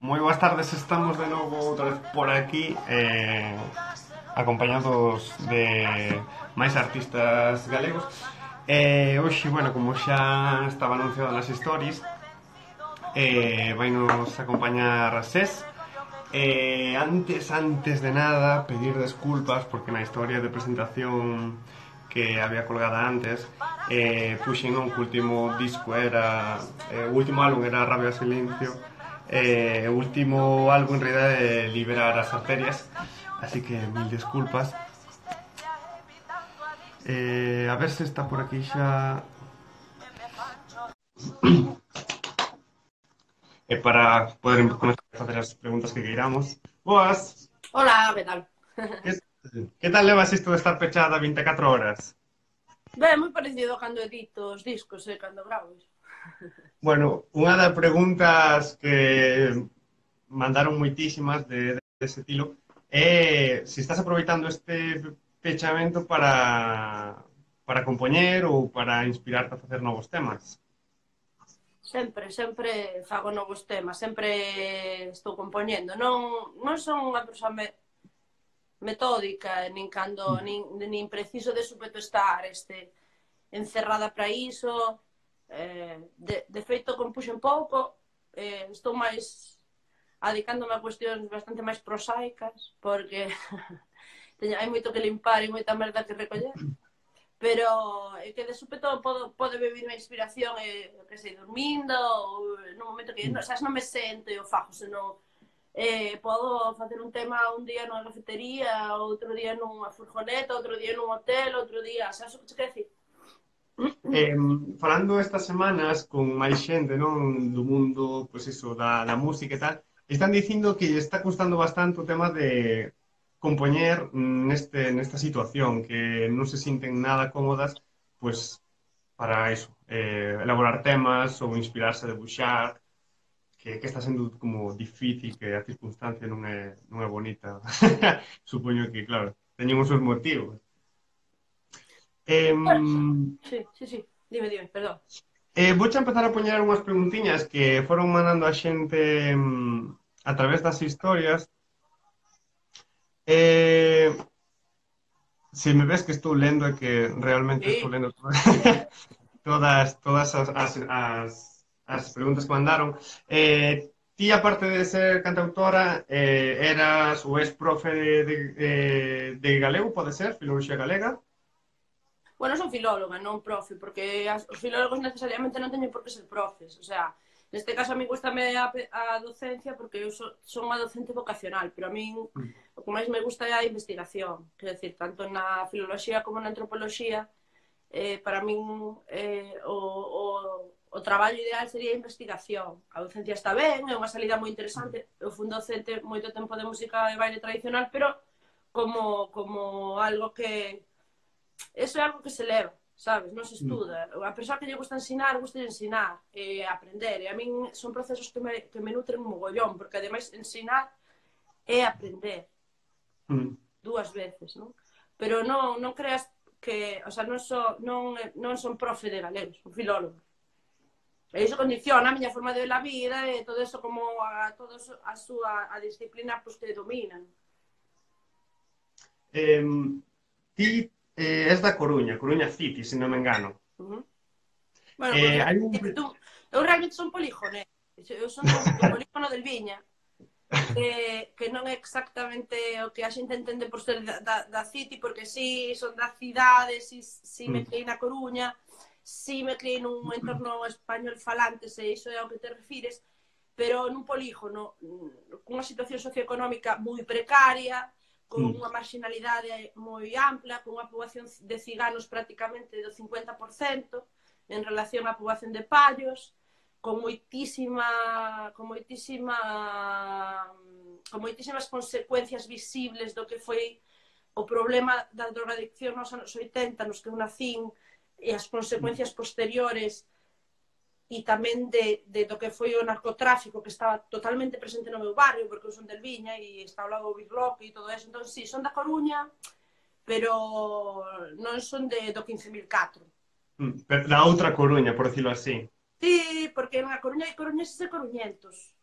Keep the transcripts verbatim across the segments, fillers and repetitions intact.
Moi boas tardes, estamos de novo outra vez por aquí eh, acompañados de máis artistas galegos. Eh, hoxe, bueno, como xa estaba anunciado nas stories, eh, vai nos acompañar a Sés. Eh, antes, antes de nada, pedir desculpas porque na historia de presentación que había colgada antes eh, puxen non que o último disco era eh, o último álbum era Rabia e Silencio, eh, o último álbum en realidad é Liberar as arterias, así que mil disculpas. Eh, a ver se está por aquí xa eh, para poder comenzar a facer as preguntas que queiramos. Boas, Hola, ¿qué tal? que, que tal levas isto de estar pechada vinte e catro horas? Ve, moi parecido a cando edito os discos e cando gravo iso. Bueno, unha das preguntas que mandaron moitísimas de, de ese estilo é se estás aproveitando este pechamento para para compoñer ou para inspirarte a facer novos temas. Sempre, sempre fago novos temas, sempre estou compoñendo. Non, non son unha persoa me, metódica, nin cando nin, nin preciso de súpeto estar este, encerrada para iso. Eh, de, de feito, compuxen pouco, eh, estou máis adicándome a cuestións bastante máis prosaicas, porque teño, hai moito que limpar e moita merda que recoller. Pero é que de súpeto podo, pode vivir a inspiración e, que sei, dormindo ou no momento que, non, sabes, non me sento e o fago, senón eh, podo facer un tema un día nunha cafetería, outro día nunha furgoneta, outro día nun hotel, outro día, sabes o que te quero decir? Eh, falando estas semanas con máis xente, non, do mundo, pois iso, da, da música e tal, están dicindo que lle está custando bastante o tema de compoñer neste, nesta situación, que non se sinten nada cómodas, pois, para iso, eh, elaborar temas ou inspirarse a debuxar, que, que está sendo como difícil, que a circunstancia non é, non é bonita. Supoño que, claro, teñen os seus motivos. Eh, Sí, sí, sí, dime, dime, perdón. Eh, vouche empezar a poñer unhas preguntiñas que foron mandando a xente mm, a través das historias. Eh, se me ves que estou lendo é que realmente estou Sí, lendo todas todas as, as, as, as preguntas que mandaron. Eh, ti, aparte de ser cantautora, eh, eras ou és profe de, de, de, de galego, pode ser? Filoloxía galega? bueno, son filóloga, non profe, porque as, os filólogos necesariamente non teñen por que ser profes, o sea, neste caso a mí gustame a, a docencia porque eu so, son unha docente vocacional, pero a min Mm. o que máis me gusta é a investigación, quer decir, tanto na filoloxía como na antropoloxía, eh, para min eh, o, o, o traballo ideal sería a investigación. A docencia está ben, é unha salida moi interesante, eu fui docente moito tempo de música e baile tradicional, pero como, como algo que eso é algo que se leva, sabes? Non se Mm. estuda. A persoa que lle gusta ensinar, gusta de ensinar e aprender. E a min son procesos que me, que me nutren un mogollón, porque ademais ensinar é aprender Mm. dúas veces, non? Pero non, non creas que, o sea, non, so, non, non son profe de galego, son filólogo. E iso condiciona a miña forma de ver a vida e todo eso como a todos a súa a disciplina pues, que dominan. Eh, ti eh, és da Coruña, Coruña City, se non me engano. Uh -huh. Bueno, Eh, Coruña, hai un... tú, eu realmente son polijonés. Eu son do, do polígono del Viña, que, que non é exactamente o que a xente entende por ser da, da, da City, porque sí, son da cidade, sí, sí me Mm. criei na Coruña, sí me criei nun entorno español falante, se iso é ao que te refires, pero nun polígono, cunha situación socioeconómica moi precaria, con Mm. unha marginalidade moi ampla, con unha poboación de ciganos prácticamente do cincuenta por cento en relación á poboación de pallos, con moitísima con moitísima con moitísimas consecuencias visibles do que foi o problema da drogadicción nos anos oitenta, nos que eu nacín, e as consecuencias posteriores e tamén de, de do que foi o narcotráfico que estaba totalmente presente no meu barrio, porque eu son del Viña e está ao lado do Birloque e todo eso. Entón, sí, son da Coruña, pero non son de, do quince mil catro. Mm. Pero da outra Coruña, por decirlo así. Sí, porque na Coruña hai coruñeses e coruñentos.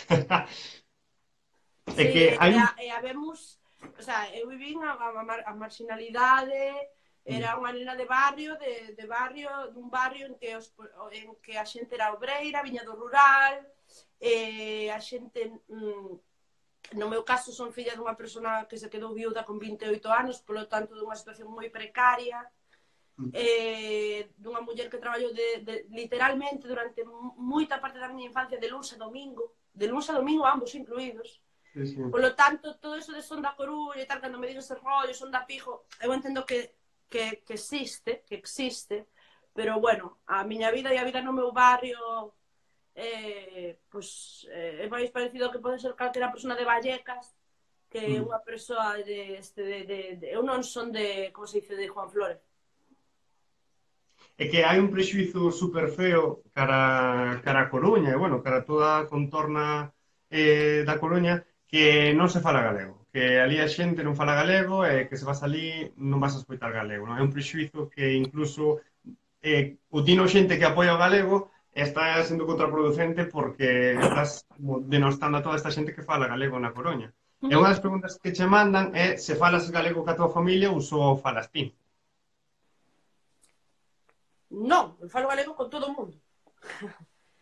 É Sí, que e, hai e, un... e habemos, o sea, eu vivín a, a, mar- a marginalidade, era unha nena de barrio, de, de barrio, dun barrio en que, os, en que a xente era obreira, viña do rural, e a xente, mm, no meu caso, son filla dunha persona que se quedou viuda con vinte e oito anos, polo tanto, dunha situación moi precaria, eh, dunha muller que traballou de, de, literalmente durante moita parte da miña infancia de luns a domingo, de luns a domingo ambos incluídos. Sí, sí. Polo tanto, todo eso de son da Coruña e tal, cando me digo ese rollo, son da Pijo, eu entendo que, que, que existe, que existe, pero bueno, a miña vida e a vida no meu barrio eh, pues, eh, é máis parecido que pode ser calquera persona de Vallecas que Mm. unha persoa de, este, de, de, de, eu non son de, como se dice, de Juan Flores. É que hai un prexuizo super feo cara, cara a Coruña, e, bueno, cara a toda a contorna eh, da Coruña, que non se fala galego. Que ali a xente non fala galego e que se vas ali non vas a escoitar galego. Non? É un prexuizo que incluso eh, o tino xente que apoia o galego está sendo contraproducente porque estás como, denostando a toda esta xente que fala galego na Coruña. E unha das preguntas que che mandan é se falas galego ca tua familia ou só falas ti. Non, eu falo galego con todo o mundo.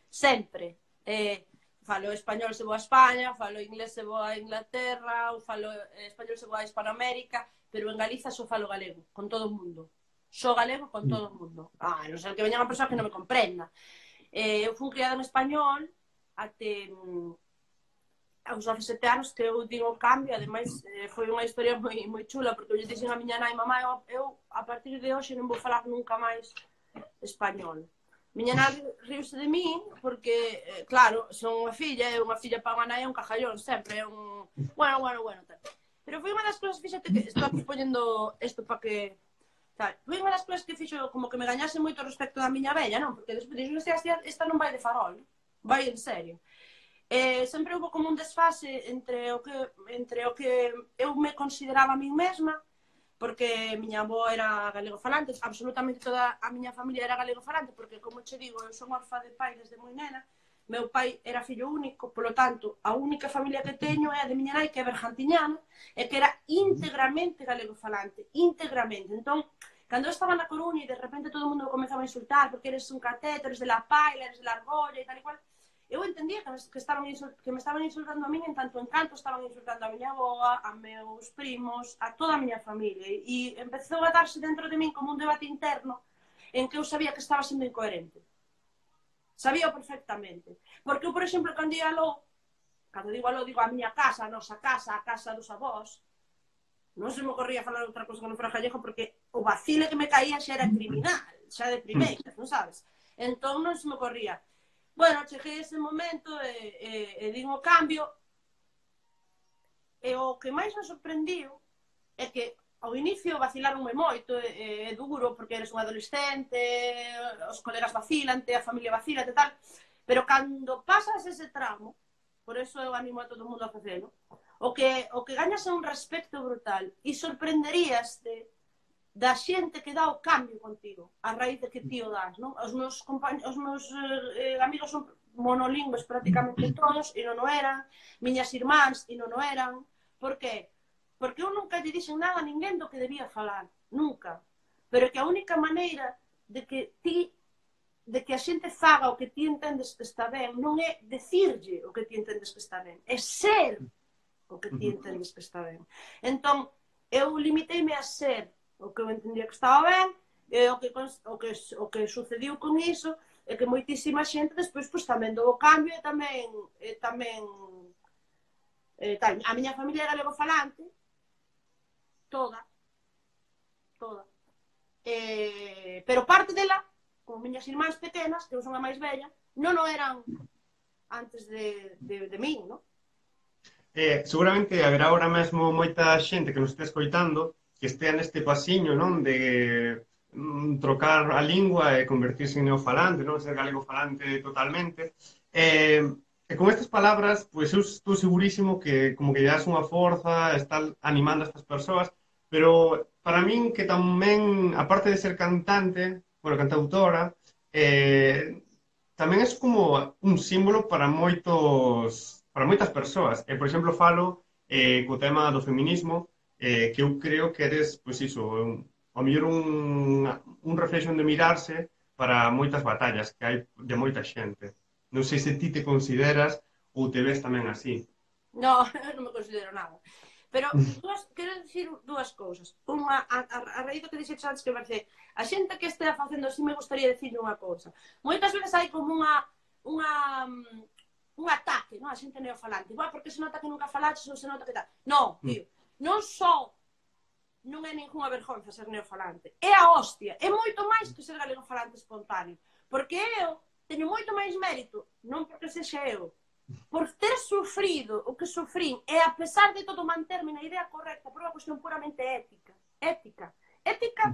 Sempre. Eh, falo español se vou a España, falo inglés se vou a Inglaterra, ou falo español se vou a Hispanoamérica, pero en Galiza só falo galego, con todo o mundo. Só galego con todo o mundo. Ah, non sei que veña unha persoa que non me comprenda. Eh, eu fui criada en español até mm, aos dezasete anos que eu digo o cambio, ademais eh, foi unha historia moi, moi chula, porque eu lle dixen a miña nai, mamá, eu, eu a partir de hoxe non vou falar nunca máis español. Miña nai riuse de min porque, eh, claro, son unha filla, e unha filla para unha nai é un cajallón sempre, é un... Bueno, bueno, bueno, tal. Pero foi unha das cousas, fíxate que estou aquí poñendo isto para que... Tal. Foi unha das cousas que fixo como que me gañase moito respecto da miña vella, non? Porque despois dixo, esta, esta non vai de farol, vai en serio. Eh, sempre houve como un desfase entre o que, entre o que eu me consideraba a min mesma, porque miña avó era galego falante, absolutamente toda a miña familia era galego falante, porque, como che digo, eu son orfa de pai desde moi nena, meu pai era fillo único, polo tanto, a única familia que teño é a de miña nai, que é bergantiñana, e que era íntegramente galego falante, íntegramente. Entón, cando eu estaba na Coruña e de repente todo o mundo comezaba a insultar porque eres un cateto, eres de la paila, eres de la argolla e tal e cual, eu entendía que me, que, estaban que me estaban insultando a min en tanto en canto estaban insultando a miña aboa, a meus primos, a toda a miña familia. E empezou a darse dentro de min como un debate interno en que eu sabía que estaba sendo incoherente. Sabía perfectamente. Porque eu, por exemplo, cando ia aló, cando digo aló, digo a miña casa, a nosa casa, a casa dos avós, non se me ocorría falar outra cosa que non fora gallego porque o vacile que me caía xa era criminal, xa de primeiras, non sabes? Entón non se me ocorría. Bueno, cheguei ese momento e, e, e din o cambio e o que máis me sorprendiu é que ao inicio vacilaronme moito, é, é duro porque eres un adolescente, os colegas vacilante, a familia vacilante e tal, pero cando pasas ese tramo, por eso eu animo a todo o mundo a facelo, o que, o que gañas é un respecto brutal e sorprenderíaste da xente que dá o cambio contigo a raíz de que ti o das, non? Os meus, os meus eh, amigos son monolingües prácticamente todos e non o eran, miñas irmáns e non o eran. Por que? Porque eu nunca lle dixen nada a ninguén do que debía falar, nunca. Pero que a única maneira de que ti de que a xente faga o que ti entendes que está ben non é decirlle o que ti entendes que está ben, é ser o que ti entendes que está ben. Entón, eu limiteime a ser o que eu entendía que estaba ben, e o que, o que, o que sucediu con iso é que moitísima xente despois pues, tamén dou o cambio e tamén, e tamén e, tal. A miña familia era galego falante, toda, toda. E, pero parte dela, como miñas irmáns pequenas, que eu son a máis bella, non o eran antes de, de, de min, non? Eh, seguramente haberá ahora mesmo moita xente que nos este escoitando que estea neste pasiño, non? De mm, trocar a lingua e convertirse en neofalante, non? Ser galego falante totalmente. Eh, e con estas palabras, pois eu estou segurísimo que como que lle das unha forza, estar animando a estas persoas, pero para min que tamén, aparte de ser cantante, bueno, cantautora, eh, tamén é como un símbolo para moitos para moitas persoas. E, por exemplo, falo eh, co tema do feminismo, eh, que eu creo que eres, pois iso, un, ao mellor un, un reflexo de mirarse para moitas batallas que hai de moita xente. Non sei se ti te consideras ou te ves tamén así. No, non me considero nada. Pero dúas, quero dicir dúas cousas. Unha, a, a, a raíz do que dixetes antes que parece, a xente que estea facendo así me gustaría dicir unha cousa. Moitas veces hai como unha, unha, un ataque, non? A xente neofalante. Igual, porque se nota que nunca falaches ou se nota que tal. Non, tío, non só non é ninguna vergonza ser neofalante. É a hostia. É moito máis que ser galegofalante espontáneo. Porque eu teño moito máis mérito, non porque sexa eu, por ter sufrido o que sufrín e a pesar de todo manterme na idea correcta por unha cuestión puramente ética. Ética. Ética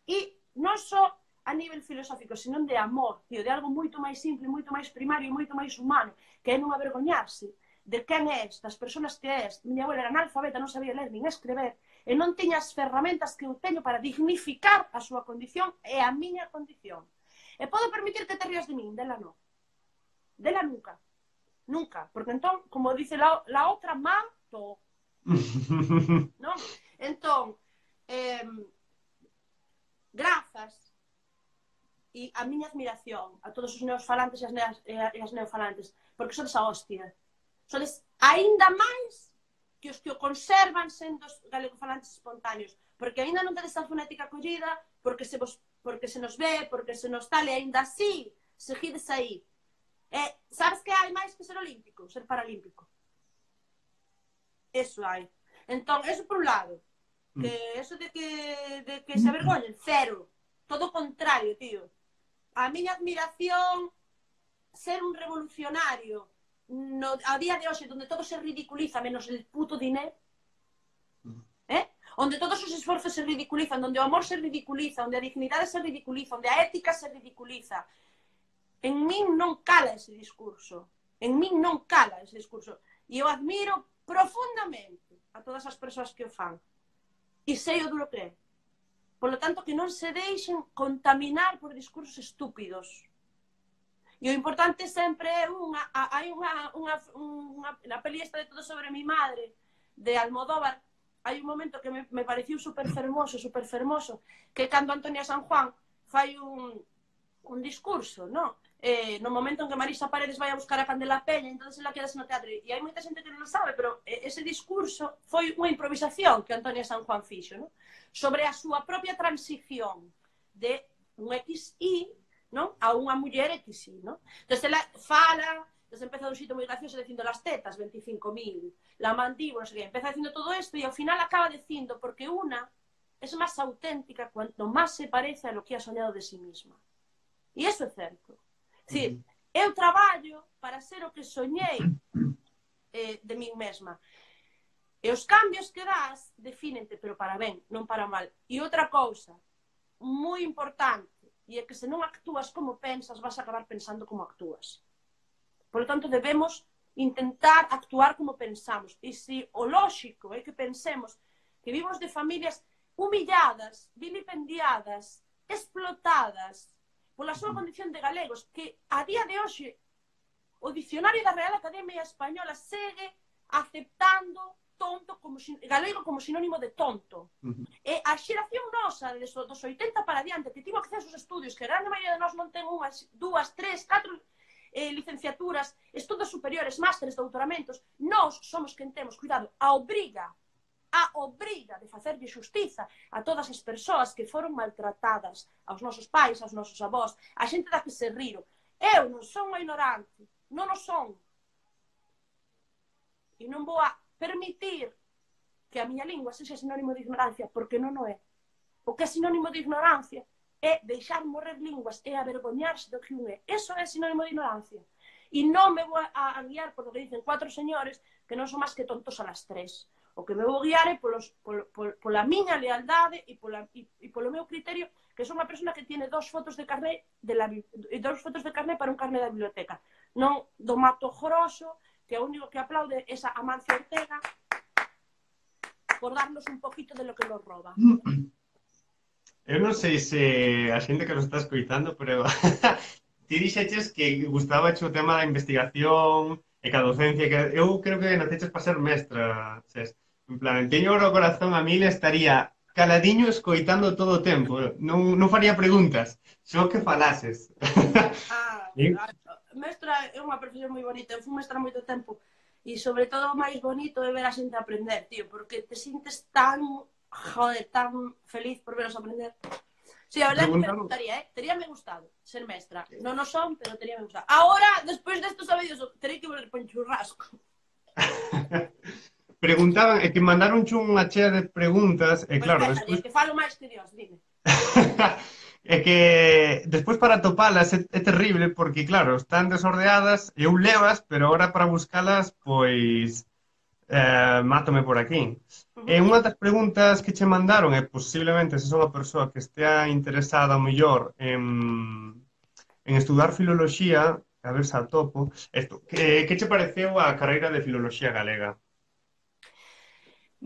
e non só a nivel filosófico, senón de amor, tío, de algo moito máis simple, moito máis primario e moito máis humano, que é non avergoñarse de quen és, das persoas que és. Miña abuela era analfabeta, non sabía ler nin escrever, e non tiña as ferramentas que eu teño para dignificar a súa condición e a miña condición. E podo permitir que te rías de min, dela non. Dela nunca. Nunca, porque entón, como dice la, la outra, mato. Non? Entón, eh, grazas e a miña admiración a todos os neofalantes e as, neas, e as neofalantes, porque sodes a hostia. Sodes aínda máis que os que o conservan sendo os galegofalantes espontáneos, porque aínda non tedes a fonética collida, porque se, vos, porque se nos ve, porque se nos tal, e aínda así, seguides aí. Eh, sabes que hai máis que ser olímpico, ser paralímpico? Eso hai. Entón, eso por un lado. Que eso de que, de que se avergoñen, cero. Todo o contrario, tío. A miña admiración, ser un revolucionario no, a día de hoxe, onde todo se ridiculiza menos el puto dinero, eh? Onde todos os esforzos se ridiculizan, onde o amor se ridiculiza, onde a dignidade se ridiculiza, onde a ética se ridiculiza. En min non cala ese discurso. En min non cala ese discurso. E eu admiro profundamente a todas as persoas que o fan. E sei o duro que é. Por lo tanto, que non se deixen contaminar por discursos estúpidos. E o importante sempre é unha... Hai unha... unha, unha na peli esta de Todo sobre mi madre, de Almodóvar, hai un momento que me, me pareciu super fermoso, super fermoso, que cando Antonia San Juan fai un, un discurso, non? Eh, no momento en que Marisa Paredes vai a buscar a Candela Peña, entonces ela quedase no teatro, e hai moita xente que non sabe, pero ese discurso foi unha improvisación que Antonia San Juan fixo, non? Sobre a súa propia transición de un equis i, non? A unha muller equis i, non? Entón, ela fala, entón empeza dun xito moi gracioso dicindo las tetas, veinticinco mil, la mandíbula, non sei que, empeza dicindo todo isto e ao final acaba dicindo porque unha é máis auténtica cuanto máis se parece a lo que ha soñado de sí misma. E iso é certo. Sí, eu traballo para ser o que soñei eh, de min mesma. E os cambios que das defínente, pero para ben, non para mal. E outra cousa, moi importante, e é que se non actúas como pensas, vas a acabar pensando como actúas. Por lo tanto, debemos intentar actuar como pensamos. E se o lóxico é que pensemos que vivimos de familias humilladas, vilipendiadas, explotadas, pola súa condición de galegos, que a día de hoxe o dicionario da Real Academia Española segue aceptando tonto como galego como sinónimo de tonto. Uh -huh. E a xeración nosa dos oitenta para diante que tivo acceso aos estudios, que a grande maioría de nós non ten unhas, dúas, tres, catro eh, licenciaturas, estudos superiores, másteres, doutoramentos, nós somos quen temos, cuidado, a obriga a obriga de facerlle xustiza a todas as persoas que foron maltratadas, aos nosos pais, aos nosos avós, a xente da que se riro. Eu non son unha ignorante, non o son. E non vou a permitir que a miña lingua sexa sinónimo de ignorancia, porque non o é. O que é sinónimo de ignorancia é deixar morrer linguas e avergoñarse do que un é. Eso é sinónimo de ignorancia. E non me vou a guiar por lo que dicen cuatro señores que non son máis que tontos a las tres. O que me vou guiar é polos, pol, pol, pola miña lealdade e, pola, e, e polo meu criterio, que son unha persona que tiene dos fotos de carné de la, e dos fotos de carné para un carné da biblioteca. Non do Mato Grosso, que é o único que aplaude esa Amancio Ortega por darnos un poquito de lo que nos roba. Eu non sei se a xente que nos está escoitando, pero ti dixeches que gustaba o tema da investigación e que a docencia, que eu creo que naceches para ser mestra, Ses. En plan, teño o corazón a mil, estaría caladiño escoitando todo o tempo. Non, non faría preguntas, só que falases. Ah, Sí. a, mestra é unha profesión moi bonita. Eu fui mestra moito tempo e sobre todo o máis bonito é ver a xente aprender, tío, porque te sintes tan, joder, tan feliz por veros aprender. Sí, a verdade é que me Preguntaron. gustaría, eh? Teríame gustado ser mestra. Non o son, pero teríame gustado. Ahora, despois desto, sabedes, terei que volver por un churrasco. Preguntaban, e que mandaron unha chea de preguntas, e Pois claro, pésalle, despois que falo máis que Dios, dime. é que despois para topalas é, é terrible porque, claro, están desordeadas e eu levas, pero ahora para buscalas, pois eh, mátome por aquí. Uh E -huh. unha das preguntas que che mandaron é posiblemente se son unha persoa que estea interesada ao mellor en, en estudar filoloxía, a ver se a topo, esto, que, que che pareceu a carreira de filoloxía galega?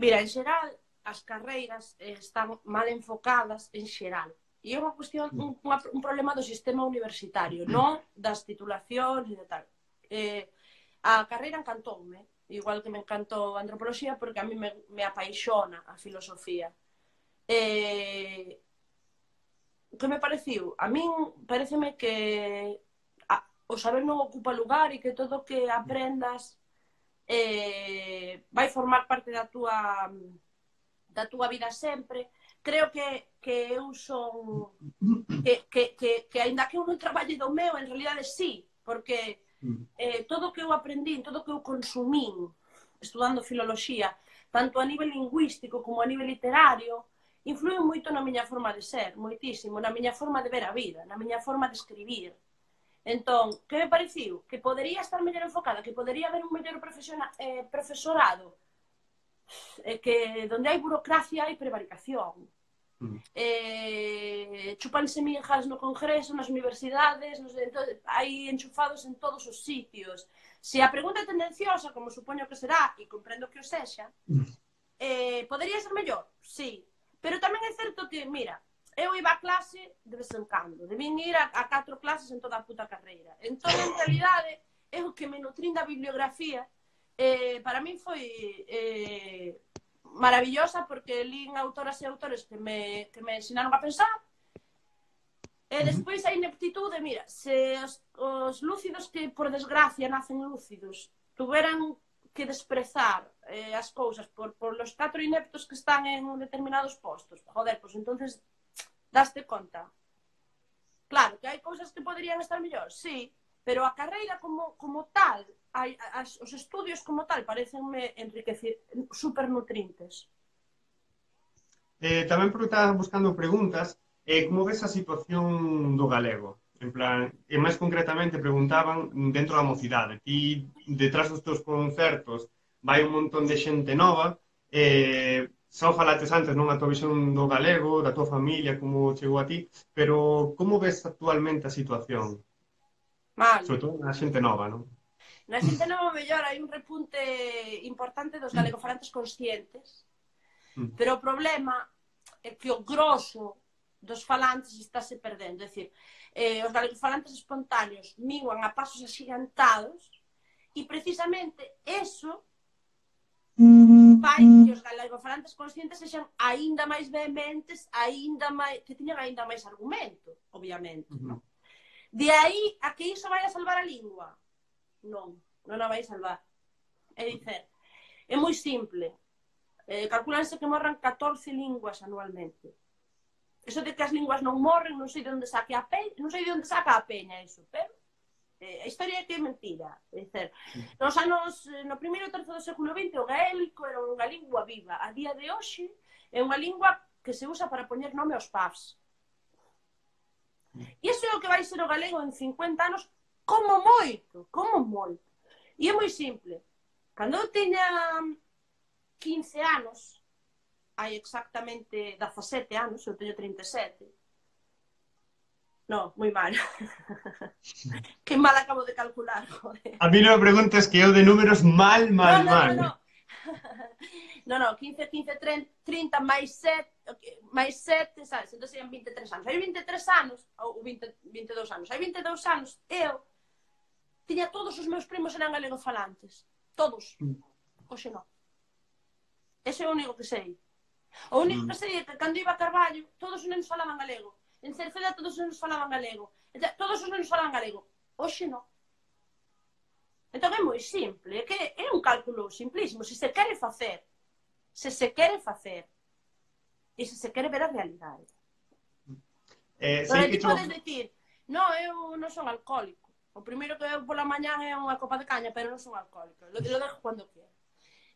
Mira, en xeral, as carreiras eh, están mal enfocadas en xeral. E é unha cuestión, un, unha, un problema do sistema universitario, non das titulacións e de tal. Eh, a carreira encantoume, igual que me encantou a antropoloxía, porque a mí me, me apaixona a filosofía. Eh, que me pareciu? A min pareceme que a, o saber non ocupa lugar e que todo o que aprendas eh, vai formar parte da túa da túa vida sempre. Creo que, que eu son que, que, que, que aínda que eu non traballe do meu, en realidade sí, porque eh, todo o que eu aprendín, todo o que eu consumín estudando filoloxía, tanto a nivel lingüístico como a nivel literario, influiu moito na miña forma de ser, moitísimo, na miña forma de ver a vida, na miña forma de escribir. Entón, que me pareciu? Que podería estar mellor enfocada, que podería haber un mellor eh, profesorado, eh, que donde hai burocracia hai prevaricación. Mm. Eh, chupanse minjas no congreso, nas universidades, nos, entonces, hai enchufados en todos os sitios. Se a pregunta é tendenciosa, como supoño que será, e comprendo que o sexa, eh, podería ser mellor? Sí. Pero tamén é certo que, mira, eu iba a clase de vez en cando, debín ir a, a catro clases en toda a puta carreira. Entón, en realidade, eu que me nutrín da bibliografía, eh, para min foi eh, maravillosa, porque lín autoras e autores que me, que me ensinaron a pensar. E despois a ineptitude, mira, se os, os lúcidos que, por desgracia, nacen lúcidos, tuveran que desprezar eh, as cousas por, por los catro ineptos que están en determinados postos, joder, pois pues, entonces daste conta. Claro, que hai cousas que poderían estar mellor, sí, pero a carreira como, como tal, hai, as, os estudios como tal, parecenme enriquecer, super nutrintes. Eh, tamén porque estaba buscando preguntas, eh, como ves a situación do galego? En plan, e máis concretamente preguntaban dentro da mocidade. Ti, detrás dos teus concertos, vai un montón de xente nova, eh, só falates antes non a tua visión do galego, da tua familia, como chegou a ti, pero como ves actualmente a situación? Mal. Sobre todo na xente nova, non? Na xente nova, mellor, hai un repunte importante dos galegofalantes conscientes, mm. pero o problema é que o grosso dos falantes estáse perdendo. É dicir, eh, os galegofalantes espontáneos miguan a pasos axigantados e precisamente eso fai que os galegofalantes conscientes sexan aínda máis vehementes, aínda máis, que tiñan aínda máis argumento, obviamente. Uh -huh. De aí a que iso vai a salvar a lingua? Non, non a vai salvar. É dicer, é moi simple. Eh, calculanse que morran catorce linguas anualmente. Eso de que as linguas non morren, non sei de onde saque a peña, non sei de onde saca a peña eso, pero eh, a historia é que é mentira. É dicer, nos anos, no primeiro terzo do século vinte o gaélico era unha lingua viva. A día de hoxe é unha lingua que se usa para poñer nome aos pubs. E iso é o que vai ser o galego en cincuenta anos, como moito, como moito. E é moi simple. Cando eu teña quince anos, hai exactamente dezasete anos, eu teño trinta e sete. Non, moi mal. Que mal acabo de calcular, joder. A mí non me preguntes que eu de números mal, mal, no, no, mal. No, no. No, no, quince, quince, trinta, máis sete, máis sete, sabes? Entón serían vinte e tres anos. Hai vinte e tres anos, ou vinte, vinte e dous anos, hai vinte e dous anos, eu tiña todos os meus primos eran galegofalantes. Todos. Hoxe non. Ese é o único que sei. O único que sei é que cando iba a Carballo, todos os nenos falaban galego. En Cerceda todos os nenos falaban galego. Todos os nenos falaban galego. Hoxe non. Entón é moi simple, é que é un cálculo simplísimo, se se quere facer, se se quere facer, e se se quere ver a realidade. Eh, Pero sei que ti cho... podes dicir, non, eu non son alcohólico, o primeiro que eu pola mañán é unha copa de caña, pero non son alcohólico, lo, lo dejo cando quero.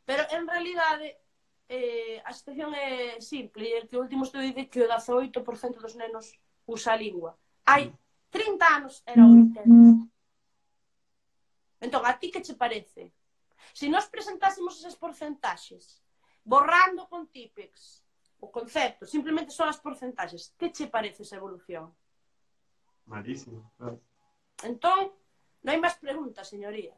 Pero en realidade, eh, a situación é simple, e que o último estudo dice que o dezaoito por cento dos nenos usa a lingua. Hai trinta anos era o oitenta. Entón, a ti que che parece? Se nós presentásemos esas porcentaxes, borrando con típex o concepto, simplemente son as porcentaxes, que che parece esa evolución? Malísimo, claro. Entón, non hai máis preguntas, señoría.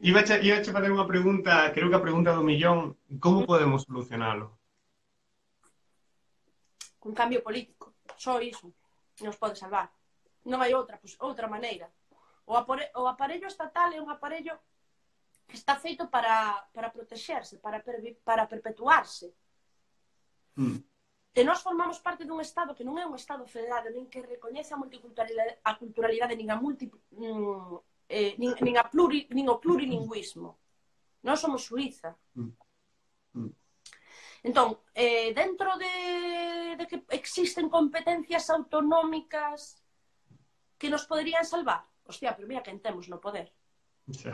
Iba a, iba a fazer unha pregunta, creo que a pregunta do millón, como podemos solucionalo? Un cambio político, só iso nos pode salvar. Non hai outra, pues, outra maneira. O, apore, o aparello estatal é un aparello que está feito para, para protexerse, para, per, para perpetuarse. Mm. E nós formamos parte dun Estado que non é un Estado federado, nin que recoñece a multiculturalidade, a culturalidade, nin a, multi, mm, eh, nin, nin, a pluri, nin o plurilingüismo. Nós somos Suiza. Mm. Mm. Entón, eh, dentro de, de que existen competencias autonómicas que nos poderían salvar, hostia, pero mira quen temos no poder. Sí.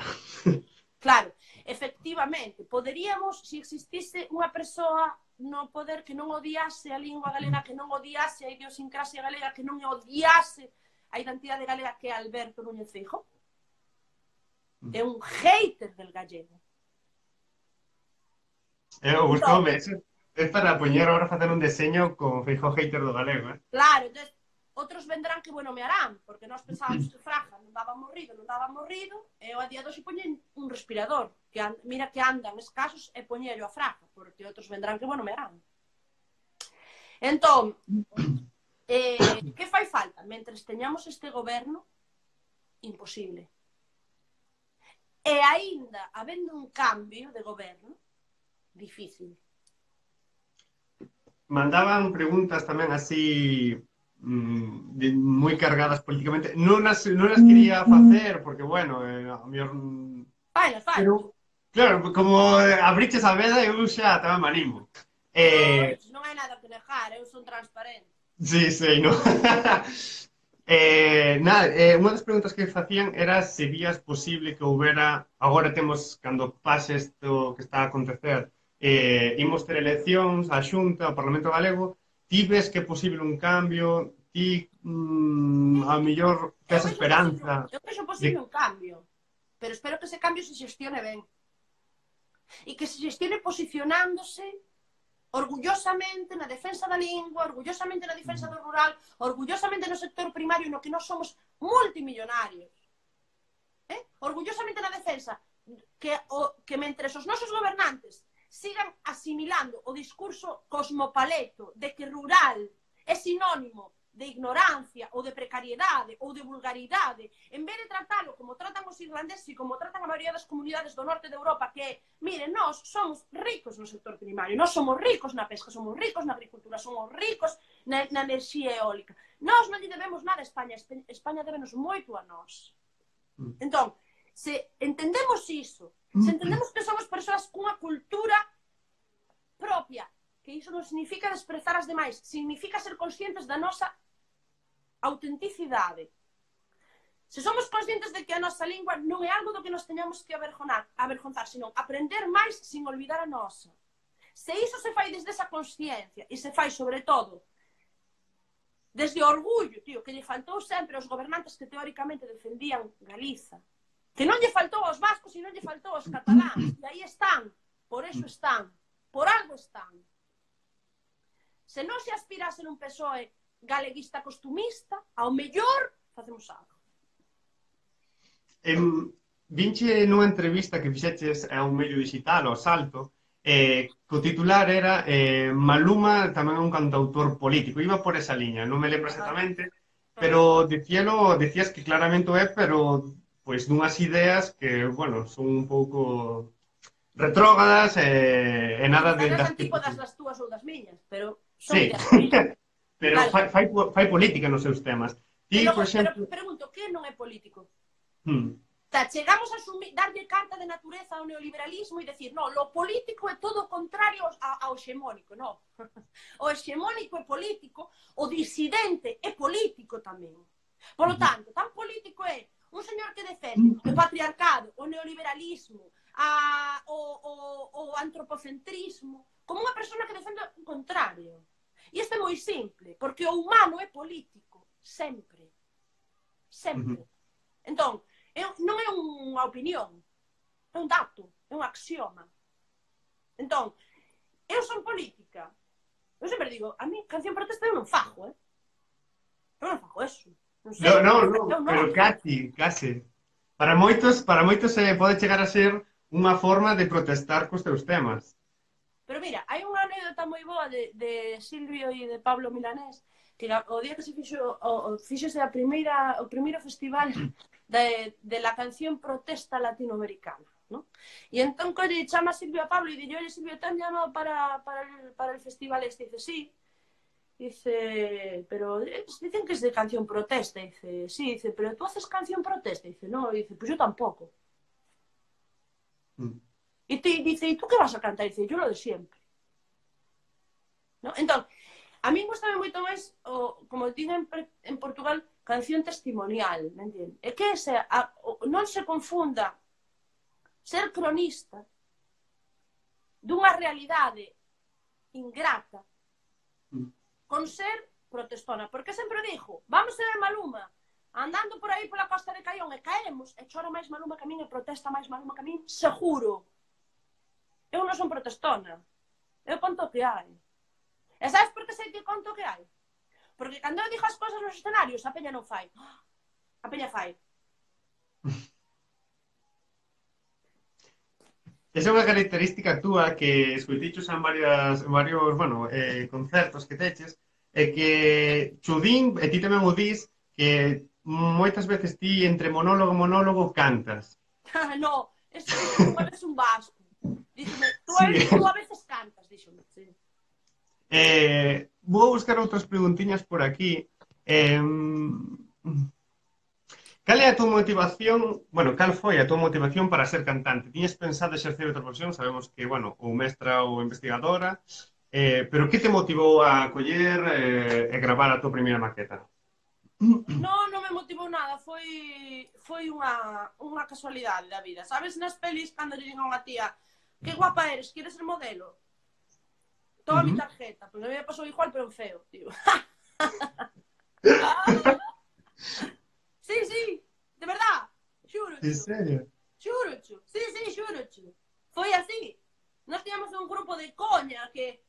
Claro, efectivamente, poderíamos, se existise unha persoa no poder que non odiase a lingua galega, que non odiase a idiosincrasia galega, que non odiase a identidade galega, que é Alberto Núñez Feijóo. É un hater del gallego. Eu gustoume, é para poñer agora facer un deseño con Feijóo hater do galego, eh? Claro, entón, outros vendrán que bueno me harán, porque nós pensábamos que Fraga non daba morrido, non daba morrido, e eu a día de hoxe poñen un respirador, que and, mira que andan escasos, e poñello a Fraga, porque outros vendrán que bueno me harán. Entón, eh, que fai falta? Mentres teñamos este goberno, imposible. E aínda, habendo un cambio de goberno, difícil. Mandaban preguntas tamén así de, moi cargadas políticamente. Non as, non as quería facer, porque, bueno, eh, a mellor... Fai, fai. Pero, claro, como abriches a veda, eu xa tamén me animo. Eh... Non hai nada que negar, eu son transparente. Sí, sí, no. eh, nada, eh, unha das preguntas que facían era se vías posible que houbera, agora temos, cando pase isto que está a acontecer, eh, imos ter eleccións, a Xunta, o Parlamento Galego, ti ves que é posible un cambio, ti mmm, a mellor tes esperanza. Eu vexo posible de... un cambio, pero espero que ese cambio se xestione ben. E que se xestione posicionándose orgullosamente na defensa da lingua, orgullosamente na defensa do rural, orgullosamente no sector primario no que nós somos multimillonarios. Eh? Orgullosamente na defensa que, o, que mentre os nosos gobernantes sigan asimilando o discurso cosmopaleto de que rural é sinónimo de ignorancia ou de precariedade ou de vulgaridade, en vez de tratalo como tratan os irlandeses e como tratan a maioría das comunidades do norte de Europa, que, miren, nós somos ricos no sector primario, nós somos ricos na pesca, somos ricos na agricultura, somos ricos na, na enerxía eólica. Nós non lle debemos nada a España, España débenos moito a nós. Entón, se entendemos iso, se entendemos que somos persoas cunha cultura propia, que iso non significa desprezar as demais, significa ser conscientes da nosa autenticidade. Se somos conscientes de que a nosa lingua non é algo do que nos teñamos que avergonzar, avergonzar, senón aprender máis sin olvidar a nosa. Se iso se fai desde esa consciencia e se fai sobre todo desde o orgullo, tío, que lle faltou sempre aos gobernantes que teóricamente defendían Galiza, que non lle faltou aos vascos e non lle faltou aos cataláns, e aí están, por eso están, por algo están. Se non se aspirase nun P S O E galeguista costumista, ao mellor facemos algo. Em, vinche nunha entrevista que fixeches a un medio digital, ao Salto, eh, que o titular era eh, Maluma tamén é un cantautor político. Iba por esa liña, non me lembro Ah, exactamente, ah. pero dicíalo, dicías que claramente o é, pero pois dunhas ideas que, bueno, son un pouco retrógradas e, e Sí, nada están de, as das que... antípodas das túas ou das miñas, pero son Sí, ideas políticas. pero Claro, fai, fai, fai política nos seus temas. e Ti, logo, por pero exemplo... pregunto, que non é político? Hmm, Sea, chegamos a asumir, darlle carta de natureza ao neoliberalismo e decir, no, lo político é todo o contrario ao hexemónico, no. O hexemónico é político, o disidente é político tamén. Por lo tanto, tan político é un señor que defende o patriarcado, o neoliberalismo, a, o, o, o antropocentrismo, como unha persona que defende o contrario. E isto é moi simple, porque o humano é político, sempre. Sempre. Entón, Eu, non é unha opinión, é un dato, é un axioma. Entón, eu son política. Eu sempre digo, a mí canción protesta eu non fajo, eh? Eu non fajo eso. Non sei, no, no, eu, no, eu non. pero casi, casi. Para moitos, para moitos eh, pode chegar a ser unha forma de protestar cos teus temas. Pero mira, hai unha anécdota moi boa de, de Silvio e de Pablo Milanés, que o día que se fixo, o, o fixose a primeira, o primeiro festival de, de la canción protesta latinoamericana, ¿no? E entón colle chama a Silvio a Pablo e dille, oye Silvio, te han llamado para, para, el, para el festival este? Dice, sí. Dice, pero dicen que es de canción protesta. Dice, sí, dice, pero tú haces canción protesta. Dice, no, dice, pues yo tampoco. Mm. Y te dice, ¿y tú qué vas a cantar? Dice, yo lo de siempre. ¿No? Entón, a mí gustame moito máis, o, como dicen en Portugal, canción testimonial, me entiendes? É que ese, a, o, non se confunda ser cronista dunha realidade ingrata con ser protestona. Porque sempre dixo, vamos a ver Maluma, andando por aí pola costa de Caión e caemos, e chora máis Maluma que a min e protesta máis Maluma que a min, seguro. Eu non son protestona. Eu conto o que hai. E sabes por que sei que conto o que hai? Porque cando eu dixo as cousas nos escenarios, a peña non fai. A peña fai. Esa é unha característica túa que escoitichos en varias, en varios, bueno, eh, concertos que teches, é que chudín, e ti tamén o dis, que moitas veces ti entre monólogo e monólogo cantas. No, eso dixo unha vez un vasco. Díxome, tú a, Sí. tú a veces cantas, díxome. Sí. Eh, vou buscar outras preguntiñas por aquí. Eh, cal é a tua motivación, bueno, cal foi a tua motivación para ser cantante? Tiñes pensado exercer outra profesión? Sabemos que, bueno, ou mestra ou investigadora, eh, pero que te motivou a coller eh, e gravar a tua primeira maqueta? Non, non me motivou nada, foi foi unha, unha casualidade da vida. Sabes, nas pelis, cando lle digan a unha tía, que guapa eres, queres ser modelo? Toma uh -huh. mi tarjeta, pois pues, a mí me pasou igual, pero en feo, tío. Sí, sí, de verdad, xuro. En serio? Xuro, sí, sí, xuro. Foi así. Nós tiñamos un grupo de coña que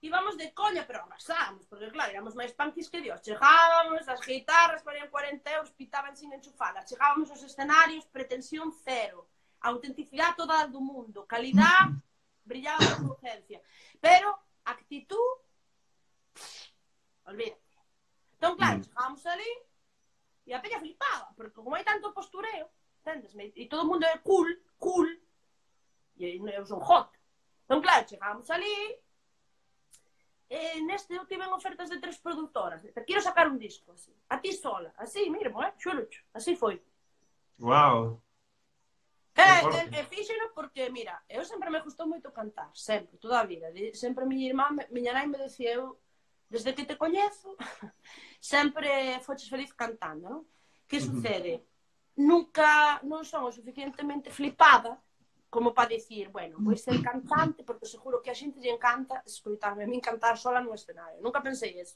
íbamos de coña, pero arrasábamos, porque claro, éramos máis punkis que Dios. Chegábamos, as guitarras valían cuarenta euros, pitaban sin enchufalas. Chegábamos aos escenarios, pretensión cero. Autenticidade toda do mundo. Calidad, brillaba por su urgencia. Pero, actitud, olvídate. Entón, claro, chegábamos ali e a peña flipaba, porque como hai tanto postureo, entendesme? E todo o mundo é cool, cool, e eu son hot. Entón, claro, chegábamos ali, e neste eu tive ofertas de tres produtoras. Te quero sacar un disco, así. A ti sola. Así, míramo, eh? Xurucho. Así foi. Wow. E, e, e fíxeno porque, mira, eu sempre me gustou moito cantar, sempre, toda a vida. Sempre miña irmá, miña nai me decía, eu, desde que te coñezo, sempre foches feliz cantando, non? Que sucede? Nunca non son o suficientemente flipada como para dicir, bueno, vou ser cantante porque seguro que a xente lle encanta escoitarme a min cantar sola no escenario. Nunca pensei eso.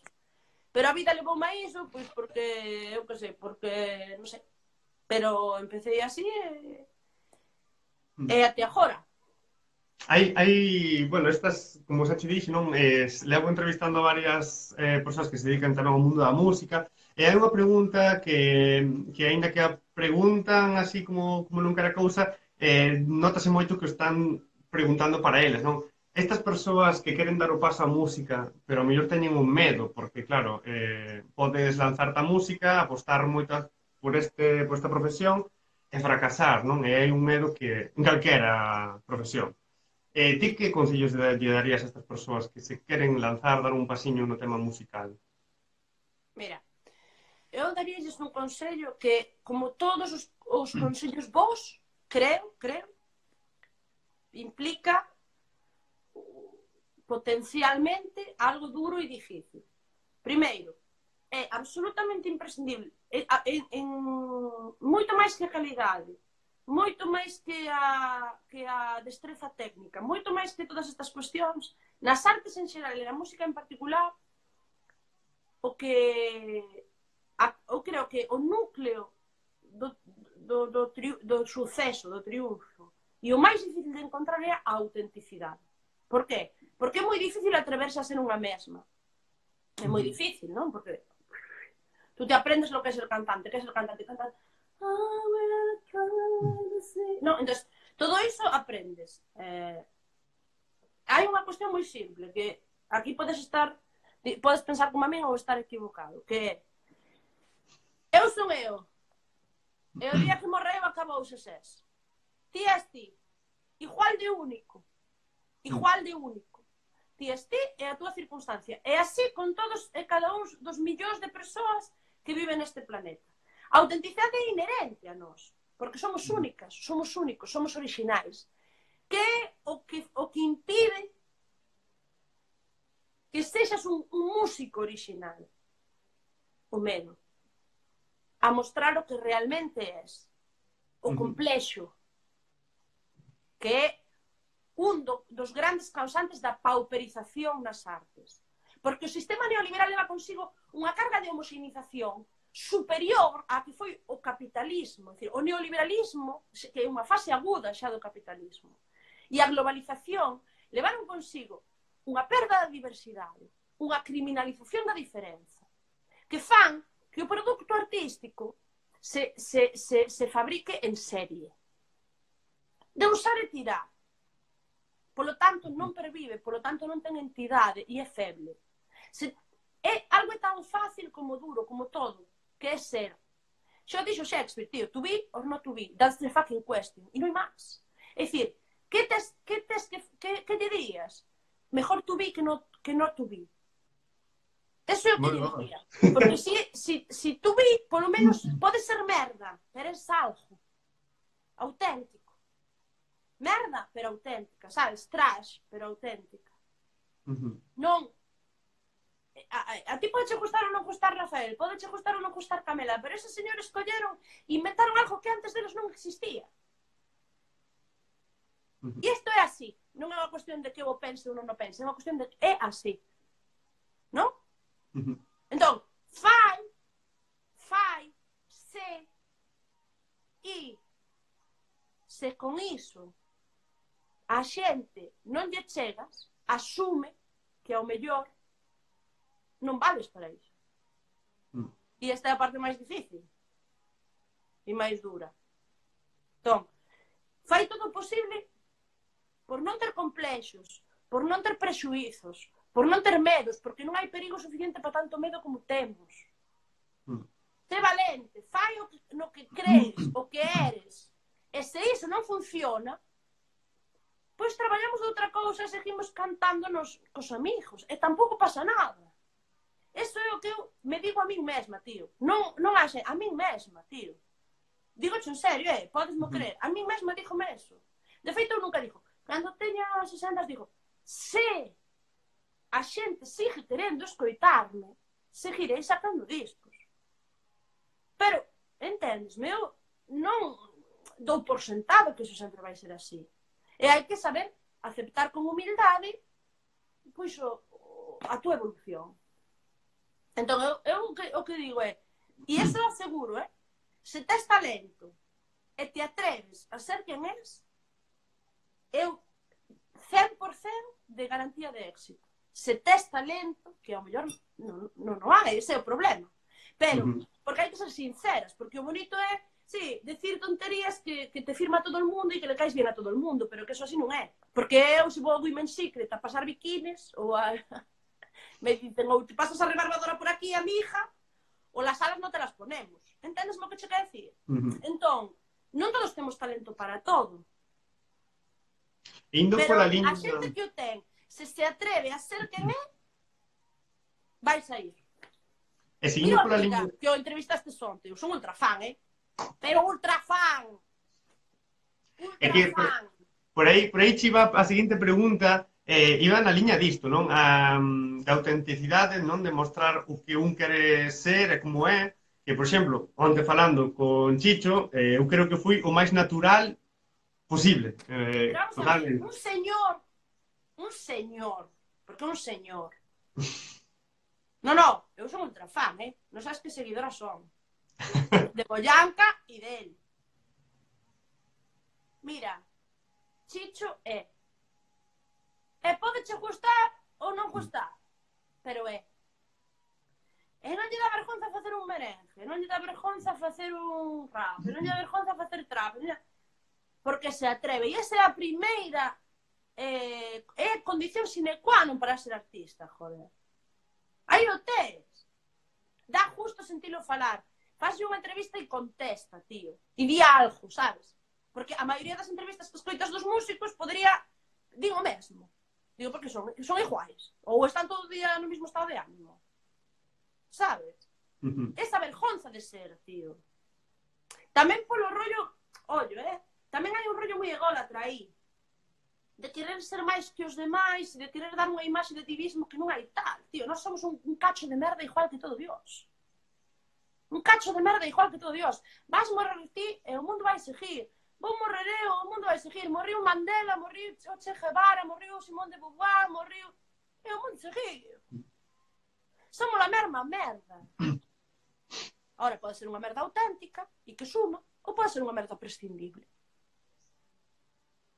Pero a vida levoume a iso, pois porque, eu que sei, porque, non sei. Pero empecé así e... e até agora. Hai, hai, bueno, estas, como xa te dixo, non? Eh, levo entrevistando a varias eh, persoas que se dedican tamén ao mundo da música, e hai unha pregunta que, que aínda que a preguntan así como, como non quera cousa, eh, notase moito que están preguntando para eles, non? estas persoas que queren dar o paso á música, pero ao mellor teñen un medo, porque claro, eh, podes lanzarte a música, apostar moito por, este, por esta profesión e fracasar, non? E hai un medo que en calquera profesión. Eh, ti que consellos lle darías a estas persoas que se queren lanzar, dar un pasiño no tema musical? Mira, eu daríalles un consello que, como todos os, os consellos vos, creo, creo, implica potencialmente algo duro e difícil. Primeiro, é absolutamente imprescindible, en, en, moito máis que a calidade, moito máis que a, que a destreza técnica, moito máis que todas estas cuestións, nas artes en xeral e na música en particular, o que a, eu creo que o núcleo do, do, do, tri, do suceso, do triunfo, e o máis difícil de encontrar é a autenticidade. Por qué? Porque é moi difícil atreverse a ser unha mesma. É moi difícil, non? Porque tú te aprendes lo que é ser cantante, que é ser cantante, cantante. Non, entón, todo iso aprendes. Eh, hai unha cuestión moi simple, que aquí podes estar, podes pensar como a min ou estar equivocado, que é, eu son eu, e o día que morreu acabouse ses. Ti és ti, igual de único, igual de único. Ti és ti e a túa circunstancia. E así con todos e cada un dos millóns de persoas que viven neste planeta. A autenticidade é inherente a nós, porque somos únicas, somos únicos, somos orixinais. Que é o que, o que impide que sexas un, un músico orixinal? O medo. A mostrar o que realmente és. O complexo. Que é un do, dos grandes causantes da pauperización nas artes. Porque o sistema neoliberal leva consigo unha carga de homoxenización superior a que foi o capitalismo. É dicir, o neoliberalismo, que é unha fase aguda xa do capitalismo, e a globalización levaron consigo unha perda da diversidade, unha criminalización da diferenza, que fan que o produto artístico se, se, se, se fabrique en serie. De usar e tirar. Polo tanto, non pervive, polo tanto, non ten entidade e é feble. Se, é algo tan fácil como duro, como todo, que é ser. Xa dixo Shakespeare, tío, to be or not to be, that's the fucking question, e non hai máis. É dicir, que tes que, tes, que, que, que dirías? Mejor to be que no, que not to be. Eso é o que diría. Porque si, si, si to be, polo menos, pode ser merda, pero é algo auténtico. Merda, pero auténtica, sabes? Trash, pero auténtica. Uh-huh. Non... A, a, a ti pode che gustar ou non gustar Rafael, pode che gustar ou non gustar Camela, pero eses señores colleron e inventaron algo que antes deles non existía. Uh-huh. E isto é así. Non é unha cuestión de que eu pense ou non o pense, é unha cuestión de que é así. Non? Uh-huh. Entón, fai, fai, se, e se con iso a xente non lle chegas, asume que ao mellor non vales para iso. Mm. E esta é a parte máis difícil e máis dura. Entón, fai todo o posible por non ter complexos, por non ter prexuizos, por non ter medos, porque non hai perigo suficiente para tanto medo como temos. Mm. Sé valente, fai o que, no que crees, o que eres. E se iso non funciona, pois traballamos de outra cousa e seguimos cantando nos, cos amigos. E tampouco pasa nada. Eso é o que eu me digo a min mesma, tío. Non, non haxe, a min mesma, tío. Digoche en serio, eh? Podesmo creer. A min mesma dígome eso. De feito, eu nunca digo. Cando teña sesenta, digo, se a xente sigue querendo escoitarme, seguirei sacando discos. Pero, entendesme, eu non dou por sentado que iso sempre vai ser así. E hai que saber aceptar con humildade pois o, a túa evolución. Entón, eu, eu o, que, o que digo é, e eso é seguro, eh? Se tes talento e te atreves a ser quen és, eu cen por cento de garantía de éxito. Se tes talento, que ao mellor non, non, non hai, ese é o problema. Pero, porque hai que ser sinceras, porque o bonito é sí, decir tonterías que, que te firma todo el mundo e que le caes bien a todo el mundo, pero que eso así non é. Porque eu, se vou a Women's Secret a pasar biquines, ou a... me dicen, ou te pasas a rebarbadora por aquí, amiga, ou las alas non te las ponemos. Entendes mo que che quer decir? Uh -huh. Entón, non todos temos talento para todo. Indo pero pola liña... a xente que o ten, se se atreve a ser quen é, vai sair. E se indo pola liña... liña... que o entrevistaste onte, eu son ultra fan, eh? Pero ultra fan! Ultra é que por, fan! por aí, por aí chiva a seguinte pregunta, eh, iba na liña disto, non? A, da autenticidade, non? De mostrar o que un quere ser e como é. Que, por exemplo, onte falando con Chicho, eh, eu creo que fui o máis natural posible. Eh, Pero vamos a ver, un señor, un señor, porque un señor. No, no, eu son ultra fan, eh? Non sabes que seguidora son. De Boyanca e del. Mira, Chicho é. E pode che gustar ou non gustar, pero é. E non lle dá vergonza facer un merengue, non lle dá vergonza facer un rap, non lle dá vergonza facer trap, non lle... porque se atreve. E esa é a primeira eh, é a condición sine qua non para ser artista, joder. Aí o tes. Dá justo sentilo falar. Fazlle unha entrevista e contesta, tío. E di algo, sabes? Porque a maioría das entrevistas que escoitas dos músicos podría... Digo mesmo. Digo porque son, son iguais. Ou están todo o día no mesmo estado de ánimo. Sabes? Uh-huh. Esa vergonza de ser, tío. Tamén polo rollo... Ollo, eh? Tamén hai un rollo moi ególatra aí. De querer ser máis que os demais, de querer dar unha imaxe de ti mismo que non hai tal, tío. Nós somos un, un cacho de merda igual que todo Dios. Un cacho de merda igual que todo Dios. Vas morrer ti e o mundo vai seguir. Vou morrer eu, o mundo vai seguir. Morriu Mandela, morriu o Che Guevara, morriu Simón de Beauvoir, morriu... E o mundo seguir. Somos a mesma merda. Ahora, pode ser unha merda auténtica e que suma, ou pode ser unha merda prescindible.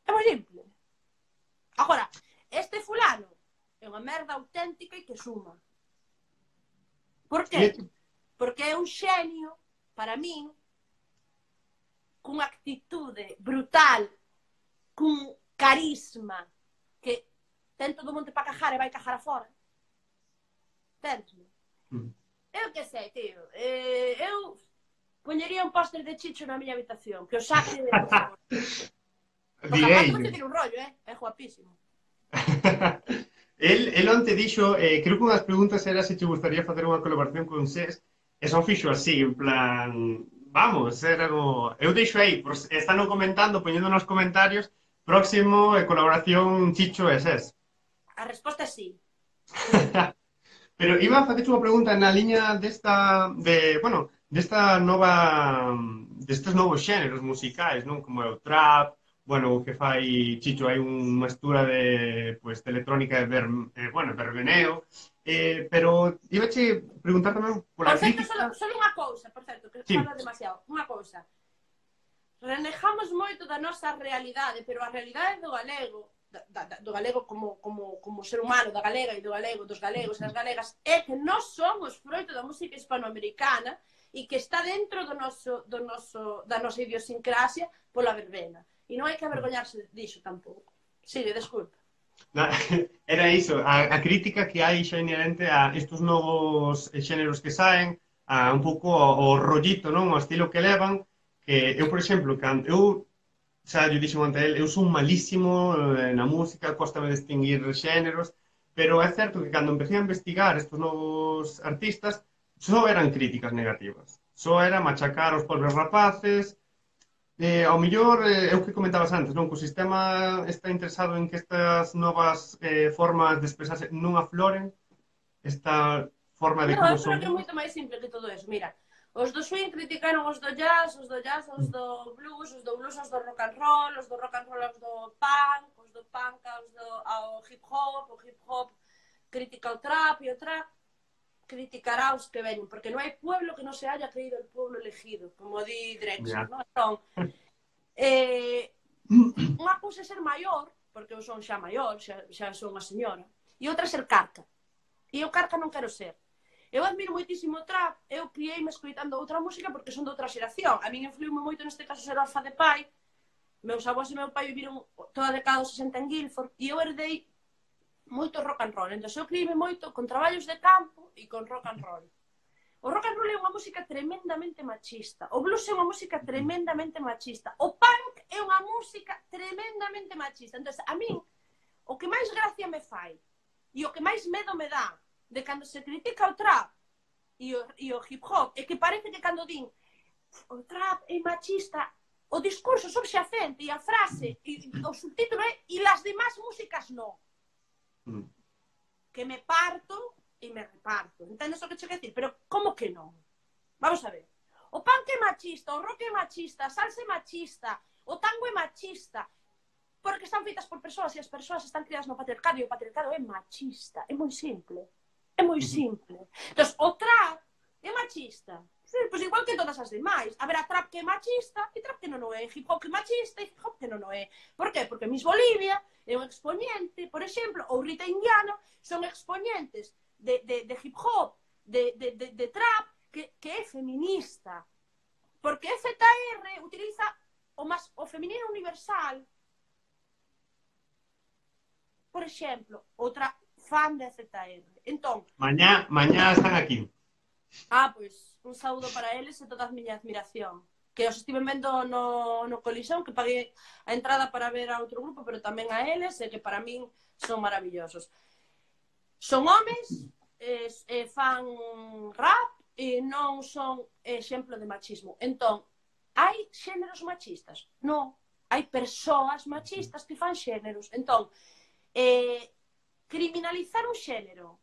É moi simple. Agora, este fulano é unha merda auténtica e que suma. Por que? Porque é un xenio, para min, cunha actitude brutal, cun carisma, que ten todo o monte para cajar e vai cajar afora. Entendesme? Mm. Eu que sei, tío. Eh, eu poñería un póster de Chicho na miña habitación, que o saque de... O zapato non te tira un rollo, eh? É guapísimo. el, el onte dixo, eh, creo que unhas preguntas era se te gustaría facer unha colaboración con SES, e son fixo así, en plan, vamos, era como... Eu deixo aí, pues, están comentando, poñendo nos comentarios, próximo eh, colaboración Chicho e SES. A resposta é sí. Pero iba a facer unha pregunta na liña desta, de, bueno, desta nova, destes novos xéneros musicais, non? Como é o trap, bueno, o que fai Chicho, hai unha mestura de, pues, de electrónica de, ver, eh, bueno, verbeneo, eh, pero iba a che preguntar tamén pola por certo, crítica... solo, solo unha cousa, por certo, que sí. fala demasiado, unha cousa. Renejamos moito da nosa realidade, pero a realidade do galego, da, da, do galego como, como, como ser humano, da galega e do galego, dos galegos e das galegas, é que nós somos froito da música hispanoamericana e que está dentro do noso, do noso, da nosa idiosincrasia pola verbena. E non hai que avergoñarse disso tampouco. Sigue, desculpa. Era iso, a, a crítica que hai xa inherente a estes novos xéneros que saen, a un pouco o, o rollito, non? O estilo que levan, que eu, por exemplo, cando eu, xa eu dixo ante el, eu son malísimo eh, na música, cóstame distinguir xéneros, pero é certo que cando empecé a investigar estes novos artistas, só eran críticas negativas. Só era machacar os pobres rapaces. Eh, ao mellor, eh, é o que comentabas antes, non? Que o sistema está interesado en que estas novas eh, formas de expresarse non afloren, esta forma de no, como son... Non, eu creo que é somos. moito máis simple que todo eso. Mira, os do swing criticaron os do jazz, os do jazz, os do blues, os do blues, os do rock and roll, os do rock and roll, os do punk, os do punk, os do ao hip hop, o hip hop critica o trap e o trap criticará os que veñen, porque non hai pueblo que non se haya creído el pueblo elegido, como di Drexler, yeah. Non? Entón, eh, unha cousa é ser maior, porque eu son xa maior, xa, xa son unha señora, e outra é ser carca. E eu carca non quero ser. Eu admiro moitísimo o trap, eu criei-me escoitando outra música porque son de outra xeración. A min influiu-me moito neste caso ser orfa de pai. Meus avós e meu pai viviron toda a década dos sesenta en Guildford e eu herdei moito rock and roll. Entón, eu criei-me moito con traballos de campo e con rock and roll. O rock and roll é unha música tremendamente machista. O blues é unha música tremendamente machista. O punk é unha música tremendamente machista. Entón, a min, o que máis gracia me fai e o que máis medo me dá de cando se critica o trap e o, e o hip hop é que parece que cando din o trap é machista, o discurso subxacente e a frase e o subtítulo é e las demás músicas non. Mm. Que me parto e me reparto. Entendes o que che quero dicir? Pero como que non? Vamos a ver. O punk é machista, o rock é machista, a salsa é machista, o tango é machista, porque están feitas por persoas e as persoas están criadas no patriarcado e o patriarcado é machista. É moi simple. É moi simple. Entón, o trap é machista. Sí, pois igual que todas as demais. Haberá trap que é machista e trap que non o é. Hip hop que é machista e hip hop que non o é. Por qué? Porque Miss Bolivia é un exponente, por exemplo, ou Rita Indiana son exponentes de, de, de hip hop, de, de, de, de trap, que, que é feminista. Porque Z R utiliza o, mas, o feminino universal. Por exemplo, outra fan de Z R. Entón, mañá, mañá están aquí. Ah, pois, un saúdo para eles e toda a miña admiración. Que os estiven vendo no, no Colisión, que paguei a entrada para ver a outro grupo, pero tamén a eles, e que para min son maravillosos. Son homes, e, e fan rap, e non son exemplo de machismo. Entón, hai xéneros machistas? Non. Hai persoas machistas que fan xéneros. Entón, eh, criminalizar un xénero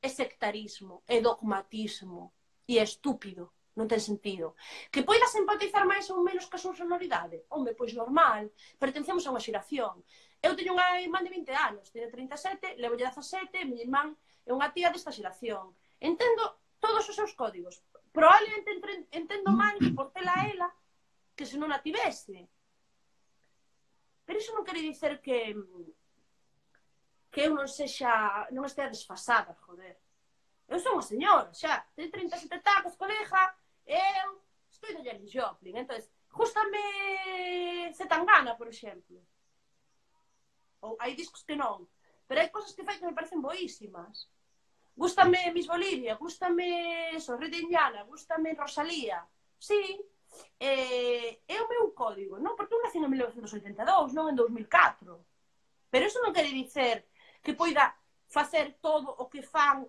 é sectarismo, é dogmatismo e é estúpido, non ten sentido. Que poidas empatizar máis ou menos ca súa sonoridade? Home, pois normal, pertencemos a unha xeración. Eu teño unha irmán de vinte anos, teño trinta e sete, levo dezasete, miña irmán é unha tía desta xeración. Entendo todos os seus códigos. Probablemente entendo máis por tela a ela que se non a tivese. Pero iso non quere dicer que que eu non sexa, non estea desfasada, joder. Eu sou unha señora, xa, teño trinta e sete tacos, colega, eu estou de Janis Joplin, entón, gústame Zetangana, por exemplo. Ou hai discos que non, pero hai cosas que fai que me parecen boísimas. Gústame Miss Bolivia, gústame Rita Indiana, gústame Rosalía. Sí, é, é o meu código, non? Porque eu nací en mil novecentos e oitenta e dous, non en dous mil catro. Pero iso non quere dicer que poida facer todo o que fan.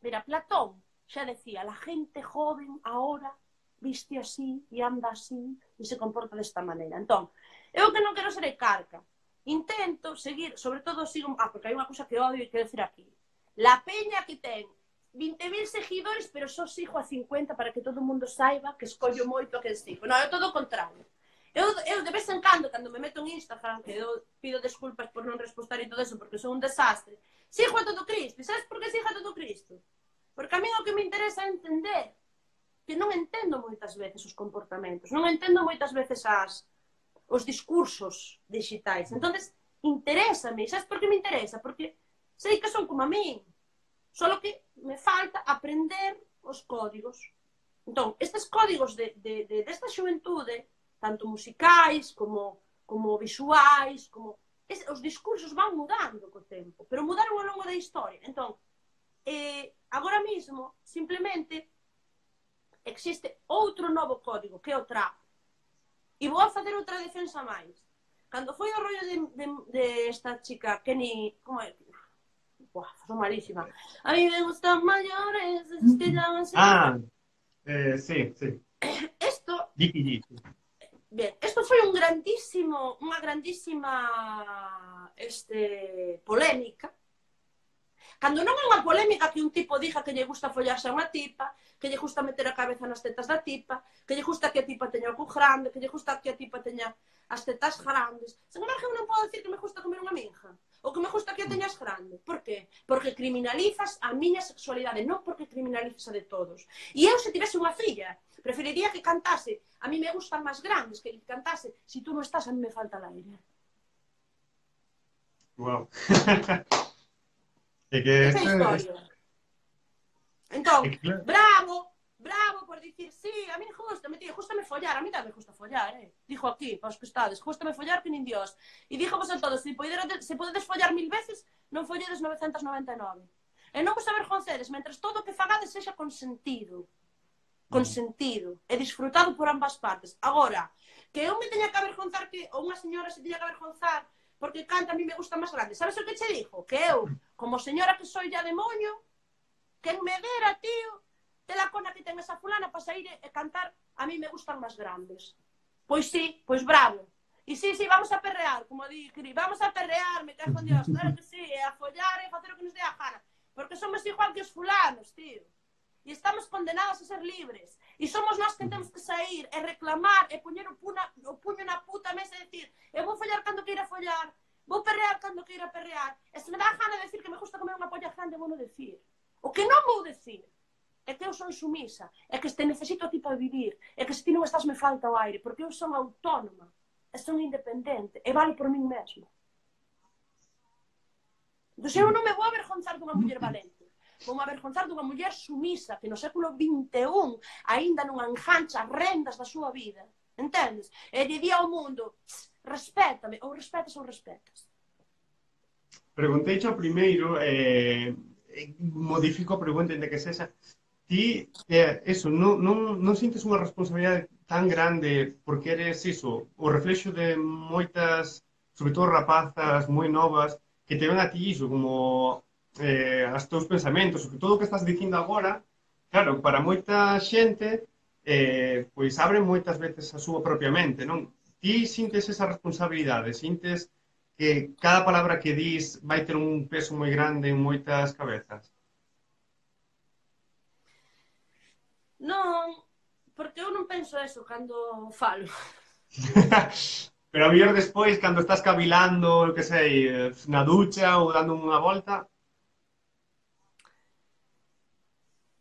Mira, Platón xa decía, la gente joven ahora viste así e anda así e se comporta desta maneira. Entón, eu que non quero ser carca, intento seguir, sobre todo sigo, ah, porque hai unha cousa que odio e quero decir aquí, la peña que ten vinte mil seguidores, pero só sigo a cincuenta para que todo o mundo saiba que escollo moito a que sigo. Non, é todo o contrario. Eu, eu de vez en cando, cando me meto en Instagram, que eu pido desculpas por non respostar e todo eso, porque son un desastre, sigo a todo Cristo. E sabes por que sigo a todo Cristo? Porque a mí o que me interesa é entender que non entendo moitas veces os comportamentos, non entendo moitas veces as, os discursos digitais. Entón, interésame. Sabes por que me interesa? Porque sei que son como a min. Solo que me falta aprender os códigos. Entón, estes códigos de, de, de, desta xuventude, tanto musicais, como, como visuais, como... Es, os discursos van mudando co tempo, pero mudaron ao longo da historia. Entón, eh, agora mesmo, simplemente, existe outro novo código, que é o trap. E vou a facer outra defensa máis. Cando foi o rollo de, de, de esta chica, Kenny... Como é? Buah, son malísima. A mí me gustan mayores, esos que llaman... Ah, eh, sí, sí. Esto... Jiki Jiki. Bien, isto foi un grandísimo, unha grandísima este, polémica. Cando non é unha polémica que un tipo diga que lle gusta follarse a unha tipa, que lle gusta meter a cabeza nas tetas da tipa, que lle gusta que a tipa teña o cu grande, que lle gusta que a tipa teña as tetas grandes. Sen embargo, eu non podo dicir que me gusta comer unha minja, ou que me gusta que a teñas grande. Por qué? Porque criminalizas a miña sexualidade, non porque criminalizas a de todos. E eu, se tivese unha filla, preferiría que cantase a mí me gustan máis grandes, que cantase si tú non estás, a mí me falta el aire. Wow. É que esa é a historia. Entón, É que claro. bravo, bravo por dicir, sí, a mí gusta, me tío, gustame follar, a mí tamén gusta follar, eh. Dixo aquí, para os que estades, gustame follar que nin Dios. E dixo vos a todos, se, podedes, se podedes follar mil veces, non folledes novecentos e noventa e nove. E non vos avergoncedes, mentres todo o que fagades sexa consentido. Consentido. E disfrutado por ambas partes. Agora, que eu me teña que avergonzar que, ou unha señora se teña que avergonzar porque canta a mí me gusta máis grande. Sabes o que che dixo? Que eu, como señora que soy ya de moño, quen me dera, tío, te la cona que ten esa fulana para sair e cantar a mí me gustan máis grandes. Pois sí, pois bravo. E sí, sí, vamos a perrear, como di, Cri, vamos a perrear, me cago en Dios, claro que sí, e a follar e facer o que nos dé a gana. Porque somos igual que os fulanos, tío. E estamos condenados a ser libres. E somos nós que temos que sair e reclamar e poñer o, puna, o puño na puta mesa e decir, eu vou follar cando queira follar, vou perrear cando queira perrear, e se me dá a gana de decir que me gusta comer unha polla grande, vou non decir. O que non vou decir é que eu son sumisa, é que te necesito a ti para vivir, é que se ti non estás me falta o aire, porque eu son autónoma, e son independente, e vale por min mesmo. Entón, eu non me vou avergonzar dunha muller valente, vou me avergonzar dunha muller sumisa, que no século vinte e un aínda non engancha as rendas da súa vida, entendes? E lle di ao mundo, respétame, ou respetas ou respetas. Preguntei ao primeiro, eh, modifico a pregunta de que sexa, ti, eh, eso, non, non, non sintes unha responsabilidade tan grande porque eres iso, o reflexo de moitas, sobre todo rapazas moi novas, que te ven a ti iso, como eh, as teus pensamentos, sobre todo o que estás dicindo agora, claro, para moita xente, eh, pois abre moitas veces a súa propia mente, non? Ti sintes esa responsabilidade, sintes que cada palabra que dis vai ter un peso moi grande en moitas cabezas. Non, porque eu non penso eso cando falo. Pero a mellor despois, cando estás cavilando, que sei, na ducha ou dando unha volta...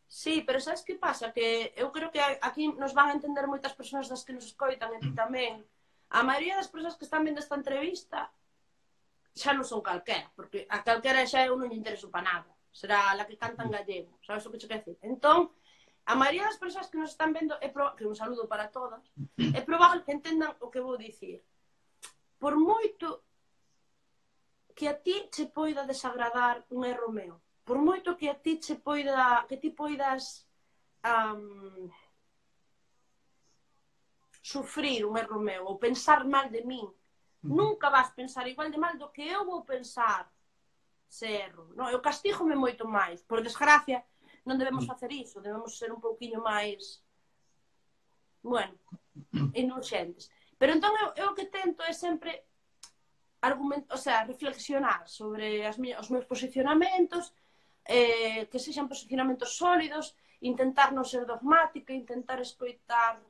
Sí, pero sabes que pasa? Que eu creo que aquí nos van a entender moitas persoas das que nos escoitan e ti tamén. A maioría das persoas que están vendo esta entrevista xa non son calquera, porque a calquera xa eu non lle intereso para nada. Será a la que canta en gallego, sabes o que che quer decir? Entón, a maioría das persoas que nos están vendo, é pro... que un saludo para todas, é probable que entendan o que vou dicir. Por moito que a ti che poida desagradar un erro meu, por moito que a ti che poida, que ti poidas um, sufrir un erro meu ou pensar mal de min, nunca vas pensar igual de mal do que eu vou pensar se erro. Non, eu castígome moito máis. Por desgracia, non debemos facer iso, debemos ser un pouquiño máis, bueno, indulxentes. Pero entón eu, eu o que tento é sempre argument, o sea, reflexionar sobre as mi, os meus posicionamentos, eh, que sexan posicionamentos sólidos, intentar non ser dogmática, intentar escoitar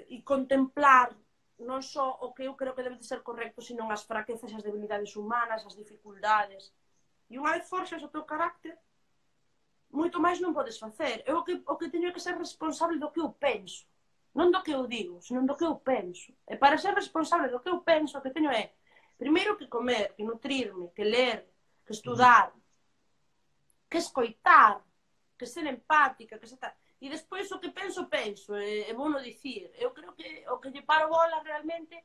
e contemplar non só o que eu creo que debe de ser correcto, sino as fraquezas e as debilidades humanas, as dificultades. E unha vez forxas o teu carácter, moito máis non podes facer. Eu o que, o que teño que ser responsable do que eu penso. Non do que eu digo, senón do que eu penso. E para ser responsable do que eu penso, o que teño é, primeiro, que comer, que nutrirme, que ler, que estudar, que escoitar, que ser empática, que ser tal. E despois o que penso, penso, e, e vou no dicir. Eu creo que o que lle paro bola realmente,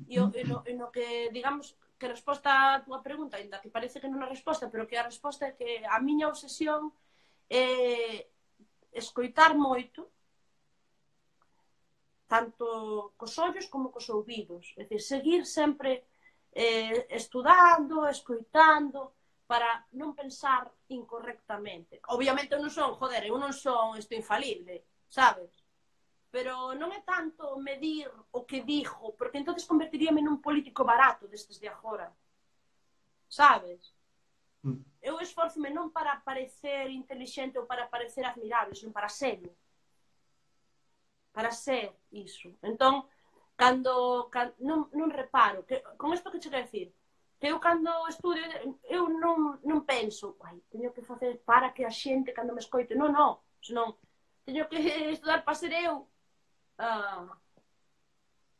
e, o, e, no, e no que, digamos, que resposta a túa pregunta, ainda que parece que non é resposta, pero que a resposta é que a miña obsesión é escoitar moito, tanto cos ollos como cos ouvidos. É dicir, seguir sempre eh, estudando, escoitando, para non pensar incorrectamente. Obviamente eu non son, joder, eu non son isto infalible, sabes? Pero non é tanto medir o que dixo, porque entonces convertiríame nun político barato destes de agora. Sabes? Mm. Eu esforzome non para parecer inteligente ou para parecer admirable, senón para ser. Para ser iso. Entón, cando, cando non, non reparo, que, con isto que che quero decir, que eu cando estudio, eu non, non penso, ai, teño que facer para que a xente cando me escoite, non, non, senón, teño que estudar para ser eu a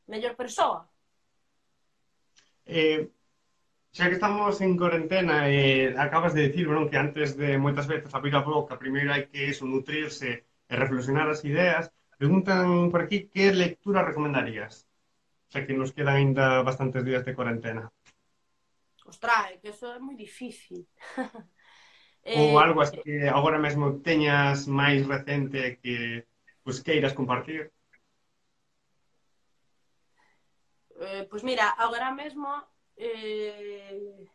mellor persoa. Eh, xa que estamos en cuarentena e acabas de dicir, non, que antes de moitas veces abrir a boca, primeiro hai que eso, nutrirse e reflexionar as ideas. Preguntan por aquí que lectura recomendarías, xa que nos quedan aínda bastantes días de cuarentena. Ostras, é que eso é moi difícil. Ou eh, algo así que agora mesmo teñas máis recente que pues, queiras compartir. eh, pois mira, agora mesmo eh,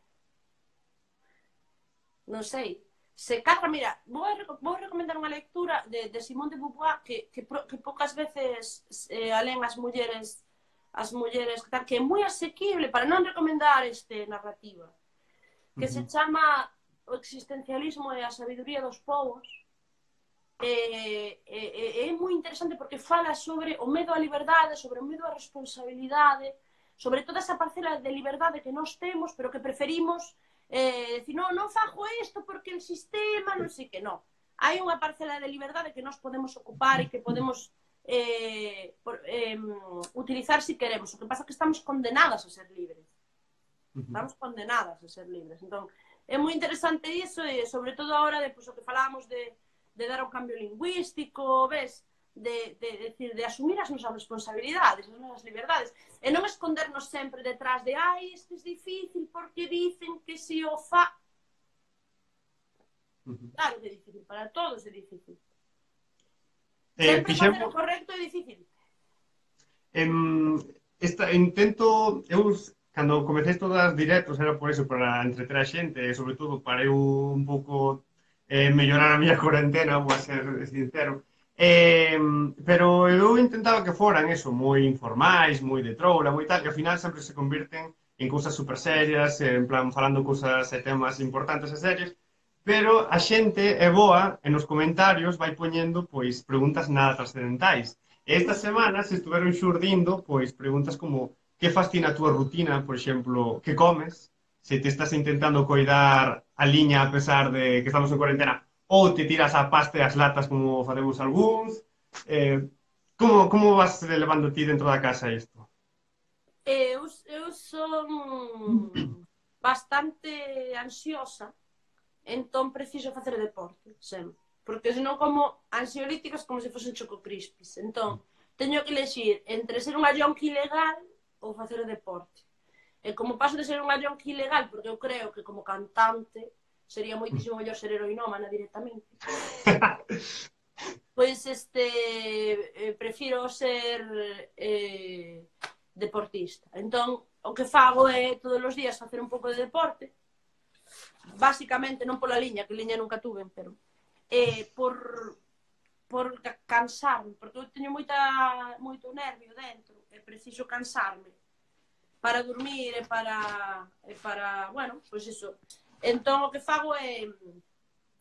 non sei, se cadra, mira, vou, a, vou recomendar unha lectura de, de Simone de Beauvoir que, que, que poucas veces eh, alén as mulleres as mulleres que, tal, que é moi asequible para non recomendar este narrativa, Uh que se -huh. chama O existencialismo e a sabiduría dos povos. É, é, é moi interesante porque fala sobre o medo á liberdade, sobre o medo á responsabilidade, sobre toda esa parcela de liberdade que nós temos, pero que preferimos eh, decir, non, non fago isto porque el sistema, non sei que, non. Hai unha parcela de liberdade que nós podemos ocupar e que podemos eh, por, eh, utilizar si queremos. O que pasa é que estamos condenadas a ser libres. Uh -huh. Estamos condenadas a ser libres. Entón, é moi interesante iso e sobre todo ahora de pues, o que falábamos de de dar un cambio lingüístico, ves? De, de, de, decir, de asumir as nosas responsabilidades, as nosas liberdades, e non escondernos sempre detrás de ai, isto é difícil porque dicen que se o fa... Uh -huh. Claro que é difícil, para todos é difícil. Eh, Sempre facer fixemos, o correcto é difícil. en, esta, intento, eu, cando comecei todas as directos, era por eso, para entreter a xente, e sobre todo para eu un pouco eh, mellorar a miña cuarentena, vou a ser sincero. Eh, pero eu intentaba que foran eso, moi informais, moi de troula, moi tal, e ao final sempre se convirten en cousas super serias, en plan falando cousas e temas importantes e serios, pero a xente é boa e nos comentarios vai poñendo pois preguntas nada trascendentais. E esta semana se estuveron xurdindo pois preguntas como que fascina a túa rutina, por exemplo, que comes, se te estás intentando coidar a liña a pesar de que estamos en cuarentena, ou te tiras a pasta e as latas como facemos algúns. Eh, como, como vas levando ti dentro da casa isto? Eu, eu son bastante ansiosa, entón preciso facer deporte, sempre. Porque senón como ansiolíticas como se fosen choco crispis. Entón, teño que elegir entre ser unha yonki ilegal ou facer deporte. E como paso de ser unha yonki ilegal, porque eu creo que como cantante sería moitísimo mellor ser heroinómana directamente. Pois este eh, prefiro ser eh, deportista. Entón, o que fago é todos os días facer un pouco de deporte, basicamente non pola liña, que liña nunca tuve, pero eh, por, por cansarme, porque eu teño moita, moito nervio dentro, e preciso cansarme para dormir e para, e para, bueno, pois iso. Entón o que fago é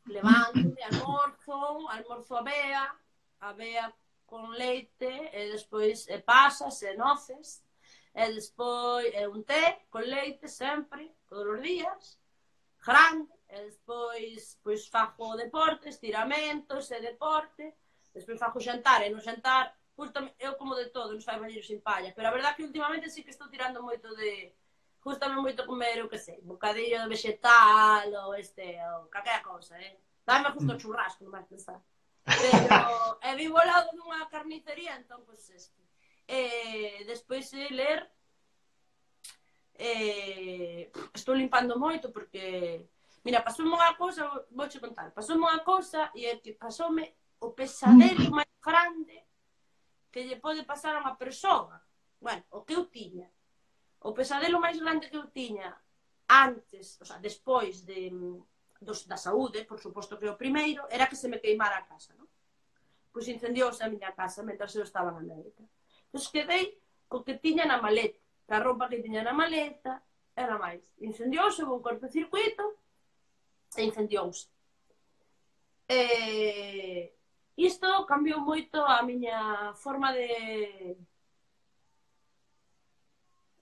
levanto, almorzo, almorzo a bea, a bea con leite, e despois e pasas e noces, e despois e un té con leite sempre, todos os días, grande, e despois pois fago deporte, estiramentos e deporte, despois fago xantar, e no xantar, justo, eu como de todo, non fai bañeiro sin palla, pero a verdad que últimamente sí que estou tirando moito de, justame moito comer, eu que sei, bocadillo de vegetal, ou este, ou calquera cousa, eh? Dame justo o churrasco, non vais pensar. Pero, e vivo ao lado dunha carnicería, entón, pois, este. E despois de ler, eh, estou limpando moito, porque, mira, pasoume unha cousa, vouche contar, pasoume unha cousa, e é que pasoume o pesadelo máis grande que lle pode pasar a unha persoa. Bueno, o que eu tiña. O pesadelo máis grande que eu tiña antes, o sea, despois de, dos, da saúde, por suposto que o primeiro, era que se me queimara a casa, non? Pois incendiouse a miña casa mentras eu estaba en América. Pois quedei co que tiña na maleta, que a roupa que tiña na maleta era máis. Incendiouse, houve un cortocircuito e incendiouse. E isto cambiou moito a miña forma de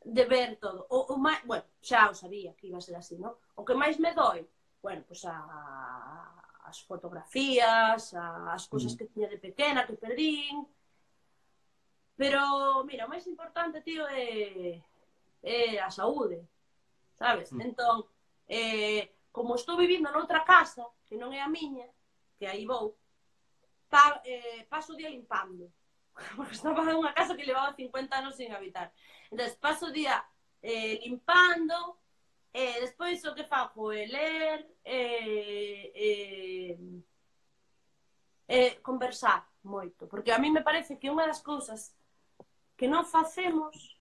de ver todo. O, o máis, bueno, xa o sabía que iba a ser así, non? O que máis me doi, bueno, pois a, as fotografías, a, as cousas que tiña de pequena, que perdín. Pero, mira, o máis importante, tío, é, é a saúde. sabes? Entón, eh, como estou vivindo noutra casa, que non é a miña, que aí vou, pa, eh, paso o día limpando. Porque estaba en unha casa que levaba cincuenta anos sin habitar. Entón, paso o día eh, limpando, e eh, despois o que fago é ler, eh, eh, eh, conversar moito. Porque a mí me parece que unha das cousas que non facemos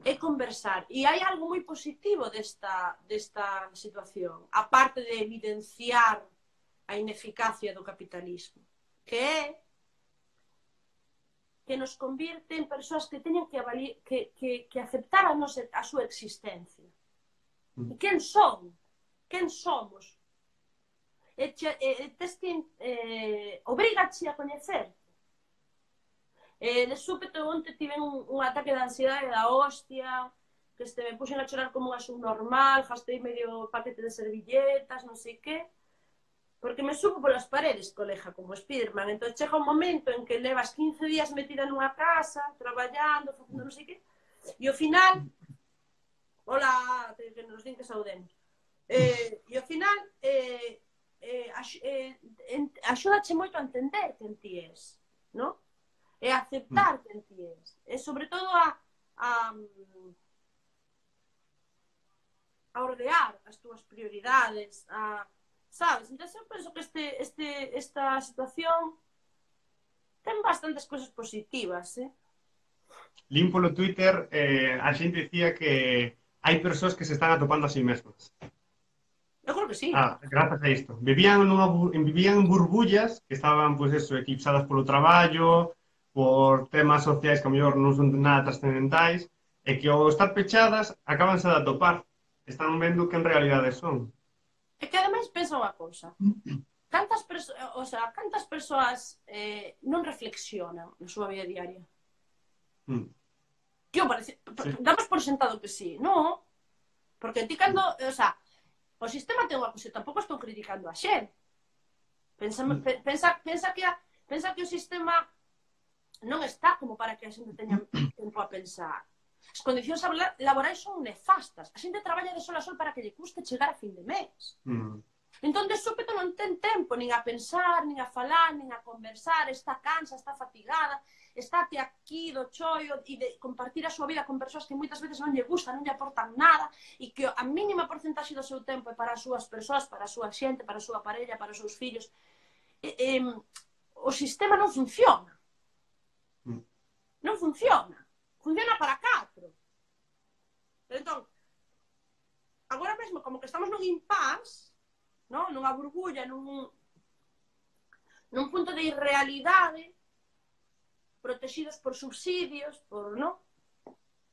é conversar. E hai algo moi positivo desta, desta situación, aparte de evidenciar a ineficacia do capitalismo, que é que nos convirte en persoas que teñen que, avali que, que, que aceptar a, nosa, a súa existencia. E quen son? Quen somos? E, che, e tes que eh, obrigache a coñecerte. Eh, de súpeto, onte tive un, un ataque de ansiedade da hostia, que este, me puxen a chorar como unha subnormal, gastei medio paquete de servilletas, non sei que, porque me subo polas paredes, colega, como Spiderman. Entón chega un momento en que levas quince días metida nunha casa, traballando, facendo non sei que, e ao final, hola, que nos din que saudemos, eh, e ao final, eh, eh, ax, eh, axúdache moito a entender quen ti és, non? E aceptar quen ti és. E sobre todo a, a, a ordear as túas prioridades, a, sabes? Entón eu penso que este, este, esta situación ten bastantes cousas positivas, eh? Lín polo Twitter, eh, a xente dicía que hai persoas que se están atopando a si mesmas. Eu creo que sí. Ah, grazas a isto. Vivían, nunha, vivían en burbullas que estaban, pois, pues, eso, eclipsadas polo traballo, por temas sociais que a mellor non son nada trascendentais, e que ao estar pechadas acabanse de atopar. Están vendo que en realidade son. E que ademais pensa unha cousa. Cantas, perso o sea, cantas persoas eh, non reflexionan na súa vida diaria? Mm. Que parece, sí. Damos por sentado que sí, non? Porque ti cando, o sea, o sistema ten unha cousa, tampouco estou criticando a xente. Pensa, mm. pensa, pensa, que a, pensa que o sistema non está como para que a xente teña tempo a pensar. As condicións laborais son nefastas. A xente traballa de sol a sol para que lle custe chegar a fin de mes. Mm. Entón, de súpeto non ten tempo nin a pensar, nin a falar, nin a conversar, está cansa, está fatigada, está aquí do choio e de compartir a súa vida con persoas que moitas veces non lle gustan, non lle aportan nada e que a mínima porcentaxe do seu tempo é para as súas persoas, para a súa xente, para a súa parella, para os seus fillos. E, e, o sistema non funciona. Non funciona. Funciona para catro. Entón, agora mesmo, como que estamos nun impasse, non? Nunha burbulla, nun, nun punto de irrealidade, protegidos por subsidios, por, non?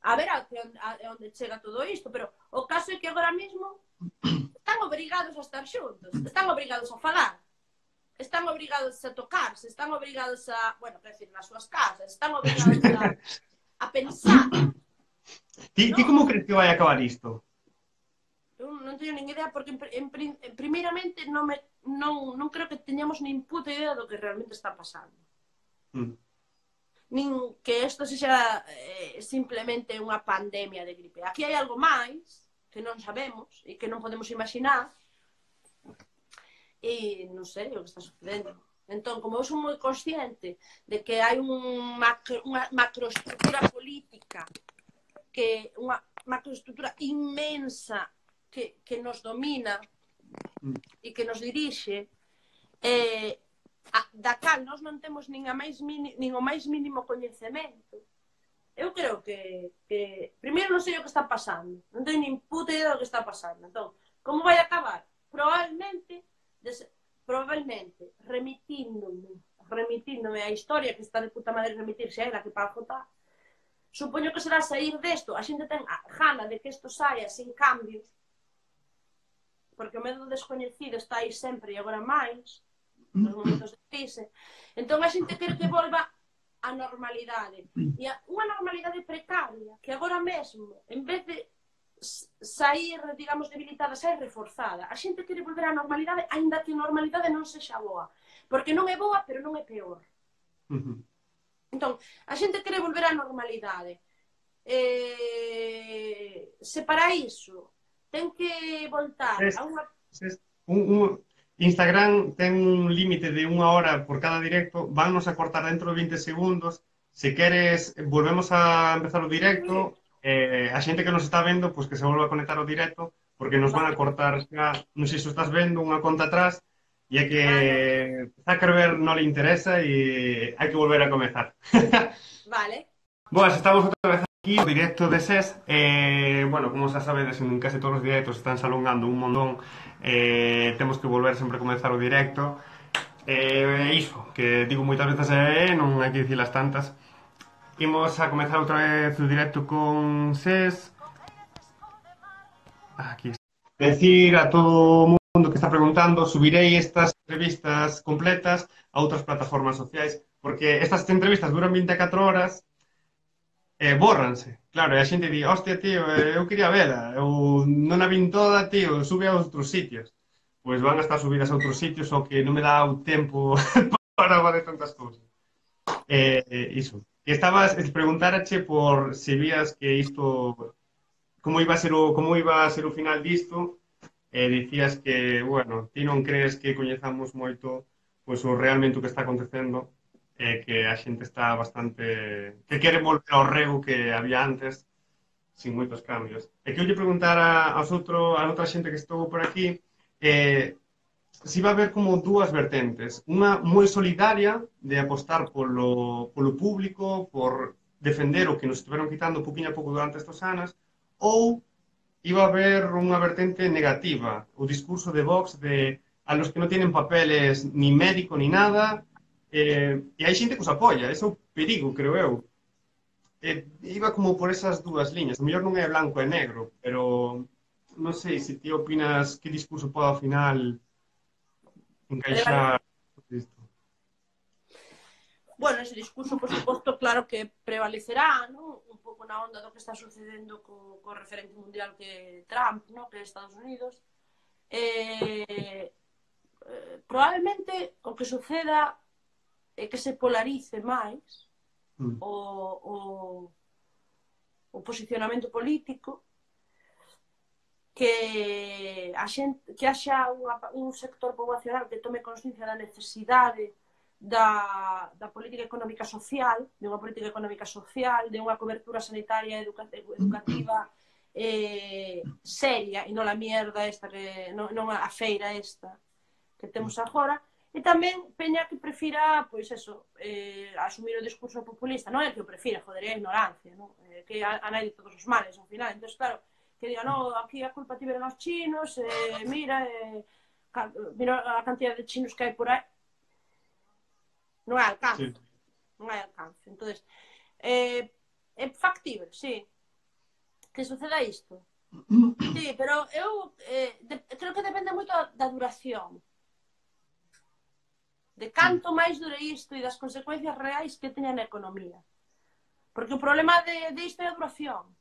A ver a, a, a onde chega todo isto, pero o caso é que agora mesmo están obrigados a estar xuntos, están obrigados a falar, están obrigados a tocarse, están obrigados a, bueno, quer decir, nas súas casas, están obrigados a, a pensar. Ti, ti como crees que vai acabar isto? Eu non teño nin idea, porque en, en, en, primeiramente non, me, non, non creo que teñamos nin puta idea do que realmente está pasando. Mm. Nin que isto sexa eh, simplemente unha pandemia de gripe. Aquí hai algo máis que non sabemos e que non podemos imaginar. E non sei o que está sucedendo. Entón, como eu sou moi consciente de que hai un macro, unha macroestructura política, que unha macroestructura inmensa que, que nos domina e que nos dirixe, eh, a, da cal nós non temos nin, a máis mini, nin o máis mínimo coñecemento, eu creo que, que primeiro non sei o que está pasando, non teño nin puta idea do que está pasando. Entón, como vai acabar? Probablemente Des, probablemente remitíndome remitíndome a historia, que está de puta madre remitirse a ela, que para jotar, supoño que será sair desto, a xente ten a gana de que isto saia sin cambios, porque o medo descoñecido está aí sempre e agora máis nos momentos de crise. Entón a xente quere que volva a normalidade, e a, unha normalidade precaria que agora mesmo, en vez de sair, digamos, debilitada, sair reforzada. A xente quere volver á normalidade, aínda que a normalidade non sexa boa. Porque non é boa, pero non é peor. Uh-huh. Entón, a xente quere volver á normalidade. eh, se para iso ten que voltar Es, a unha... es un, un, Instagram ten un límite de unha hora por cada directo, vannos a cortar dentro de vinte segundos. Se queres, volvemos a empezar o directo, eh, a xente que nos está vendo, pois pues que se volva a conectar ao directo, porque nos van a Vale, cortar xa, non sei se estás vendo, unha conta atrás, e é que ah, no. Zuckerberg non le interesa e hai que volver a comezar. Vale. Boas, estamos outra vez aquí no directo de S E S. eh, Bueno, como xa sabedes, en case todos os directos están alongando un montón. eh, Temos que volver sempre a comenzar o directo. E eh, iso, que digo moitas veces e eh, non hai que dicilas tantas. Imos a comenzar outra vez o directo con S E S. Aquí está. Decir a todo o mundo que está preguntando, subirei estas entrevistas completas a outras plataformas sociais, porque estas entrevistas duran vinte e catro horas. E bórranse, claro, e a xente di, hostia, tío, eu quería vela, eu non a vin toda, tío, sube a outros sitios. Pois van a estar subidas a outros sitios, o que non me dá o tempo para fazer tantas cousas. Eh, eh, iso. Que estabas, preguntarache por se vías que isto, como iba a ser o, como iba a ser o final disto, e eh, dicías que, bueno, ti non crees que coñezamos moito pois o realmente o que está acontecendo, e eh, que a xente está bastante que quere volver ao rego que había antes, sin moitos cambios. E que eu lle preguntar a, aos outro, a outra xente que estou por aquí, eh, si va a haber como dúas vertentes. Unha moi solidaria de apostar polo, polo público, por defender o que nos estiveron quitando poquinho a pouco durante estes anos, ou iba a haber unha vertente negativa, o discurso de Vox de a los que non tienen papeles ni médico ni nada, eh, e hai xente que os apoia, ese é o perigo, creo eu. Eh, iba como por esas dúas liñas, o mellor non é blanco e negro, pero non sei se ti opinas que discurso pode ao final Prevale... encaixar isto. Bueno, ese discurso, por suposto, claro que prevalecerá, ¿no? Un pouco na onda do que está sucedendo co, co referente mundial que Trump, ¿no? Que é Estados Unidos. Eh, eh, probablemente o que suceda é que se polarice máis Mm. o, o, o posicionamento político, que a xente, que haxa unha, un sector poboacional que tome consciencia da necesidade da, da política económica social, de unha política económica social, de unha cobertura sanitaria educa, educativa eh, seria, e non a mierda esta, que, non, non a feira esta que temos agora, e tamén peña que prefira, pois eso, eh, asumir o discurso populista, non é que o prefira, joder, é a ignorancia, non? Eh, que a, a nai de todos os males, ao final. Entón, claro, que diga, no, aquí a culpa tiveron os chinos, eh, mira, eh, mira a cantidad de chinos que hai por aí, non hai alcance, Sí. non hai alcance. Entón, eh, é factible, sí, que suceda isto. Sí, pero eu eh, de, creo que depende moito da duración, de canto máis dure isto e das consecuencias reais que teña na economía. Porque o problema de, de isto é a duración.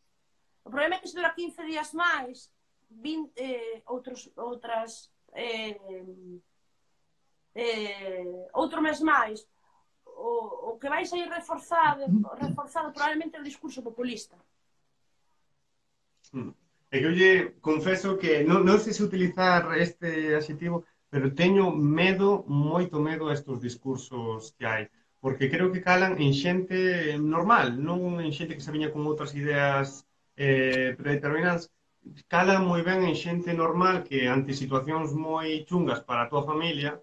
O problema é que se dura quince días máis, vinte, eh, outros, outras eh, eh, outro mes máis, o, o que vai sair reforzado, reforzado probablemente é o discurso populista. Mm. É que eu lle confeso que non, non sei se utilizar este adxetivo, pero teño medo, moito medo a estes discursos que hai, porque creo que calan en xente normal, non en xente que se viña con outras ideas eh, predeterminadas. Calan moi ben en xente normal que ante situacións moi chungas para a túa familia,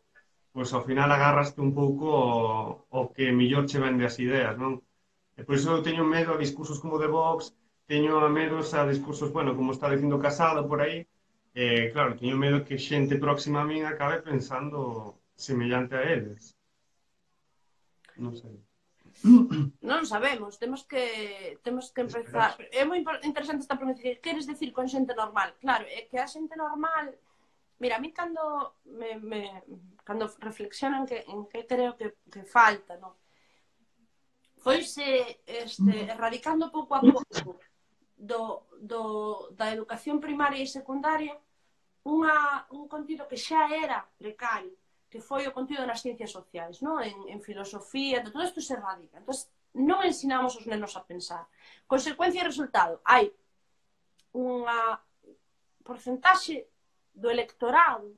pois ao final agarraste un pouco o, o que millor che vende as ideas, non? E por iso eu teño medo a discursos como de Vox, teño a medos a discursos, bueno, como está dicindo Casado por aí, eh, claro, teño medo que xente próxima a min acabe pensando semellante a eles. Non sei. Non sabemos, temos que temos que empezar. É moi interesante esta pregunta, que queres decir con xente normal? Claro, é que a xente normal, mira, a mí cando me, me cando reflexionan que en que creo que, que falta, non? Foise este, erradicando pouco a pouco do, do, da educación primaria e secundaria unha, un contido que xa era precario, que foi o contido nas ciencias sociais, non? En, en filosofía, todo isto se erradica. Entón, non ensinamos os nenos a pensar. Consecuencia e resultado. Hai unha porcentaxe do electorado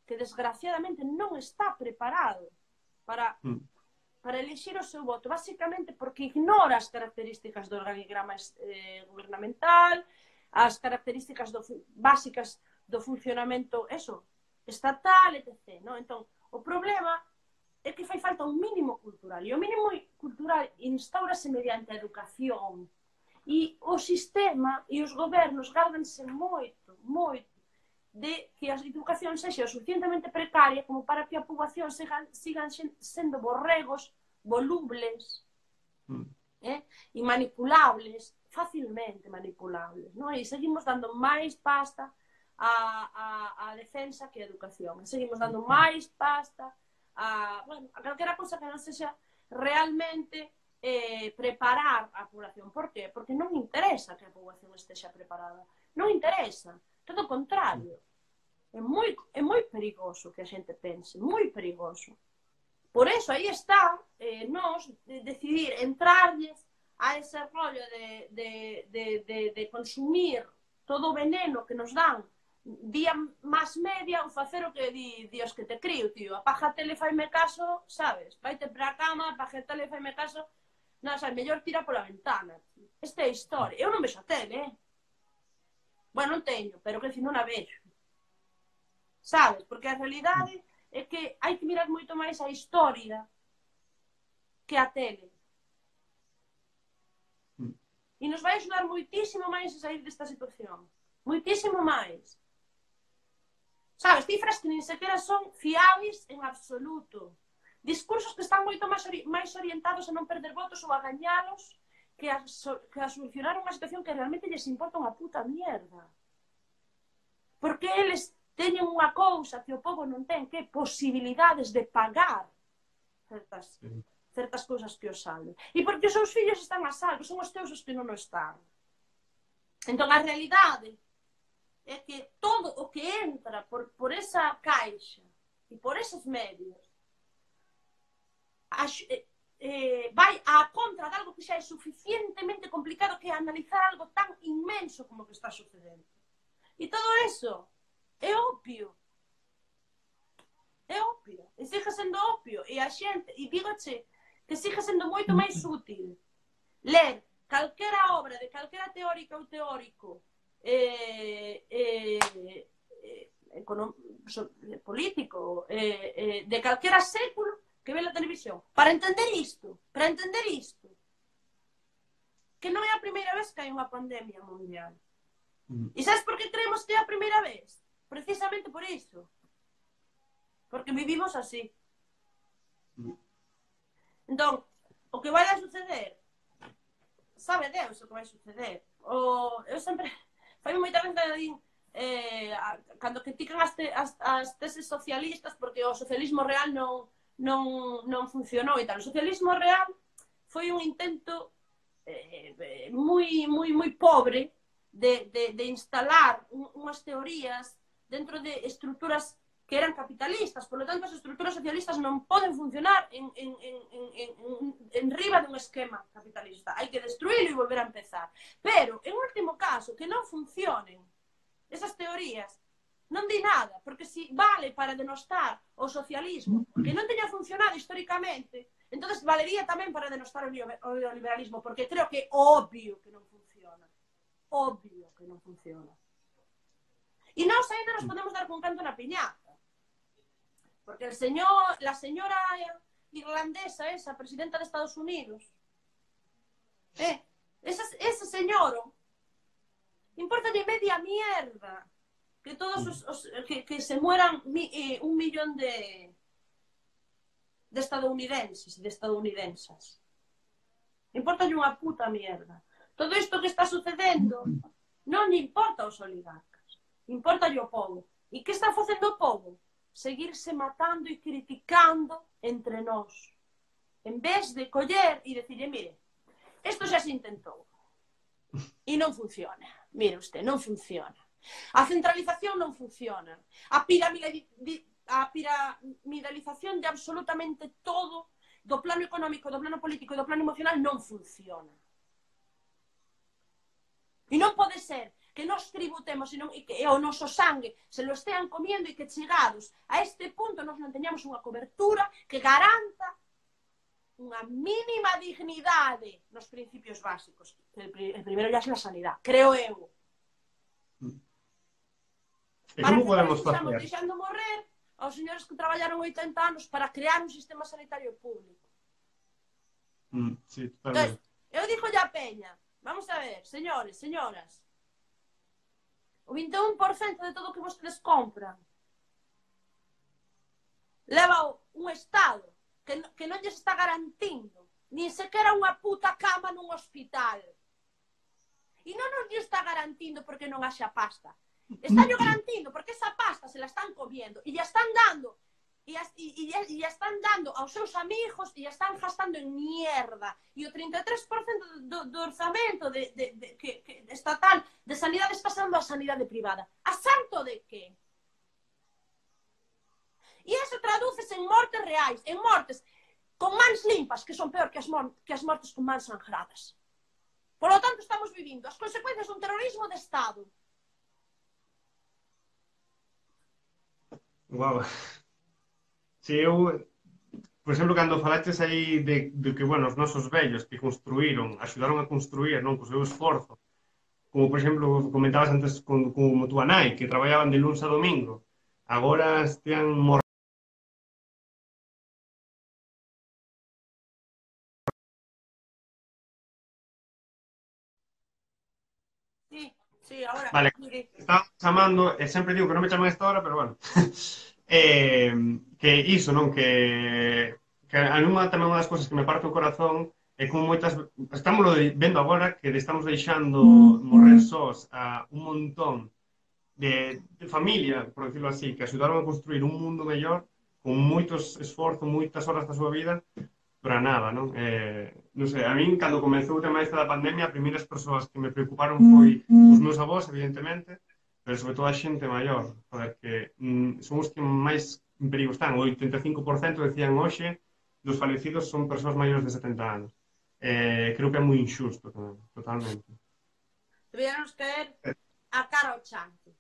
que desgraciadamente non está preparado para, mm. para elixir o seu voto, basicamente porque ignora as características do organigrama eh, gubernamental, as características do, básicas do funcionamento eso, estatal, etcétera. ¿No? Entón, o problema é que fai falta un mínimo cultural, e o mínimo cultural instaurase mediante a educación, e o sistema e os gobernos gárdanse moito, moito, de que a educación sexa o suficientemente precaria como para que a poboación sigan, sigan sendo borregos volubles mm. eh? e manipulables, facilmente manipulables, ¿no? E seguimos dando máis pasta a, a, a defensa que a educación, e seguimos dando máis pasta a, bueno, a calquera cosa que non sexa realmente eh, preparar a población. Por qué? Porque non interesa que a poboación estexa preparada, non interesa, todo o contrario. É moi, é moi perigoso que a xente pense, moi perigoso. Por eso, aí está, eh, nós, de decidir entrarlles a ese rollo de, de, de, de, de consumir todo o veneno que nos dan vía más media ou facer o que di Dios que te crío, tío. Apaga a tele, faime caso, sabes? Vaite para a cama, apaga a tele, faime caso. Non, xa, mellor tira pola ventana. Esta é a historia. Eu non vexo a tele, eh? Bueno, non teño, pero que si non a vexo. Sabes? Porque a realidade é que hai que mirar moito máis a historia que a tele. E nos vai axudar moitísimo máis a sair desta situación. Moitísimo máis. Sabes? Cifras que nin sequera son fiables en absoluto. Discursos que están moito máis, ori máis orientados a non perder votos ou a gañalos que a, so que a solucionar unha situación que realmente lles importa unha puta mierda. Porque eles teñen unha cousa que o povo non ten, que posibilidades de pagar certas, certas cousas que os salven. E porque os seus fillos están a salvo, son os teus os que non o están. Entón, a realidade é que todo o que entra por, por esa caixa e por esos medios a, eh, eh, vai á contra de algo que xa é suficientemente complicado, que é analizar algo tan inmenso como que está sucedendo. E todo eso é opio. É opio. E sigue sendo opio. E a xente, e dígoche que sigue sendo moito máis útil ler calquera obra de calquera teórica ou teórico eh, eh, eh, político eh, eh, de calquera século que ve na televisión. Para entender isto, para entender isto, que non é a primeira vez que hai unha pandemia mundial. Mm. E sabes por que creemos que é a primeira vez? Precisamente por iso. Porque vivimos así. Mm. Entón, o que vai a suceder, sabe Deus o que vai suceder. O, eu sempre, fai moita vez que din, eh, cando critican as, te, as, as teses socialistas porque o socialismo real non, non, non funcionou e tal. O socialismo real foi un intento eh, moi, moi, moi pobre de, de, de instalar un, unhas teorías dentro de estruturas que eran capitalistas, por lo tanto as estruturas socialistas non poden funcionar en, en, en, en, en, en riba dun esquema capitalista, hai que destruílo e volver a empezar, pero en último caso que non funcionen esas teorías non di nada, porque si vale para denostar o socialismo que non teña funcionado históricamente, entonces valería tamén para denostar o neoliberalismo, porque creo que é obvio que non funciona, obvio que non funciona. E nós ainda nos podemos dar con canto na piñata. Porque el señor, la señora irlandesa, esa, presidenta de Estados Unidos, eh, ese, ese señor, importa de media mierda que todos os, os que, que se mueran mi, eh, un millón de, de estadounidenses, de estadounidensas. Importa unha puta mierda. Todo isto que está sucedendo non lle importa aos oligarcas, importa o povo. E que está facendo o povo? Seguirse matando e criticando entre nós. En vez de coller e decirle, mire, isto xa se intentou e non funciona. Mire usted, non funciona. A centralización non funciona. A piramidalización de absolutamente todo do plano económico, do plano político e do plano emocional non funciona. E non pode ser que nos tributemos e, non, e que e o noso sangue se lo estean comiendo e que chegados a este punto nos non teñamos unha cobertura que garanta unha mínima dignidade nos principios básicos. El, el primeiro ya é a sanidade, creo eu. E como podemos facer? Estamos deixando morrer aos señores que traballaron oitenta anos para crear un sistema sanitario público. Mm, sí, totalmente. Entonces, eu digo ya peña, vamos a ver, señores, señoras, o vinte e un por cento de todo o que vostedes compran leva un Estado que, que non lles está garantindo nin sequera unha puta cama nun hospital. E non nos lle está garantindo porque non haxa pasta. Está yo garantindo porque esa pasta se la están comiendo e ya están dando e ya, y, y, y ya están dando aos seus amigos e ya están gastando en mierda. E o trinta e tres por cento do, do orzamento de, de, de, que, que estatal de sanidade está sendo a sanidade privada. A santo de que? E iso tradúcese en mortes reais, en mortes con mans limpas, que son peor que as, que as mortes con mans sangradas. Por lo tanto, estamos vivindo as consecuencias dun terrorismo de Estado. Wow. Si eu, por exemplo, cando falaches aí de, de que, bueno, os nosos vellos que construíron, axudaron a construir, non, co seu esforzo, como, por exemplo, comentabas antes con, como túa nai, que traballaban de luns a domingo, agora estean morrendo. Sí, sí, ahora... Vale, estaba chamando, e sempre digo que non me chaman a esta hora, pero bueno. eh, que iso, non? Que, que a nunha tamén unha das cousas que me parte o corazón é como moitas... Estamos vendo agora que estamos deixando morrer sós a un montón de, de familia, por decirlo así, que axudaron a construir un mundo mellor con moitos esforzo, moitas horas da súa vida para nada, non? Eh, non sei, a min, cando comezou o tema esta da pandemia, as primeiras persoas que me preocuparon foi os meus avós, evidentemente, pero sobre todo a xente maior, porque mm, son os que máis en perigo están. O oitenta e cinco por cento decían hoxe dos falecidos son persoas maiores de setenta anos. Eh, creo que é moi injusto tamén, totalmente. Deberíamos caer a cara ao chante.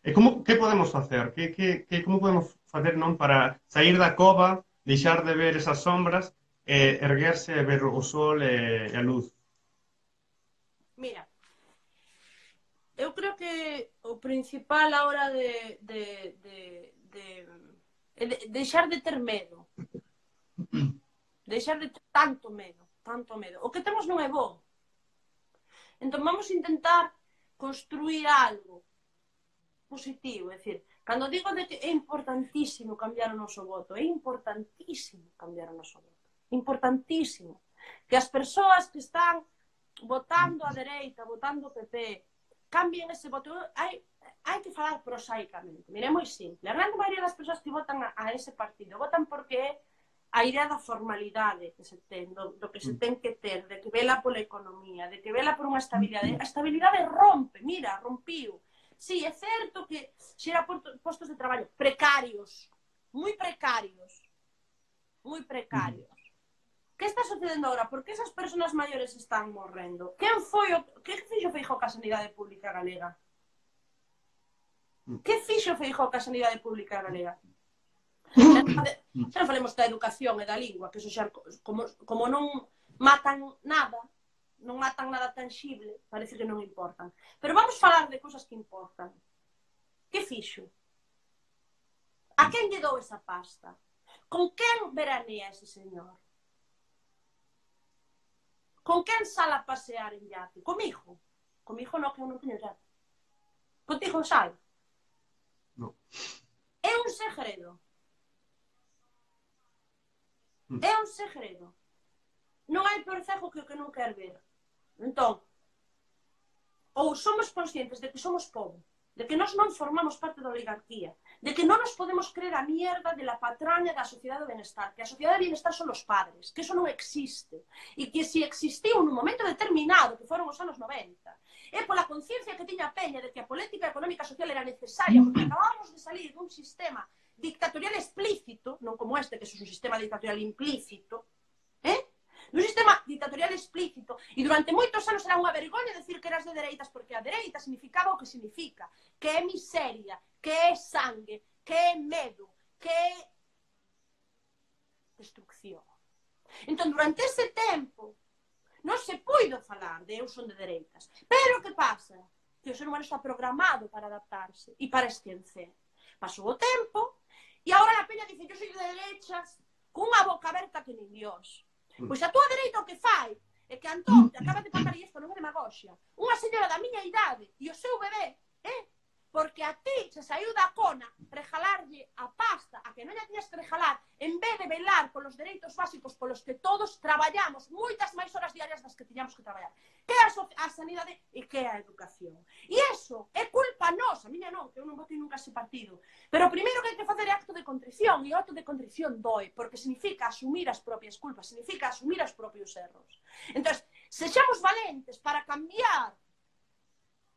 E como, que podemos facer? Que, que, que, como podemos facer, non, para sair da cova, deixar de ver esas sombras, e erguerse e ver o sol e, e a luz? Mira, eu creo que o principal a hora de, de, de, de, de deixar de ter medo, deixar de ter tanto medo, tanto medo. O que temos non é bo. Entón vamos a intentar construir algo positivo, é dicir, cando digo de que é importantísimo cambiar o noso voto, é importantísimo cambiar o noso voto, importantísimo, que as persoas que están votando a dereita, votando o P P, cambien ese voto. Hai, hai que falar prosaicamente, mire, é moi simple, a grande maioría das persoas que votan a, a ese partido votan porque é a idea da formalidade que se ten, do, do que se ten que ter, de que vela pola economía, de que vela por unha estabilidade. A estabilidade rompe, mira, rompiu. Sí, é certo que xera postos de traballo precarios, moi precarios, moi precarios. Que está sucedendo agora? Por que esas persoas maiores están morrendo? Quen foi o... Que fixo Feijóo ca sanidade pública galega? Que fixo Feijóo ca sanidade pública galega? Xa non falemos da educación e da lingua, que eso xa, como, como non matan nada, non matan nada tangible, parece que non importan. Pero vamos falar de cousas que importan. Que fixo? A quen lle dou esa pasta? Con quen veranea ese señor? Con quen sala a pasear en yate? Comigo? Comigo non, que eu non teño yate. Contigo sal? No. É un segredo. É un segredo. Non hai peor cego que o que non quer ver. Entón, ou somos conscientes de que somos povo, de que nós non formamos parte da oligarquía, de que non nos podemos creer a mierda de la patraña da sociedade do bienestar, que a sociedade do bienestar son os padres, que eso non existe, e que se existiu nun momento determinado, que foron os anos noventa, é pola conciencia que tiña a peña de que a política económica social era necesaria, porque acabábamos de salir dun sistema dictatorial explícito, non como este, que é un sistema dictatorial implícito, eh? Un sistema dictatorial explícito, e durante moitos anos era unha vergoña decir que eras de dereitas, porque a dereita significaba o que significa, que é miseria, que é sangue, que é medo, que é destrucción. Entón, durante ese tempo, non se puido falar de eu son de dereitas. Pero que pasa? Que o ser humano está programado para adaptarse e para esquecer. Pasou o tempo, e agora a peña dice, yo soy de derechas, cunha boca aberta que nin Dios. Pois a túa dereita o que fai é que Antón te acaba de pasar, e isto non é demagoxia, unha señora da miña idade e o seu bebé, eh? Porque a ti se saiu da cona regalarlle a pasta a que non lla tiñas que regalar en vez de velar polos dereitos básicos polos que todos traballamos moitas máis horas diarias das que tiñamos que traballar, que é a, so a sanidade e que é a educación. E iso é culpa nosa, a miña non, que eu non votei nunca ese partido. Pero o primeiro que hai que facer é acto de contrición, e o acto de contrición doe, porque significa asumir as propias culpas, significa asumir os propios erros. Entón, sexamos valentes para cambiar,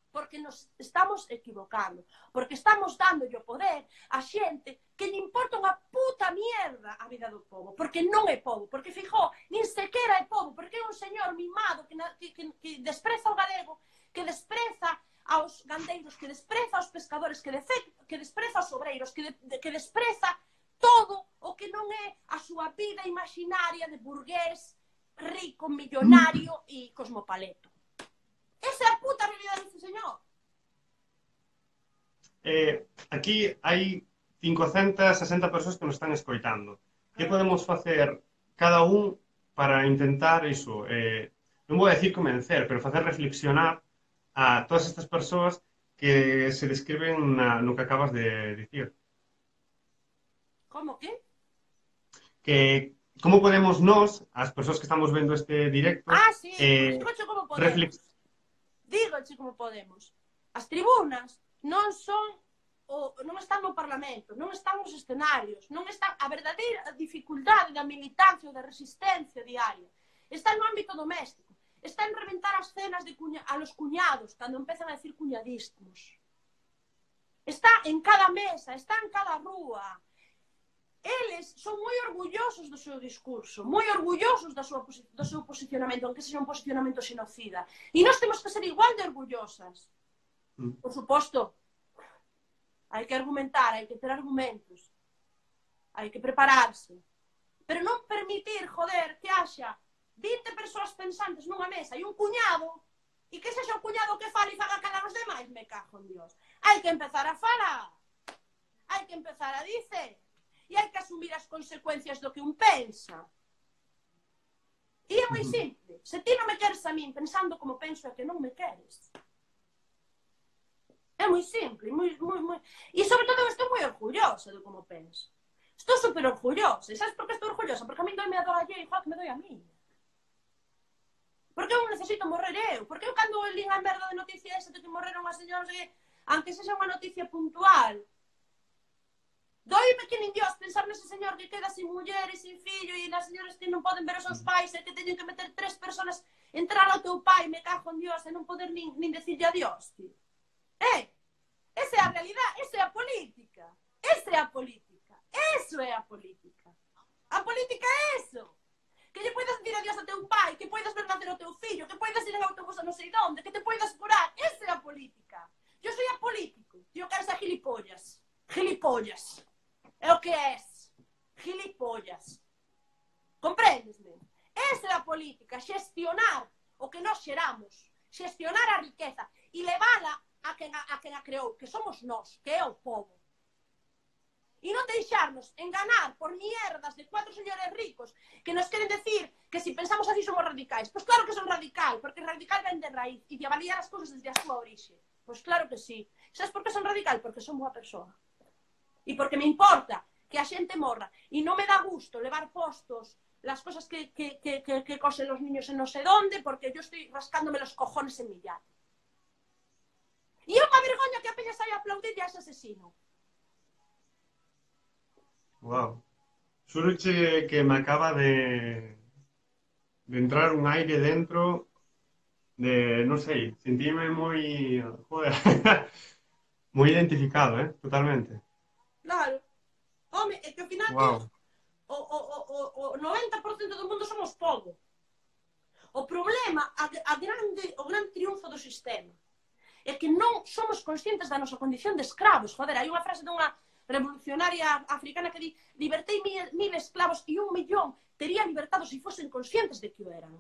porque nos estamos equivocando, porque estamos dando o poder a xente que lle importa unha puta mierda a vida do povo, porque non é povo, porque Feijóo nin sequera é povo, porque é un señor mimado que, que, que, que despreza o galego, que despreza aos gandeiros, que despreza aos pescadores, que, de, que despreza aos obreiros, que, de, que despreza todo o que non é a súa vida imaginaria de burgués, rico, millonario e cosmopaleto. Esa é a puta realidade deste señor. Eh, aquí hai cincocentas e sesenta persoas que nos están escoitando. Que podemos facer cada un para intentar iso? Eh, non vou a decir convencer, pero facer reflexionar a todas estas persoas que se describen na, no que acabas de dicir. Como que? Que como podemos nós, as persoas que estamos vendo este directo, ah, sí, eh, pues, como podemos. reflex... Dígoche como podemos. As tribunas non son o, non están no Parlamento, non están nos escenarios, non están a verdadeira dificultade da militancia ou da resistencia diaria. Está no ámbito doméstico. Está en reventar as cenas de cuña, a los cuñados, cando empezan a decir cuñadismos. Está en cada mesa, está en cada rúa. Eles son moi orgullosos do seu discurso, moi orgullosos da súa, do seu posicionamento, aunque sexa un posicionamento xenocida. E nós temos que ser igual de orgullosas. Mm. Por suposto, hai que argumentar, hai que ter argumentos, hai que prepararse. Pero non permitir, joder, que haxa vinte persoas pensantes nunha mesa e un cuñado, e que sexa o cuñado que fale e faga calar os demais, me cago en Dios. Hai que empezar a falar, hai que empezar a dicer, e hai que asumir as consecuencias do que un pensa. E é moi simple. Se ti non me queres a min pensando como penso é que non me queres. É moi simple. Moi, moi, moi... E sobre todo estou moi orgullosa de como penso. Estou super orgullosa. E sabes por que estou orgullosa? Porque a min doi me adora lle igual que me doi a mí. Porque eu necesito morrer eu. Porque eu cando lín a merda de noticia esa de que morreron as señoras, aunque sexa unha noticia puntual, doime que nin Dios pensar nese señor que queda sin muller e sin fillo e nas señoras que non poden ver os seus pais e que teñen que meter tres personas entrar ao teu pai, me cago en Dios, e non poder nin, nin decirlle adiós, tío. Eh, esa é a realidade, esa é a política. Esa é a política. Eso é a política. A política é eso. Que lle poidas dir adiós a teu pai, que poidas ver nacer o teu fillo, que poidas ir en autobús a non sei onde, que te poidas curar. Esa é a política. Yo soy apolítico. Tío, queres a gilipollas. Gilipollas. É o que és. Gilipollas. Comprendesme? Esa é a política. Xestionar o que nós xeramos. Xestionar a riqueza. E levala a quen a, a, quen a creou. Que somos nós. Que é o povo. E non deixarnos enganar por mierdas de cuatro señores ricos que nos queren decir que si pensamos así somos radicais. Pois claro que son radical. Porque radical ven de raíz. E de avaliar as cousas desde a súa orixe. Pois claro que sí. Sabes por que son radical? Porque son boa persoa. E porque me importa que a xente morra. E non me dá gusto levar postos las cosas que, que, que, que, que cosen los niños en no sé dónde, porque yo estoy rascándome los cojones en mi yate. E é unha vergoña que a peña saia a aplaudir a ese asesino. Wow. Xuroche que me acaba de de entrar un aire dentro de, non sei, sentíme moi, joder, moi identificado, eh, totalmente. Claro. Home, é que ao final Wow. o, o, o, o noventa por cento do mundo somos povo. O problema, a, a grande, o grande triunfo do sistema é que non somos conscientes da nosa condición de escravos. Joder, hai unha frase dunha revolucionaria africana que di: libertei mil, mil esclavos e un millón tería libertado se fosen conscientes de que o eran.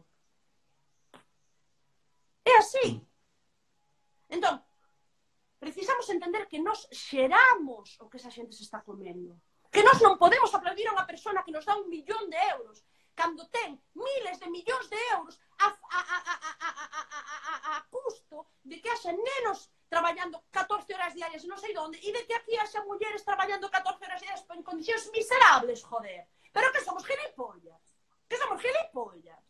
É así. Entón, precisamos entender que nós xeramos o que esa xente se está comendo. Que nós non podemos aplaudir a unha persona que nos dá un millón de euros cando ten miles de millóns de euros a, a, a, a, a, a, a, a, a custo de que haxa nenos traballando catorce horas diarias non sei onde e de que aquí haxa mulleres traballando catorce horas diarias en condicións miserables, joder. Pero que somos gilipollas. Que somos gilipollas.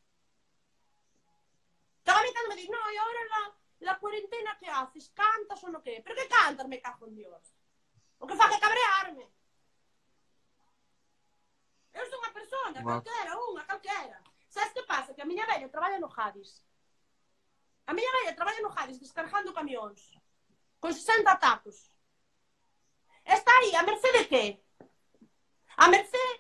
Cada vez cando me di, no, e ahora la, la cuarentena que haces, cantas ou no que? Pero que cantas, me cago en Dios? O que fa que cabrearme. Eu sou unha persona, wow. calquera, unha, calquera. Sabes que pasa? Que a miña vella traballa no Jadis. A miña vella traballa no Jadis descargando camións. Con sesenta tacos. Está aí, a merced de que? A merced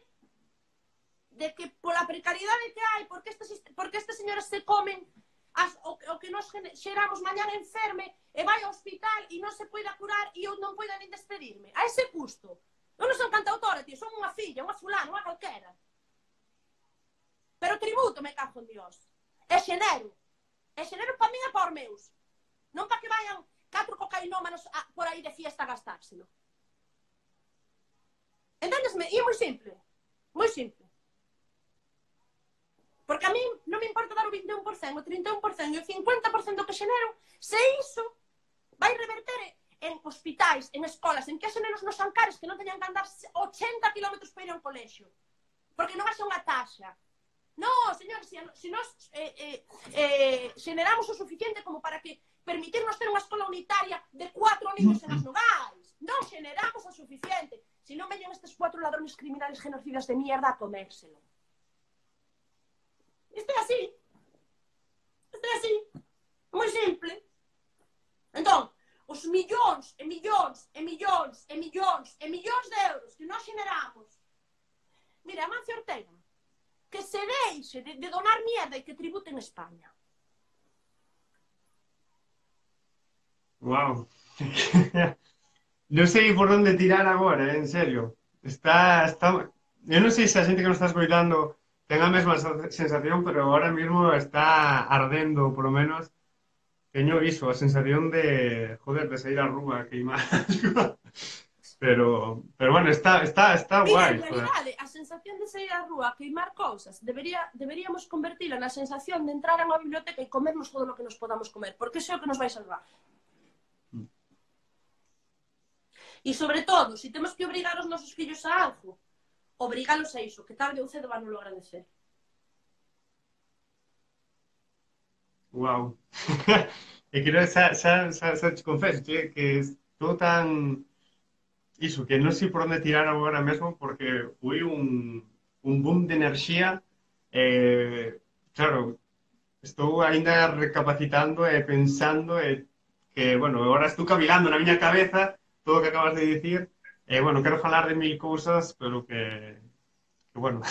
de que pola precariedade que hai, porque estas, porque estas señoras se comen as, o, o que nos xeramos mañana enferme e vai ao hospital e non se poida curar e eu non poida nin despedirme. A ese custo. Eu non son cantautora, tío, son unha filla, unha fulana, unha calquera. Pero tributo, me cago en Dios. É xenero. É xenero para min e para os meus. Non para que vayan catro cocainómanos a, por aí de fiesta a gastárselo. Entendesme? E é moi simple. Moi simple. Porque a mí non me importa dar o vinte e un por cento, o trinta e un por cento e o cincuenta por cento que xenero, se iso vai reverter en hospitais, en escolas, en que haxen nenos nos Ancares que non teñan que andar ochenta kilómetros para ir a un colexio. Porque non haxa unha taxa. Non, señor, se, se nós eh, eh, eh, xeneramos o suficiente como para que permitirnos ter unha escola unitaria de cuatro niños en as nogais. Non xeneramos o suficiente. Se non veñen estes cuatro ladrones criminales genocidas de mierda a comérselo. Isto é así. Isto é así. Moi simple. Entón, os millóns e millóns e millóns e millóns e millóns de euros que nós generamos. Mira, Amancio Ortega, que se deixe de, de donar mierda e que tribute en España. Wow. Non sei por onde tirar agora, en serio. Está, está... Eu non sei se a xente que nos está escoitando ten a mesma sensación, pero ahora mismo está ardendo, por lo menos. Teño iso, a sensación de, joder, de sair á rúa, queimar. pero, pero bueno, está, está, está Mira, guai. en realidade, a sensación de sair á rúa, queimar cousas, debería, deberíamos convertila na sensación de entrar a unha biblioteca e comernos todo o que nos podamos comer, porque iso é o que nos vai salvar. Mm. E sobre todo, se si temos que obrigar os nosos fillos a algo, obrigalos a iso, que tarde ou cedo van a agradecer. Wow. E creo que xa, xa, xa, xa te confeso, che, que estou tan... Iso, que non sei por onde tirar agora mesmo, porque foi un, un boom de enerxía. Eh, claro, estou ainda recapacitando e pensando e que, bueno, agora estou cavilando na miña cabeza todo o que acabas de dicir. E, bueno, quero falar de mil cousas, pero que, que bueno,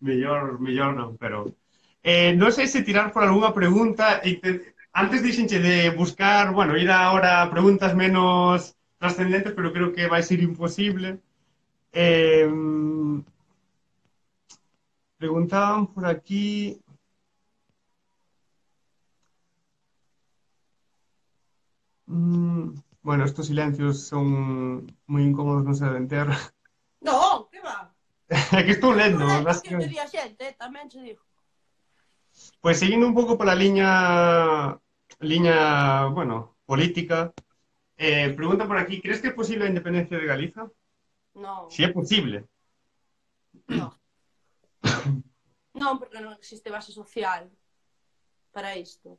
mellor, mellor non, pero... Eh, non sei se tirar por algunha pregunta. E te, antes dixenche de buscar, bueno, ir ahora a preguntas menos trascendentes, pero creo que vai ser imposible. Eh, preguntaban por aquí... Mm, bueno, estos silencios son moi incómodos, non se deben ter. Non, que va? É que estou lendo. Non é que me di a xente, tamén se digo. Pois seguindo un pouco pola liña, liña, bueno, política, eh, pregunta por aquí, crees que é posible a independencia de Galiza? Non. Si é posible. Non. Non, porque non existe base social para isto.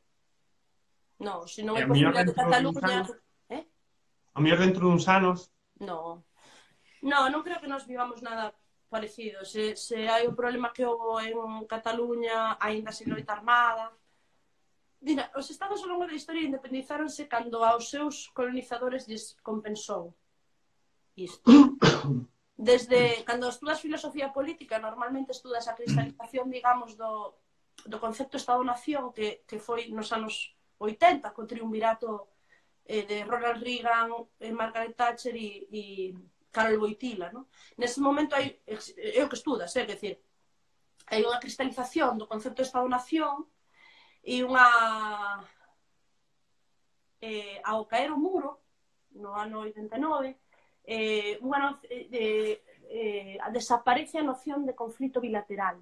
Non, se non é posible de Cataluña... Eh? A mellor dentro duns anos? Non. Non, non creo que nos vivamos nada parecido. Se, se hai un problema que houve en Cataluña, aínda sin loita armada. Mira, os estados ao longo da historia independizáronse cando aos seus colonizadores lles compensou isto. desde, cando estudas filosofía política, normalmente estudas a cristalización, digamos, do, do concepto Estado-Nación, que, que foi nos anos oitenta, co triunvirato eh, de Ronald Reagan, eh, Margaret Thatcher e, e Karol Wojtyla, no? Nese momento hai, é o que estudas, é dicir, hai unha cristalización do concepto de Estado-Nación e unha... Eh, ao caer o muro, no ano oitenta e nove, eh, unha no, eh, eh, desaparece a noción de conflito bilateral,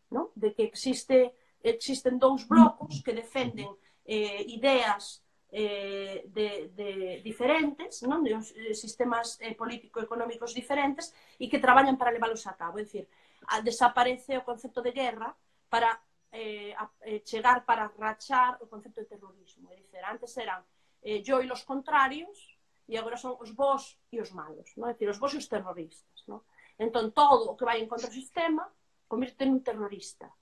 ¿no? De que existe, existen dous blocos que defenden eh, ideas eh, de, de diferentes, ¿no? De uns eh, sistemas eh, político-económicos diferentes e que traballan para leválos a cabo. É dicir, a, desaparece o concepto de guerra para eh, a, eh, chegar para rachar o concepto de terrorismo. É dicir, antes eran eh, yo e los contrarios, e agora son os bons e os malos, non? É dicir, os bons e os terroristas, non? Entón, todo o que vai en contra do sistema convirte en un terrorista.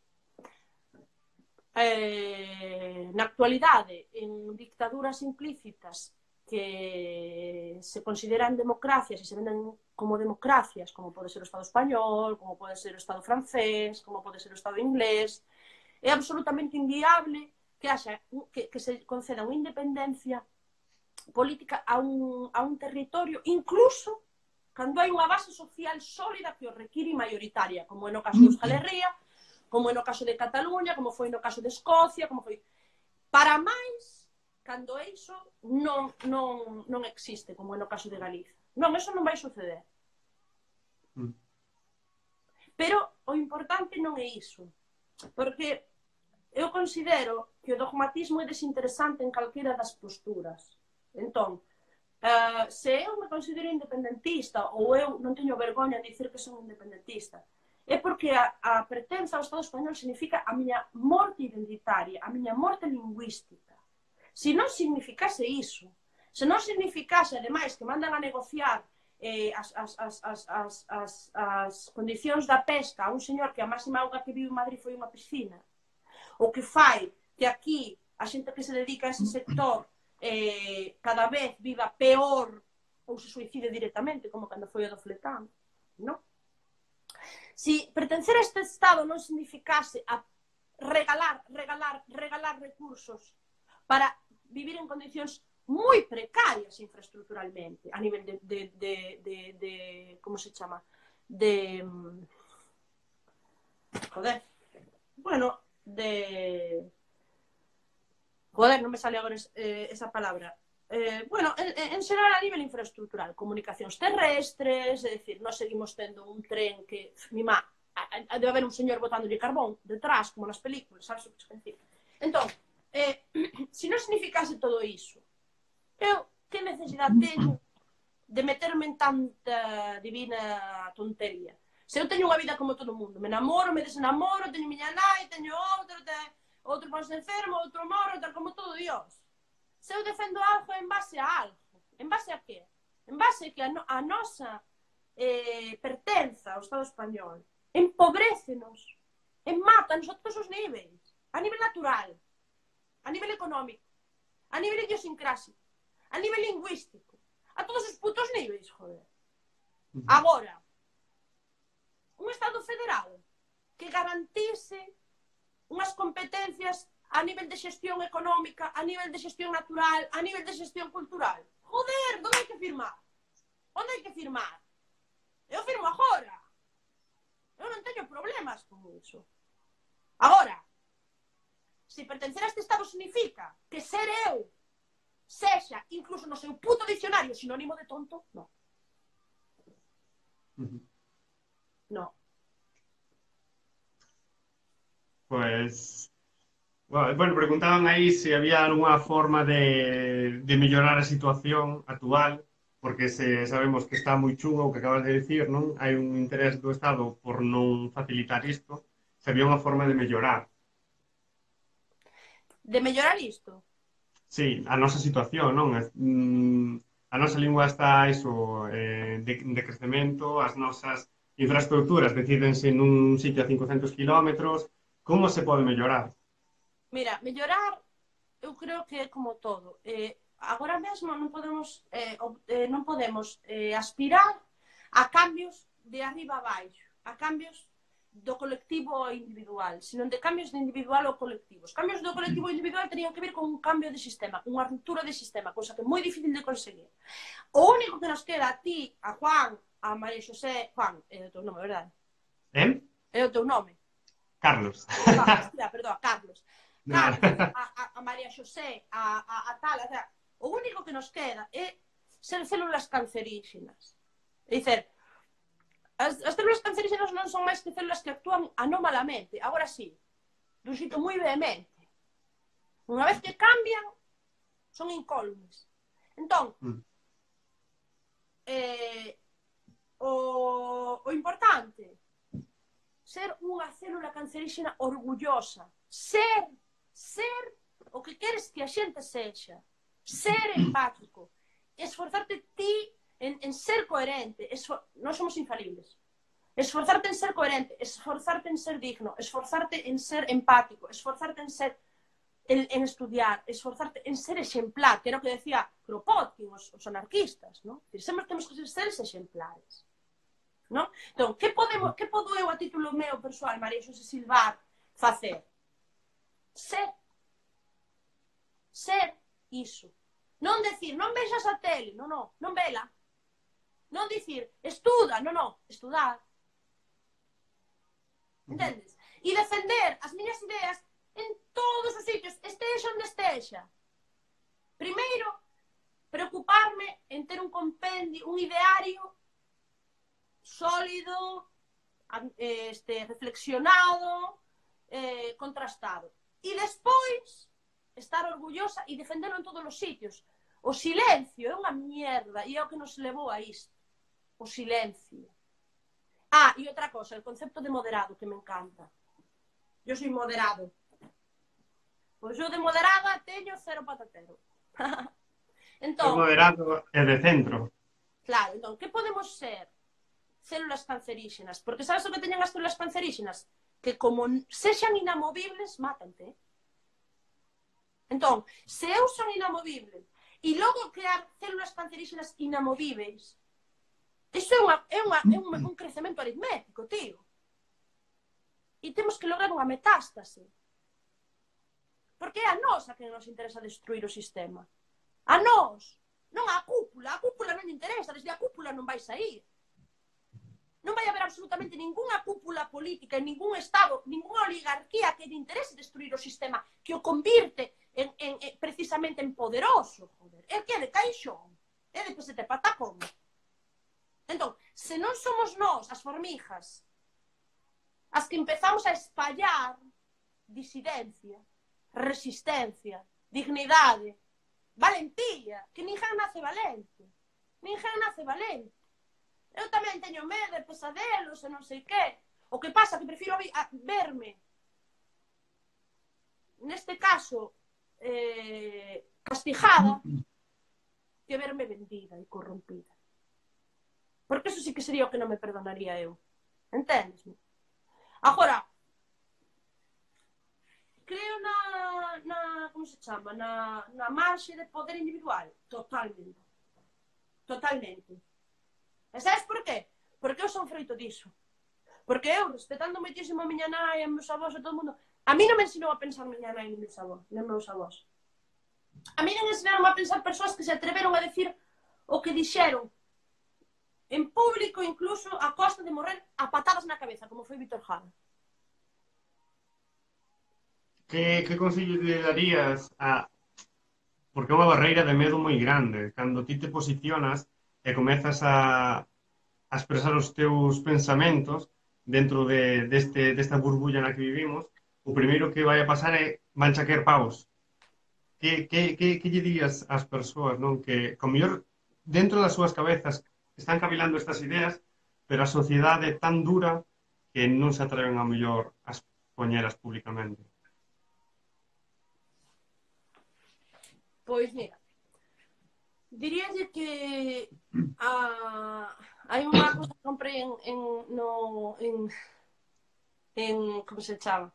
Eh, na actualidade, en dictaduras implícitas que se consideran democracias e se venden como democracias, como pode ser o Estado español, como pode ser o Estado francés, como pode ser o Estado inglés, é absolutamente inviable que, haxa, que, que se conceda unha independencia política a un, a un territorio, incluso cando hai unha base social sólida que o require mayoritaria, como é no caso de Euskal Herria, como é no caso de Cataluña, como foi no caso de Escocia, como foi... Para máis, cando é iso, non, non, non existe, como é no caso de Galicia. Non, eso non vai suceder. Pero o importante non é iso, porque eu considero que o dogmatismo é desinteresante en calquera das posturas. Entón, uh, se eu me considero independentista ou eu non teño vergoña de dicir que son independentista, é porque a, a pertenza ao Estado español significa a miña morte identitaria, a miña morte lingüística. Se non significase iso, se non significase, ademais, que mandan a negociar eh, as, as, as, as, as, as, as condicións da pesca a un señor que a máxima auga que viu en Madrid foi unha piscina, o que fai que aquí a xente que se dedica a ese sector eh, cada vez viva peor ou se suicide directamente, como cando foi o do Fletán, non? Si pertencer a este Estado non significase a regalar, regalar, regalar recursos para vivir en condicións moi precarias infraestructuralmente, a nivel de, de, de, de, de como se chama? De... Joder. Bueno, de... Joder, non me sale agora eh, esa palabra. Eh, bueno, en, en xeral a nivel infraestructural, comunicacións terrestres, é dicir, nós seguimos tendo un tren que, mima, debe haber un señor botándolle carbón detrás, como nas películas, sabes o que decir? Entón, eh, se non significase todo iso, eu que necesidade teño de meterme en tanta divina tontería? Se eu teño unha vida como todo o mundo, me namoro, me desenamoro, teño miña nai, teño outro, teño... outro ponse enfermo, outro morre, tal como todo Dios. Se eu defendo algo en base a algo. En base a qué? En base a que a, no, a nosa eh, pertenza ao Estado español empobrécenos, en matanos a todos os níveis. A nivel natural, a nivel económico, a nivel idiosincrásico, a nivel lingüístico, a todos os putos níveis, joder. Agora, un Estado federal que garantise unhas competencias a nivel de xestión económica, a nivel de xestión natural, a nivel de xestión cultural. Joder, onde hai que firmar? Onde hai que firmar? Eu firmo agora. Eu non teño problemas con iso. Agora, se pertencer a este Estado significa que ser eu sexa, incluso no seu puto dicionario, sinónimo de tonto, non. Non. Pues, bueno, bueno, preguntaban aí se había alguna forma de, de mellorar a situación actual, porque se sabemos que está moi chungo o que acabas de decir, non? Hai un interés do Estado por non facilitar isto, se había unha forma de mellorar. De mellorar isto? Sí, a nosa situación, non? A nosa lingua está iso, eh, de, de crecemento, as nosas infraestructuras decídense nun sitio a cincocentos kilómetros. Como se pode mellorar? Mira, mellorar, eu creo que é como todo. Eh, agora mesmo non podemos, eh, eh, non podemos eh, aspirar a cambios de arriba a baixo, a cambios do colectivo ao individual, senón de cambios de individual ao colectivo. Os cambios do colectivo ao individual terían que ver con un cambio de sistema, con unha ruptura de sistema, cousa que é moi difícil de conseguir. O único que nos queda a ti, a Juan, a María Xosé... Juan, é o teu nome, verdade? Eh? É o teu nome? Carlos. Ah, hostia, perdón, Carlos. Carlos, a, a, a María Xosé, a, a, a tal, a tal. O único que nos queda é ser células cancerígenas. É dizer, As, as células cancerígenas non son máis que células que actúan anómalamente, agora sí, dun xito moi vehemente. Unha vez que cambian, son incólumes. Entón, mm. eh, o, o importante, ser unha célula cancerígena orgullosa, ser, ser o que queres que a xente sexa, ser empático, esforzarte ti En, en ser coherente, esfor... non somos infalibles. Esforzarte en ser coherente, esforzarte en ser digno, esforzarte en ser empático, esforzarte en ser en, en estudiar, esforzarte en ser exemplar, que era o que decía Kropotkin, os, os anarquistas, ¿no? Sempre temos que ser seres exemplares, ¿no? Entón, que podemos, que podo eu a título meu persoal, María Xosé Silvar, facer? Ser. Ser iso. Non decir, non vexas a tele, non, non, non vela. Non dicir, estuda, non, non, estudar. Entendes? E defender as miñas ideas en todos os sitios, estexa onde estexa. Primeiro, preocuparme en ter un compendio, un ideario sólido, este, reflexionado, eh, contrastado. E despois, estar orgullosa e defenderlo en todos os sitios. O silencio é unha mierda e é o que nos levou a isto. O silencio. Ah, e outra cosa, el concepto de moderado, que me encanta. Yo soy moderado. Pois eu de moderada teño cero patatero. Entón, o moderado é de centro. Claro, entón, que podemos ser? Células cancerígenas. Porque sabes o que teñen as células cancerígenas? Que como sexan inamovibles, mátante. Entón, se eu son inamovible e logo crear células cancerígenas inamovíveis, iso é, unha, é, unha, é un, un crecemento aritmético, tío. E temos que lograr unha metástase. Porque é a nós a que nos interesa destruir o sistema. A nós. Non a cúpula. A cúpula non interesa. Desde a cúpula non vai sair. Non vai haber absolutamente ninguna cúpula política en ningún estado, ninguna oligarquía que lle interese destruir o sistema, que o convirte en, en, en, precisamente en poderoso. Joder. É que é de caixón. É de pesete patacón. Entón, se non somos nós, as formijas, as que empezamos a espallar disidencia, resistencia, dignidade, valentía, que ninguén nace valente. Ninguén nace valente. Eu tamén teño medo de pesadelos e non sei que. O que pasa que prefiro a verme, neste caso, eh, castigada, que verme vendida e corrompida. Porque eso sí que sería o que non me perdonaría eu. Entendes? Agora, creo na, na como se chama? Na, na marxe de poder individual. Totalmente. Totalmente. E sabes por qué? Porque eu son froito diso. Porque eu, respetando moitísimo a miña nai, a meus avós e todo o mundo, a mí non me ensinou a pensar miña nai e meus avós, nem meus avós. A mí non ensinaron a pensar persoas que se atreveron a decir o que dixeron en público, incluso a costa de morrer a patadas na cabeza, como foi Víctor Jara. Que, que consello te darías a... Porque é unha barreira de medo moi grande. Cando ti te posicionas e comezas a, a expresar os teus pensamentos dentro de, deste, desta burbulla na que vivimos, o primeiro que vai a pasar é vancha caer paus. Que, que, que, que lle dirías ás persoas, non? Que, como mellor, dentro das súas cabezas están cavilando estas ideas, pero a sociedade é tan dura que non se atreven a mellor a expoñelas públicamente. Pois mira, diríalle que a, hai unha cosa que comprei en, en, no, en, en como se chama,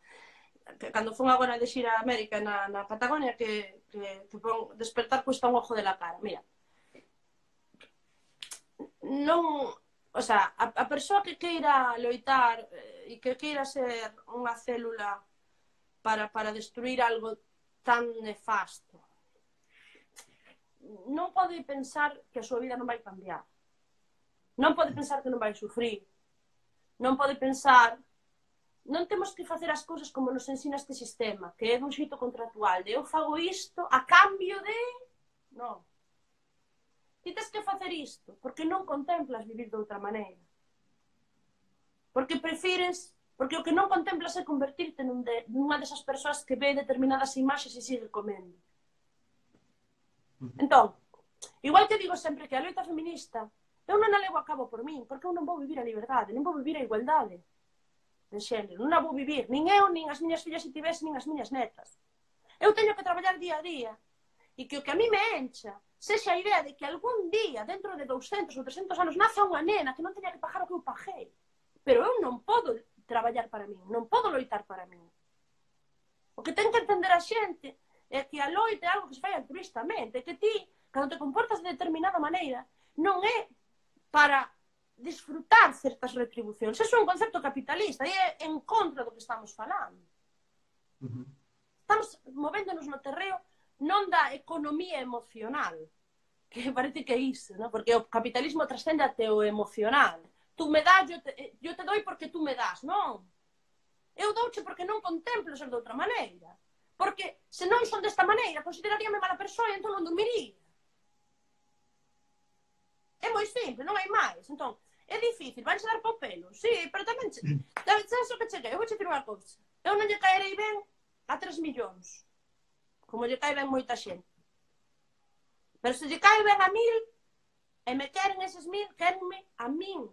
que cando fun agora de xira a América na, na Patagonia, que, que, que pon despertar cuesta un ojo de la cara. Mira, non, o sea, a, a persoa que queira loitar eh, e que queira ser unha célula para, para destruir algo tan nefasto, non pode pensar que a súa vida non vai cambiar. Non pode pensar que non vai sufrir. Non pode pensar... Non temos que facer as cousas como nos ensina este sistema, que é dun xeito contractual, de eu fago isto a cambio de... Non. Ti tes que facer isto, porque non contemplas vivir de outra maneira. Porque prefires... Porque o que non contemplas é convertirte nun de, nunha desas persoas que ve determinadas imaxes e sigue comendo. Entón, igual que digo sempre que a loita feminista, eu non a levo a cabo por min, porque eu non vou vivir a liberdade, non vou vivir a igualdade de xénero, non a vou vivir, nin eu, nin as miñas fillas se tivesen, nin as miñas netas. Eu teño que traballar día a día, e que o que a mí me encha sexa a idea de que algún día, dentro de douscentos ou trescentos anos, naza unha nena que non teña que pagar o que eu paguei. Pero eu non podo traballar para min, non podo loitar para min. O que ten que entender a xente é que a loita é algo que se fai altruistamente, que ti, cando te comportas de determinada maneira, non é para disfrutar certas retribucións. Eso é un concepto capitalista e é en contra do que estamos falando. Uh-huh. Estamos movéndonos no terreo non da economía emocional, que parece que é iso, ¿no? Porque o capitalismo trascende até o emocional. Tú me das, yo te, yo te doy porque tú me das, non? Eu douche porque non contemplo ser de outra maneira. Porque se non son desta maneira, consideraríame mala persoa e entón non dormiría. É moi simple, non hai máis. Entón, é difícil, vanse dar po pelo. Sí, pero tamén... Sabes o que cheguei? Eu vou che dir unha cousa. Eu non lle caerei ben a tres millóns. Como lle cae ben moita xente. Pero se lle cae ben a mil, e me queren eses mil, querenme a min.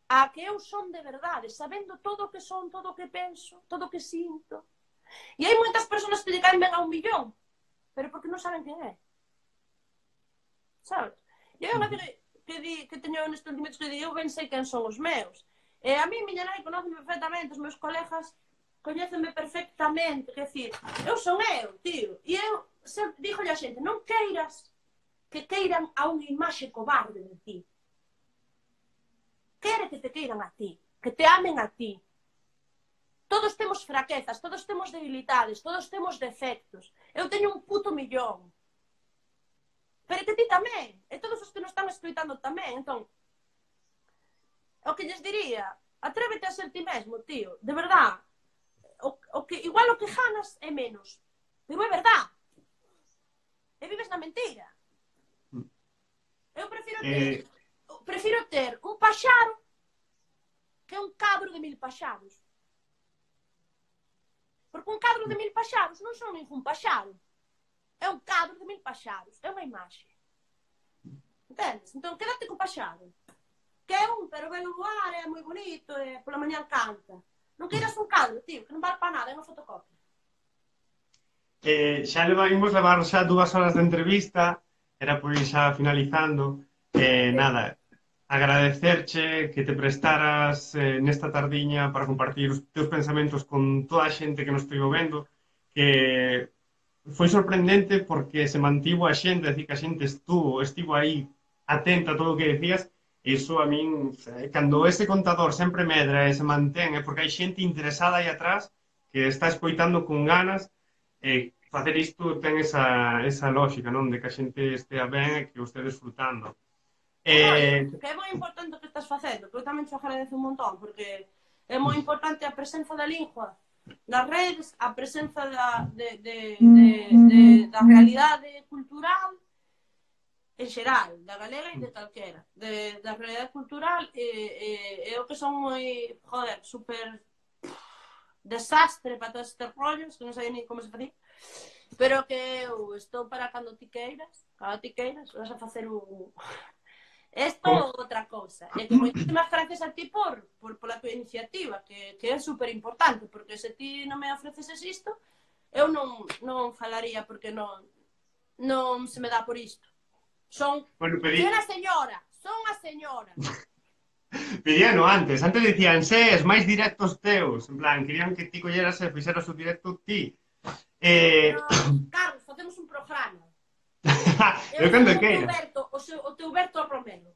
A que eu son de verdade, sabendo todo o que son, todo o que penso, todo o que sinto. E hai moitas persoas que lle caen ben a un millón, pero porque non saben quen é. Sabes? E eu que, que, di, que teño nestes sentimentos que di, eu ben sei quen son os meus. E a mí, miña nai, conóceme perfectamente, os meus colegas coñécenme perfectamente, que decir, eu son eu, tío. E eu sempre dígolle a xente, non queiras que queiran a unha imaxe cobarde de ti. Quere que te queiran a ti, que te amen a ti. Todos temos fraquezas, todos temos debilidades, todos temos defectos. Eu teño un puto millón. Pero que ti tamén, e todos os que nos están escoitando tamén. Entón, o que lles diría, atrévete a ser ti mesmo, tío, de verdad. O, o que, igual o que ganas é menos, pero é verdad. E vives na mentira. Eu prefiro ter, eh... prefiro ter un paxaro que un cabro de mil paxaros. Porque un cabro de mil paxaros non son ningún paxaro. É un cabro de mil paxaros. É unha imaxe. Entendes? Entón, quédate co paxaro. Que é un, pero ve o luar, é moi bonito, e pola mañan canta. Non queiras un cadro, tío, que non vale para nada, é unha fotocopia. Eh, xa levamos levar xa dúas horas de entrevista, era por ir xa finalizando. Eh, nada, agradecerche que te prestaras eh, nesta tardiña para compartir os teus pensamentos con toda a xente que nos estivo vendo, que foi sorprendente porque se mantivo a xente, é dicir, que a xente estuvo, estivo aí atenta a todo o que decías. Iso a min, cando ese contador sempre medra e se mantén, é porque hai xente interesada aí atrás que está escoitando con ganas, e facer isto ten esa, esa lógica, non? De que a xente estea ben e que o este disfrutando. Eh... Que é moi importante o que estás facendo, que eu tamén te agradezo un montón, porque é moi importante a presenza da lingua nas redes, a presenza da, de, de, de, de, da realidade cultural en xeral, da galega e de calquera, de, da realidade cultural, e, e, e o que son moi, joder, super desastre para todos estes rollos, que non sei ni como se fazía, pero que eu estou para cando ti queiras, cando ti queiras, vas a facer un... Esto é outra cousa. E que moitísimas gracias a ti por, por, por a tua iniciativa, que, que é super importante, porque se ti non me ofreces isto, eu non, non falaría porque non, non se me dá por isto. Son bueno, pedí... unha señora, son unha señora. Pedíano antes, antes decían, ses, máis directos teus, en plan, querían que ti colleras e fixeras o directo ti. Eh... Pero, Carlos, facemos un programa. Eu cando queira. O, seu, o teu Berto Romero.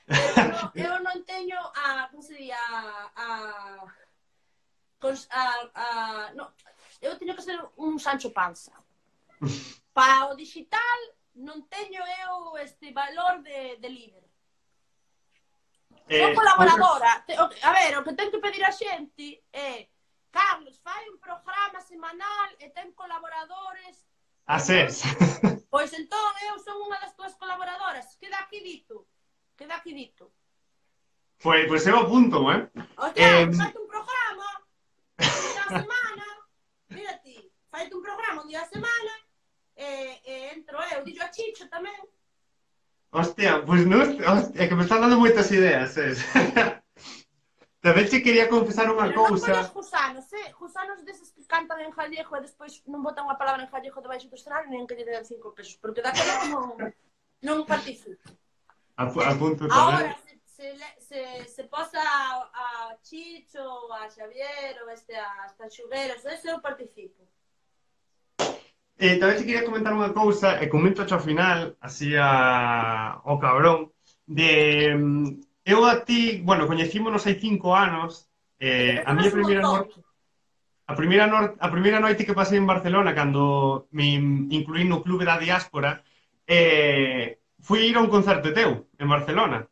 Eu non, eu non teño a, como se di, a, a, a, a no, eu teño que ser un Sancho Panza. Para o digital non teño eu este valor de, de líder. Son Eh, colaboradora. A ver, o que ten que pedir a xente é Carlos, fai un programa semanal e ten colaboradores. Asés. Pois entón eu son unha das túas colaboradoras. Queda aquí dito. Queda aquí dito. Pois, pois eu apunto, eh? Hostia, Eh, faite un programa un día a semana. Mira ti, faite un programa un día a semana e, e entro eu. Dillo a Chicho tamén. hostia, pois non... Hostia, é que me están dando moitas ideas, es. Tamén che quería confesar unha Pero non cousa. collos gusanos, eh? Gusanos deses que cantan en gallego e despois non botan unha palabra en gallego debaixo do escenario nen que lle den cinco pesos, porque daquela non, non participo. Ap apunto Ahora, tamén. se, se, se, se posa a, a Chicho, a Xavier, ou este, a Tanxugueros, ese eu participo. Eh, tamén te quería comentar unha cousa, e comento ao final, así a... ao cabrón, de... mm, Eu a ti, bueno, coñecímonos hai cinco anos, E eh, a coñecemos miña un primeira montón. noite, a primeira, nor... a primeira noite que pasei en Barcelona, cando me incluí no Clube da Diáspora, eh, fui ir a un concerto teu, en Barcelona.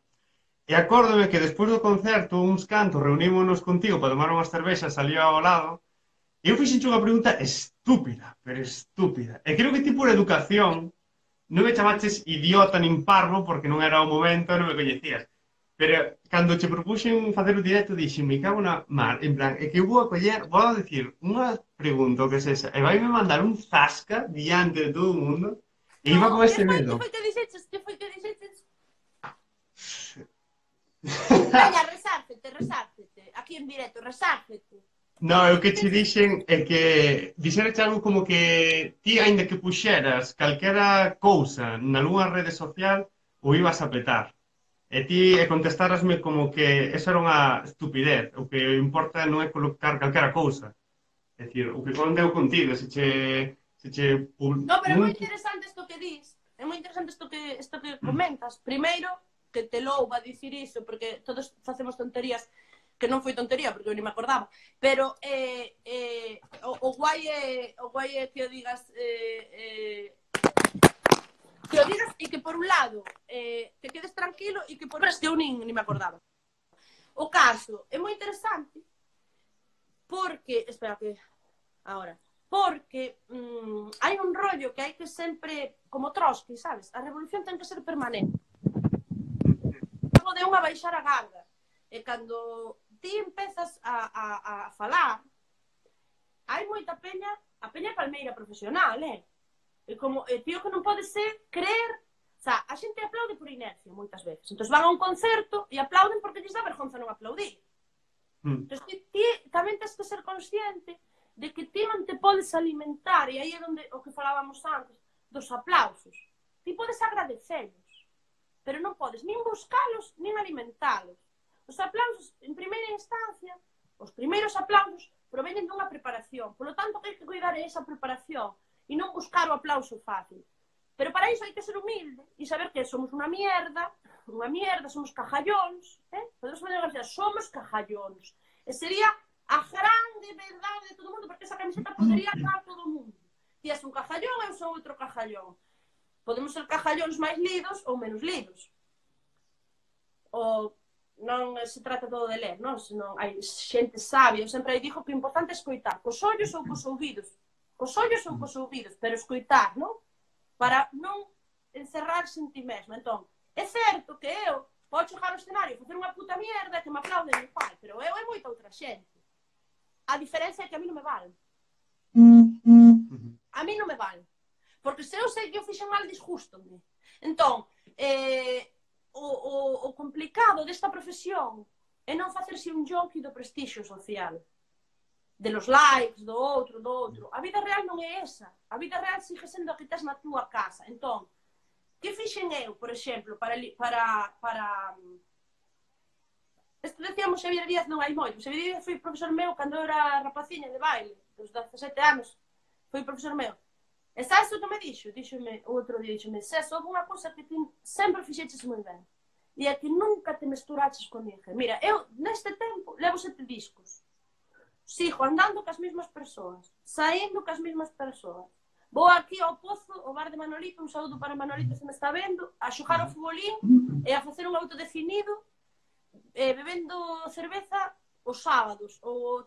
E acórdome que despois do concerto, uns cantos, reunímonos contigo para tomar unhas cervexas ali ao lado. E eu fixenche unha pregunta estúpida, pero estúpida. E creo que ti por educación non me chamaches idiota nin parvo porque non era o momento e non me coñecías. Pero cando che propuxen facer o directo dixen, me cago na mar, en plan, é que eu vou a coller, vou a decir unha pregunta o que sexa, e vai me mandar un zasca diante de todo o mundo, e No, iba con que ese foi, medo. que foi que dixeches, que foi que dixeches? Veña, resárcete, resárcete. Aquí en directo, resárcete. No, é o que che dixen é que dixereche algo como que ti, aínda que puxeras calquera cousa nalgunha rede social, o ibas a petar. E ti e contestarasme como que eso era unha estupidez. O que importa non é colocar calquera cousa. É dicir, o que conta eu contigo, se che... Se che No, pero é non... moi interesante isto que dis. É moi interesante isto que, isto que comentas. Primeiro, que te louva dicir iso, porque todos facemos tonterías que non foi tontería, porque eu ni me acordaba. Pero eh, eh, o, o, guai é, o guai é que o digas... Eh, eh, que o digas e que por un lado eh, te quedes tranquilo e que por outro que eu nin, nin me acordaba. O caso é moi interesante porque... Espera que... Ahora... porque mmm, hai un rollo que hai que sempre, como Trotsky, sabes? A revolución ten que ser permanente. De unha baixar a garda. E cando ti empezas a, a, a falar, hai moita peña, a peña palmeira profesional, eh? E como, e tío que non pode ser creer, o sea, a xente aplaude por inercia moitas veces. Entón van a un concerto e aplauden porque lles dá vergonza non aplaudir. Mm. Entón ti, ti tamén tens que ser consciente de que ti non te podes alimentar, e aí é onde o que falábamos antes, dos aplausos. Ti podes agradecerlos, pero non podes nin buscalos, nin alimentalos. Os aplausos, en primeira instancia, os primeiros aplausos proveñen dunha preparación. Por lo tanto, que hai que cuidar esa preparación e non buscar o aplauso fácil. Pero para iso hai que ser humilde e saber que somos unha mierda, unha mierda, somos cajallóns, eh? Podemos fazer unha somos cajallóns. E sería a grande verdade de todo o mundo, porque esa camiseta podería dar todo o mundo. Ti és un cajallón, eu sou outro cajallón. Podemos ser cajallóns máis lidos ou menos lidos. O non se trata todo de ler, non? Senón hai xente sabia. Eu sempre digo que o importante é escoitar, cos ollos ou cos ouvidos. Cos ollos ou cos ouvidos, pero escoitar, non? Para non encerrarse en ti mesmo. Entón, é certo que eu podo chegar ao escenario e facer unha puta mierda que me aplauden o pai, pero eu é moita outra xente. A diferencia é que a mí non me vale. A mí non me vale. Porque se eu sei que eu fixen mal, disgústome. Entón, eh, o, o, o complicado desta profesión é non facerse un jonqui do prestixio social. De los likes, do outro, do outro. A vida real non é esa. A vida real sigue sendo a que tes na túa casa. Entón, que fixen eu, por exemplo, para... para, para Este decíamos Xavier Díaz non hai moito. Xavier Díaz foi profesor meu cando eu era rapaciña de baile, dos dezasete anos. Foi profesor meu. E sabes o que me dixo? Díxome, o outro día, díxome, César, houve unha cousa que ti sempre fixeches moi ben. e é que nunca te mesturaches con ninguén. Mira, eu neste tempo levo sete discos. Sigo andando cas mesmas persoas, saindo cas mesmas persoas. Vou aquí ao Pozo, ao bar de Manolito, un saúdo para Manolito se me está vendo, a xogar ao futbolín e a facer un autodefinido, e bebendo cerveza os sábados. O...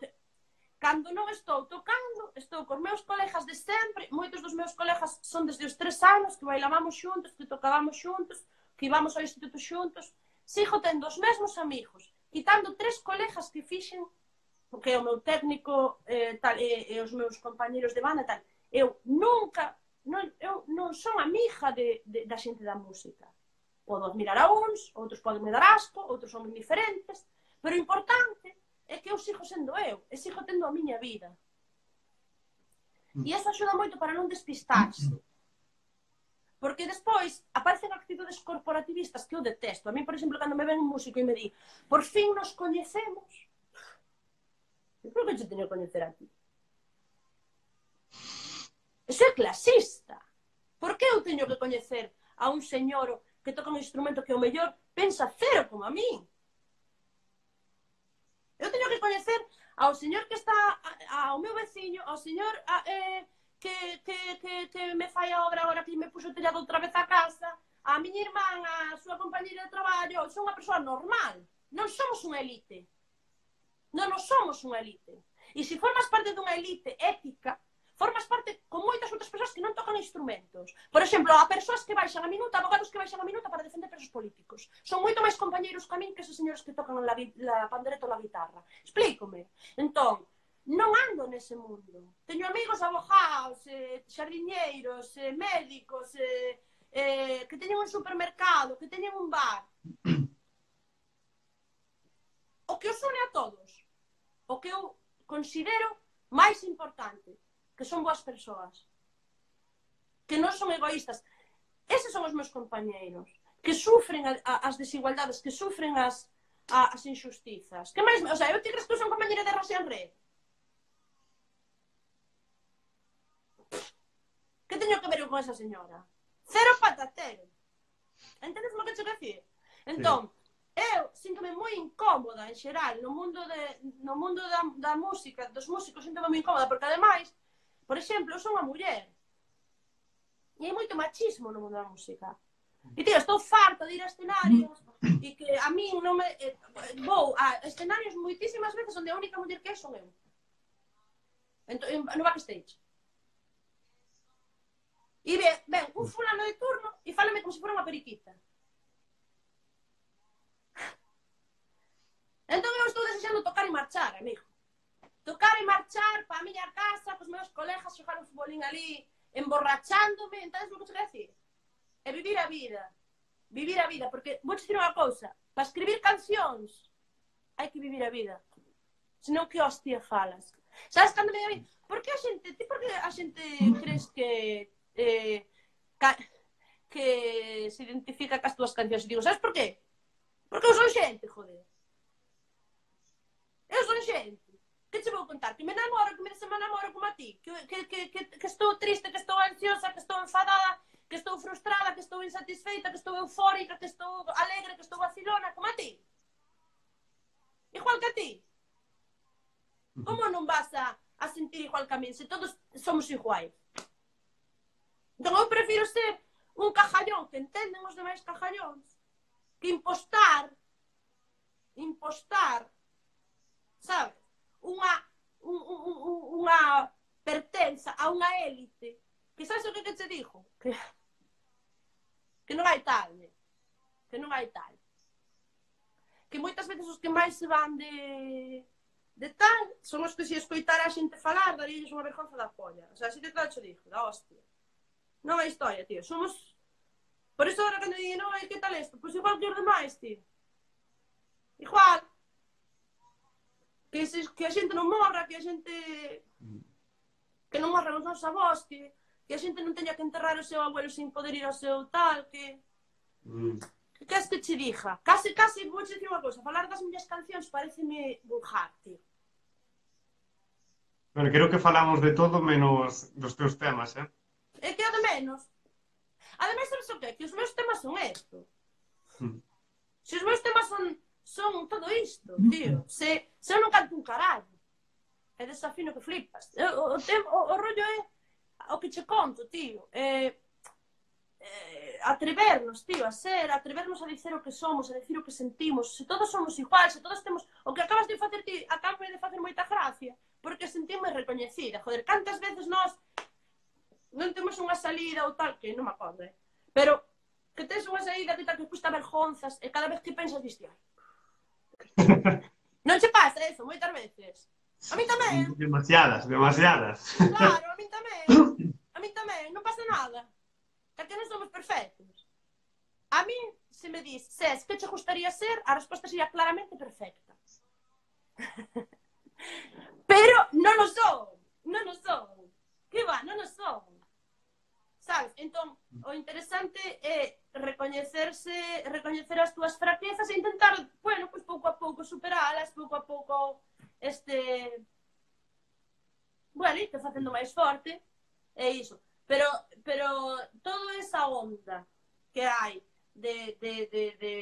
Cando non estou tocando, estou cos meus colegas de sempre, moitos dos meus colegas son desde os tres anos, que bailábamos xuntos, que tocábamos xuntos, que íbamos ao instituto xuntos. Sigo tendo os mesmos amigos, quitando tres colegas que fixen, que é o meu técnico eh, tal, e, e os meus compañeros de banda tal. Eu nunca, non, eu non son amiga de, de, da xente da música. Podo admirar a uns, outros poden me dar asco, outros son indiferentes, pero o importante é que eu sigo sendo eu, e sigo tendo a miña vida. E iso axuda moito para non despistarse. Porque despois aparecen actitudes corporativistas que eu detesto. A mí, por exemplo, cando me ven un músico e me di por fin nos coñecemos, eu creo que te teño que coñecer a ti. Eso é clasista. Por que eu teño que coñecer a un señor que toca un instrumento que o mellor pensa cero como a min? Eu teño que coñecer ao señor que está, ao meu veciño, ao señor a, eh, que, que, que, que me fai a obra agora que me puxo o tellado outra vez a casa, a miña irmán, a súa compañera de traballo. Son unha persoa normal. Non somos unha elite. Non nos somos unha elite. E se formas parte dunha elite ética, formas parte con moitas outras persoas que non tocan instrumentos. Por exemplo, a persoas que baixan a minuta, abogados que baixan a minuta para defender presos políticos. Son moito máis compañeiros que a min que esos señores que tocan la, la pandereta ou la guitarra. Explícome. Entón, non ando nese mundo. Teño amigos abogados, eh, xardiñeiros, eh, médicos, eh, eh, que teñen un supermercado, que teñen un bar. O que os une a todos, o que eu considero máis importante, que son boas persoas, que non son egoístas. Eses son os meus compañeiros, que sufren a, a, as desigualdades, que sufren as, a, as injustizas. Que máis, o sea, eu te crees que eu son compañera de Rosa Red? Que teño que ver eu con esa señora? Cero patatero. Entendes o que te decir? Entón, sí. Eu síntome moi incómoda en xeral no mundo, de, no mundo da, da música, dos músicos, síntome moi incómoda, porque ademais, por exemplo, eu son unha muller e hai moito machismo no mundo da música. E, tío, estou farta de ir a escenarios e que a min non me... Eh, vou a escenarios moitísimas veces onde a única muller que é son eu. Entón, no backstage. E ven, ven un fulano de turno e fálame como se fora unha periquita. Entón eu estou desexando tocar e marchar, amigo. Tocar e marchar para a miña casa, cos meus colegas, xogar un futbolín ali, emborrachándome, entades o que te quero decir? E vivir a vida. Vivir a vida, porque vou dicir unha cousa, para escribir cancións hai que vivir a vida. Senón que hostia falas. Sabes cando me digo, por que a xente, ti por que a xente crees que eh, ca, que se identifica cas túas cancións? E digo, sabes por qué? Porque eu son xente, joder. Eu son xente. Que che vou contar? Que me namoro, que me se me namoro como a ti? Que, que, que, que, que estou triste, que estou ansiosa, que estou enfadada, que estou frustrada, que estou insatisfeita, que estou eufórica, que estou alegre, que estou vacilona, como a ti? Igual que a ti? Como non vas a, a sentir igual que a mí, se todos somos iguais? Entón eu prefiro ser un cajallón, que entenden os demais cajallóns, que impostar, impostar, sabes? Unha, un, un, un, unha pertenza a unha élite que sabes o que, que te digo? Que, que non hai tal, né? Que non hai tal. Que moitas veces os que máis se van de, de tal son os que se escoitar a xente falar darílles unha vergonza da polla. O sea, así que claro te digo, da hostia. Non hai historia, tío. Somos... Por iso agora cando digo, non, que tal isto? Pois igual que os demais, tío. Igual. Que, se, que a xente non morra, que a xente que non morran os nosos avós, que, que a xente non teña que enterrar o seu abuelo sin poder ir ao seu tal, que mm. que queres que che diga? Case, case, vou che dicir unha cousa, falar das miñas cancións pareceme vulgar, tío. Bueno, creo que falamos de todo menos dos teus temas, eh? É que é de menos. Ademais, sabes o que? Que os meus temas son esto. Mm. Se os meus temas son, son todo isto, tío. Se, se eu non canto un carallo. É desafino que flipas. O, o, o, o rollo é o que che conto, tío. É, é, atrevernos, tío, a ser, atrevernos a dicer o que somos, a decir o que sentimos. Se todos somos iguais, se todos temos... O que acabas de facer ti, acabo de facer moita gracia, porque sentimos recoñecida. Joder, cantas veces nós non temos unha salida ou tal, que non me acordo, eh? Pero que tens unha saída que tal que custa vergonzas e cada vez que pensas diste, ai, non che pasa eso moitas veces? A mí tamén. Demasiadas, demasiadas. Claro, a mí tamén. A mí tamén, non pasa nada. Que non somos perfectos. A mí, se me dis, Ses, que che gustaría ser? A resposta sería claramente perfecta. Pero non o son. Non o son. Que va, non o son. Sabes? Entón, o interesante é recoñecerse, recoñecer as túas fraquezas e intentar, bueno, pues pouco a pouco superalas, pouco a pouco este... Bueno, e te facendo máis forte, é iso. Pero, pero toda esa onda que hai de, de, de, de,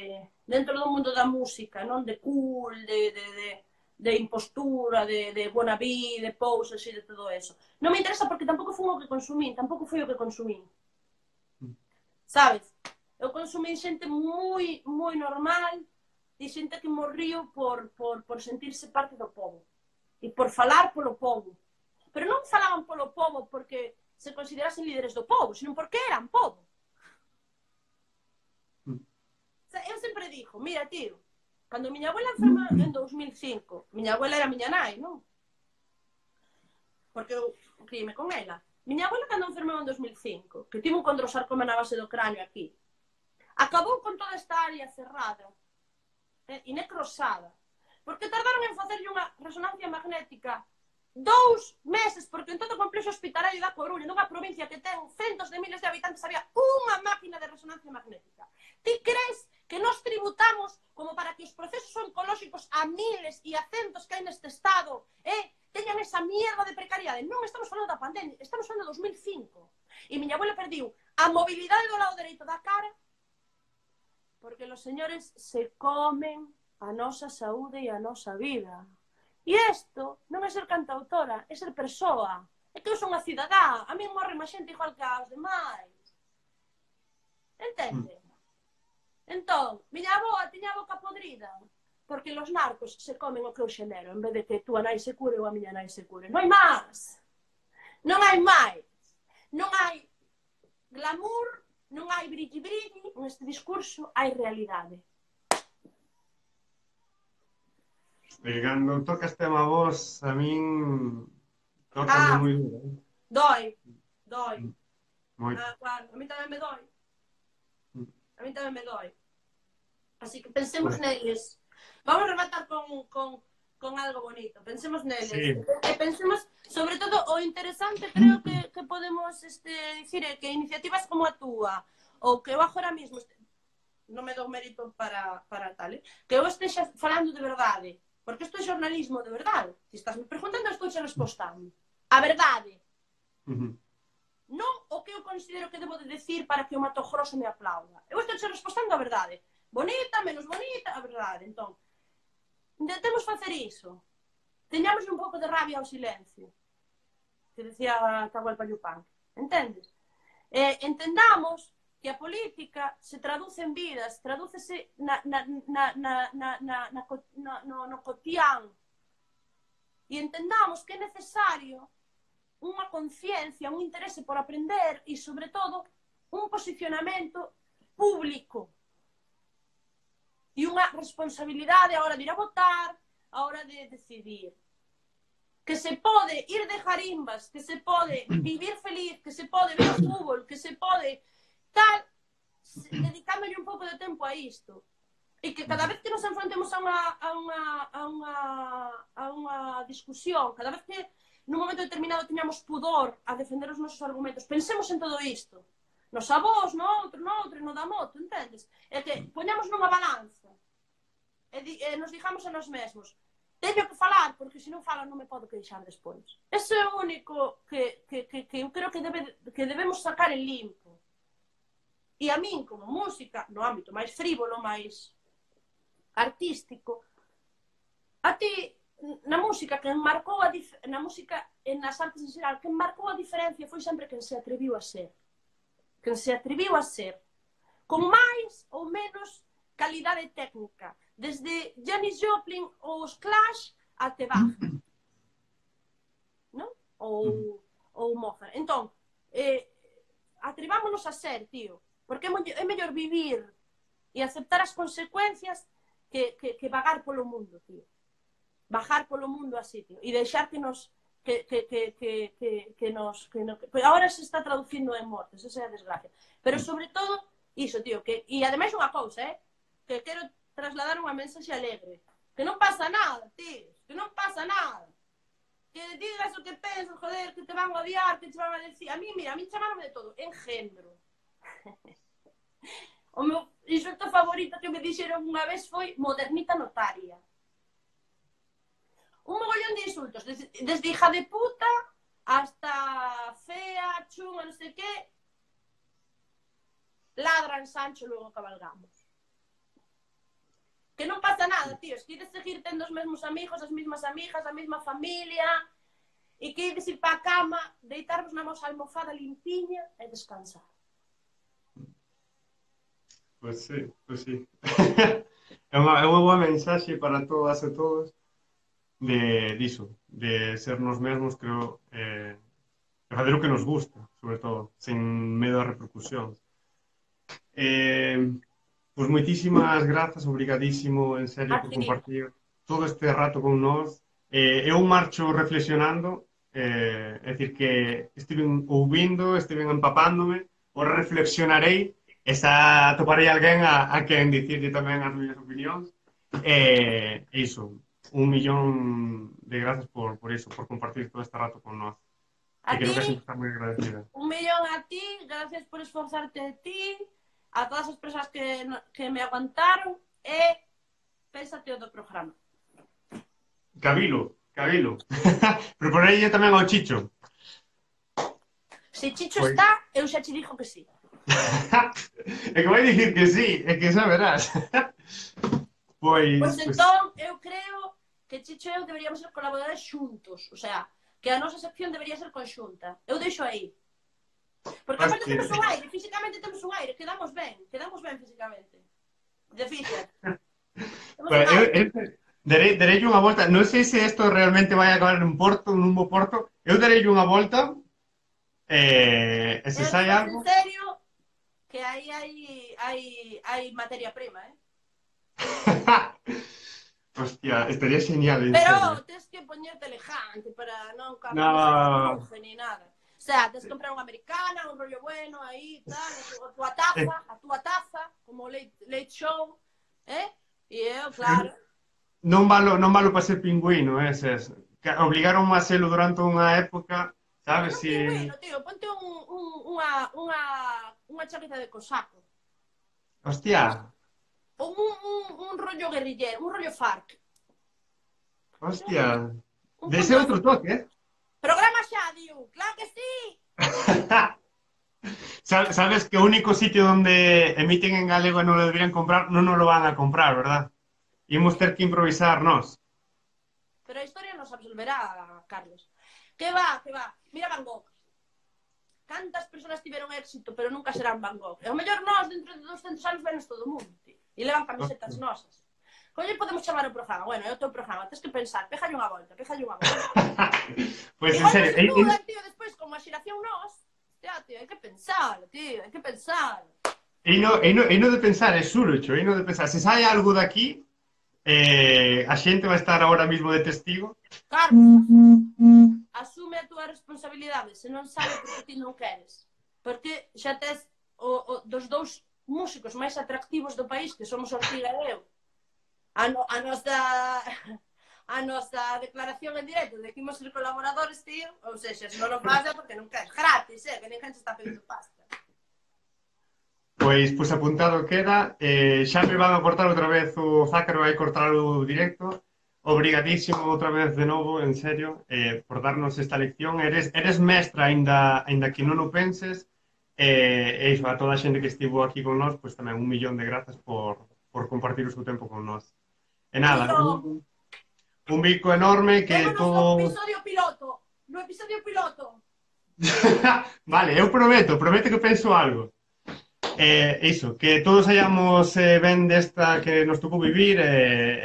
dentro do mundo da música, non? De cool, de, de, de, de impostura, de, de wannabe, de poses e de todo eso. Non me interesa porque tampouco foi o que consumín, tampouco foi o que consumín. Sabes? Eu consumín xente moi, moi normal e xente que morriu por, por, por sentirse parte do povo. E por falar polo povo. Pero non falaban polo povo porque se considerasen líderes do povo, senón porque eran povo. Mm. O sea, eu sempre dixo, mira, tío, cando miña abuela enferma en dos mil cinco, miña abuela era miña nai, non? Porque eu criime con ela. Miña abuela cando enfermou en dos mil cinco, que tivo un condrosarcoma na base do cráneo aquí, acabou con toda esta área cerrada eh, e necrosada, porque tardaron en facerlle unha resonancia magnética dous meses, porque en todo o complexo hospitalario da Coruña, nunha provincia que ten centos de miles de habitantes, había unha máquina de resonancia magnética. Ti crees que nos tributamos como para que os procesos oncolóxicos a miles e a centos que hai neste estado eh, teñan esa mierda de precariedade? Non estamos falando da pandemia, estamos falando de dos mil cinco. E miña abuela perdiu a mobilidade do lado dereito da cara porque os señores se comen a nosa saúde e a nosa vida. E isto non é ser cantautora, é ser persoa. É que eu son unha cidadá, a mí morre má xente igual que aos demais. Entende? Mm. Entón, miña avoa tiña a boca podrida, porque os narcos se comen o que eu xenero, en vez de que tú a nai se cure ou a miña nai se cure. Non hai máis. Non hai máis. Non hai glamour, non hai brilli-brilli, neste discurso hai realidade. E cando tocas tema vos, a min tócame ah, moi duro. Doi, doi. Moi. Ah, claro, a mí tamén me doi. A mí tamén me doi. Así que pensemos bueno. neles. Vamos a rematar con, con, con algo bonito. Pensemos neles. Sí. E pensemos, sobre todo, o interesante creo que, que podemos este, dicir é que iniciativas como a túa, ou que eu agora mesmo este, non me dou mérito para, para tal, eh? Que eu estexa falando de verdade. Porque isto é xornalismo de verdade. Se estás me preguntando, estou xe respostando. A verdade. Uh-huh. Non o que eu considero que debo de decir para que o Mato Grosso me aplauda. Eu estou xe respostando a verdade. Bonita, menos bonita, a verdade. Entón, intentemos facer iso. Teñamos un pouco de rabia ao silencio. Que decía Tahualpa Yupanqui. Entendes? Eh, entendamos que a política se traduce en vidas, tradúcese na, na, na, na, na, na, na, no, no cotián. E entendamos que é necesario unha conciencia, un interese por aprender e, sobre todo, un posicionamento público. E unha responsabilidade a hora de ir a votar, a hora de decidir. Que se pode ir de jarimbas, que se pode vivir feliz, que se pode ver o fútbol, que se pode... tal, dedicándole un pouco de tempo a isto. E que cada vez que nos enfrontemos a unha, a unha, a unha, a unha discusión, cada vez que nun momento determinado teñamos pudor a defender os nosos argumentos, pensemos en todo isto. Nos avós, no outro, no outro, no da moto, entendes? É que poñamos nunha balanza e, di, e nos digamos a nós mesmos, teño que falar, porque se non falo non me podo queixar despois. Ese é o único que, que, que, que eu creo que, debe, que debemos sacar en limpo. E a min, como música, no ámbito máis frívolo, máis artístico, a ti, na música, quen marcou a dif... na música e nas artes en xeral, quen marcou a diferencia foi sempre quen se atreviu a ser. Quen se atreviu a ser. Con máis ou menos calidade técnica. Desde Janis Joplin ou os Clash até Bach. Non? Ou, ou Mozart. Entón, eh, atrevámonos a ser, tío. Porque é, mo é mellor vivir e aceptar as consecuencias que, que, que vagar polo mundo, tío. Bajar polo mundo así, tío. E deixar que nos... Que, que, que, que, que, que nos... Que no, que... Ahora se está traducindo en mortes, esa é a desgracia. Pero sobre todo, iso, tío. Que, e ademais unha cousa, eh? Que quero trasladar unha mensaxe alegre. Que non pasa nada, tío. Que non pasa nada. Que digas o que pensas, joder, que te van a odiar, que te van a decir... A mí, mira, a mí chamaronme de todo. Engendro. O meu insulto favorito que me dixeron unha vez foi modernita notaria. Un mogollón de insultos, desde, desde hija de puta hasta fea, chunga, non sei que, ladran Sancho, logo cabalgamos. Que non pasa nada, tío, es que ides seguir tendo os mesmos amigos, as mesmas amigas, a mesma familia, e que ides ir pa cama, deitarvos na vosa almofada limpiña e descansar. Pois sí, pois sí. É unha, é unha boa mensaxe para todas e todos. De diso, de ser nos mesmos, creo, eh, de fazer o que nos gusta, sobre todo, sen medo a repercusións. Eh, pois moitísimas grazas, obrigadísimo, en serio, por compartir todo este rato con nós. Eh, eu marcho reflexionando, eh, é dicir que estiven ouvindo, estiven empapándome, ora reflexionarei, e xa atoparei alguén a, a quen dicirlle tamén as miñas opinións. E eh, iso, un millón de grazas por, por eso, por compartir todo este rato con nós. A que creo ti, que a xente está moi agradecida. Un millón a ti, gracias por esforzarte de ti, a todas as persoas que, que me aguantaron, e pénsate o do programa. Cabilo, cabilo. Proponerlle tamén ao Chicho. Se Chicho Pois... está, eu xa che dixo que sí. É que vai dicir que sí, é que xa verás. Pois, pois entón, pues... eu creo que Chicho e eu deberíamos ser colaboradores xuntos, o sea, que a nosa sección debería ser conxunta. Eu deixo aí. Porque aparte temos un aire, físicamente temos un aire, quedamos ben, quedamos ben físicamente. De física. Pues, eu, eu darei, darei unha volta, non sei se isto realmente vai acabar en Porto, nun bo Porto, eu darei unha volta, eh, e se sai algo... En serio, que aí hai, hai, hai materia prima, eh? Hostia, estaría genial, en Pero serio. tens que poñerte elegante para non cambiar no. ni nada. O sea, tens que comprar unha americana, un rollo bueno, aí, tal, a túa taza, a túa taza, como late, late show, eh? E eu, claro. Non valo, non valo para ser pingüino, eses. Obligaron a selo durante unha época, sabes? Non Si... pingüino, tío, ponte un, un, unha, unha, unha chaqueta de cosaco. Hostia. Un, un, un rollo guerrillero, un rollo FARC. Hostia. De ese outro toque, eh? Programa xa, diu, claro que sí. Sabes que o único sitio donde emiten en galego e non lo deberían comprar, non nos lo van a comprar, verdad? Imos ter que improvisar nós. Pero a historia nos absolverá, Carlos. Que va, que va. Mira Van Gogh. Cantas persoas tiveron éxito, pero nunca serán Van Gogh. E o mellor nós, dentro de doscentos anos, venos todo o mundo, tío. E levan camisetas nosas. Colle podemos chamar o programa? Bueno, é o teu programa, tens que pensar, péjalle unha volta, péjalle unha volta. Pois, en igual serio... non se dudan, tío, despois, como a xeración nós, tío, tío, hai que pensar, tío, hai que pensar. E no, e no, e no de pensar, é surocho, e no de pensar, se sai algo daqui, eh, a xente vai estar ahora mismo de testigo. Carlos, asume a túa responsabilidade, se non sabe porque ti non queres. Porque xa tes o, o, dos dous músicos máis atractivos do país, que somos Ortiga e eu, a, no, a nosa a nosa declaración en directo de que imos ser colaboradores, tío, ou seja, se non o faz é porque non queres, gratis, eh, que ninguén se está pedindo pasta. Pois, pois apuntado queda, eh, xa me van a cortar outra vez o Zácaro, vai cortar o directo. Obrigadísimo outra vez de novo, en serio, eh, por darnos esta lección. Eres, eres mestra, aínda, aínda que non o penses. E eh, iso, a toda a xente que estivo aquí con nós, pois tamén un millón de grazas por, por compartir o seu tempo con nós. E nada, Tío, un, un bico enorme que vémonos no todo... episodio piloto. No episodio piloto. Vale, eu prometo, prometo que penso algo. Eh, iso, que todos hayamos eh, ben desta que nos tocou vivir eh,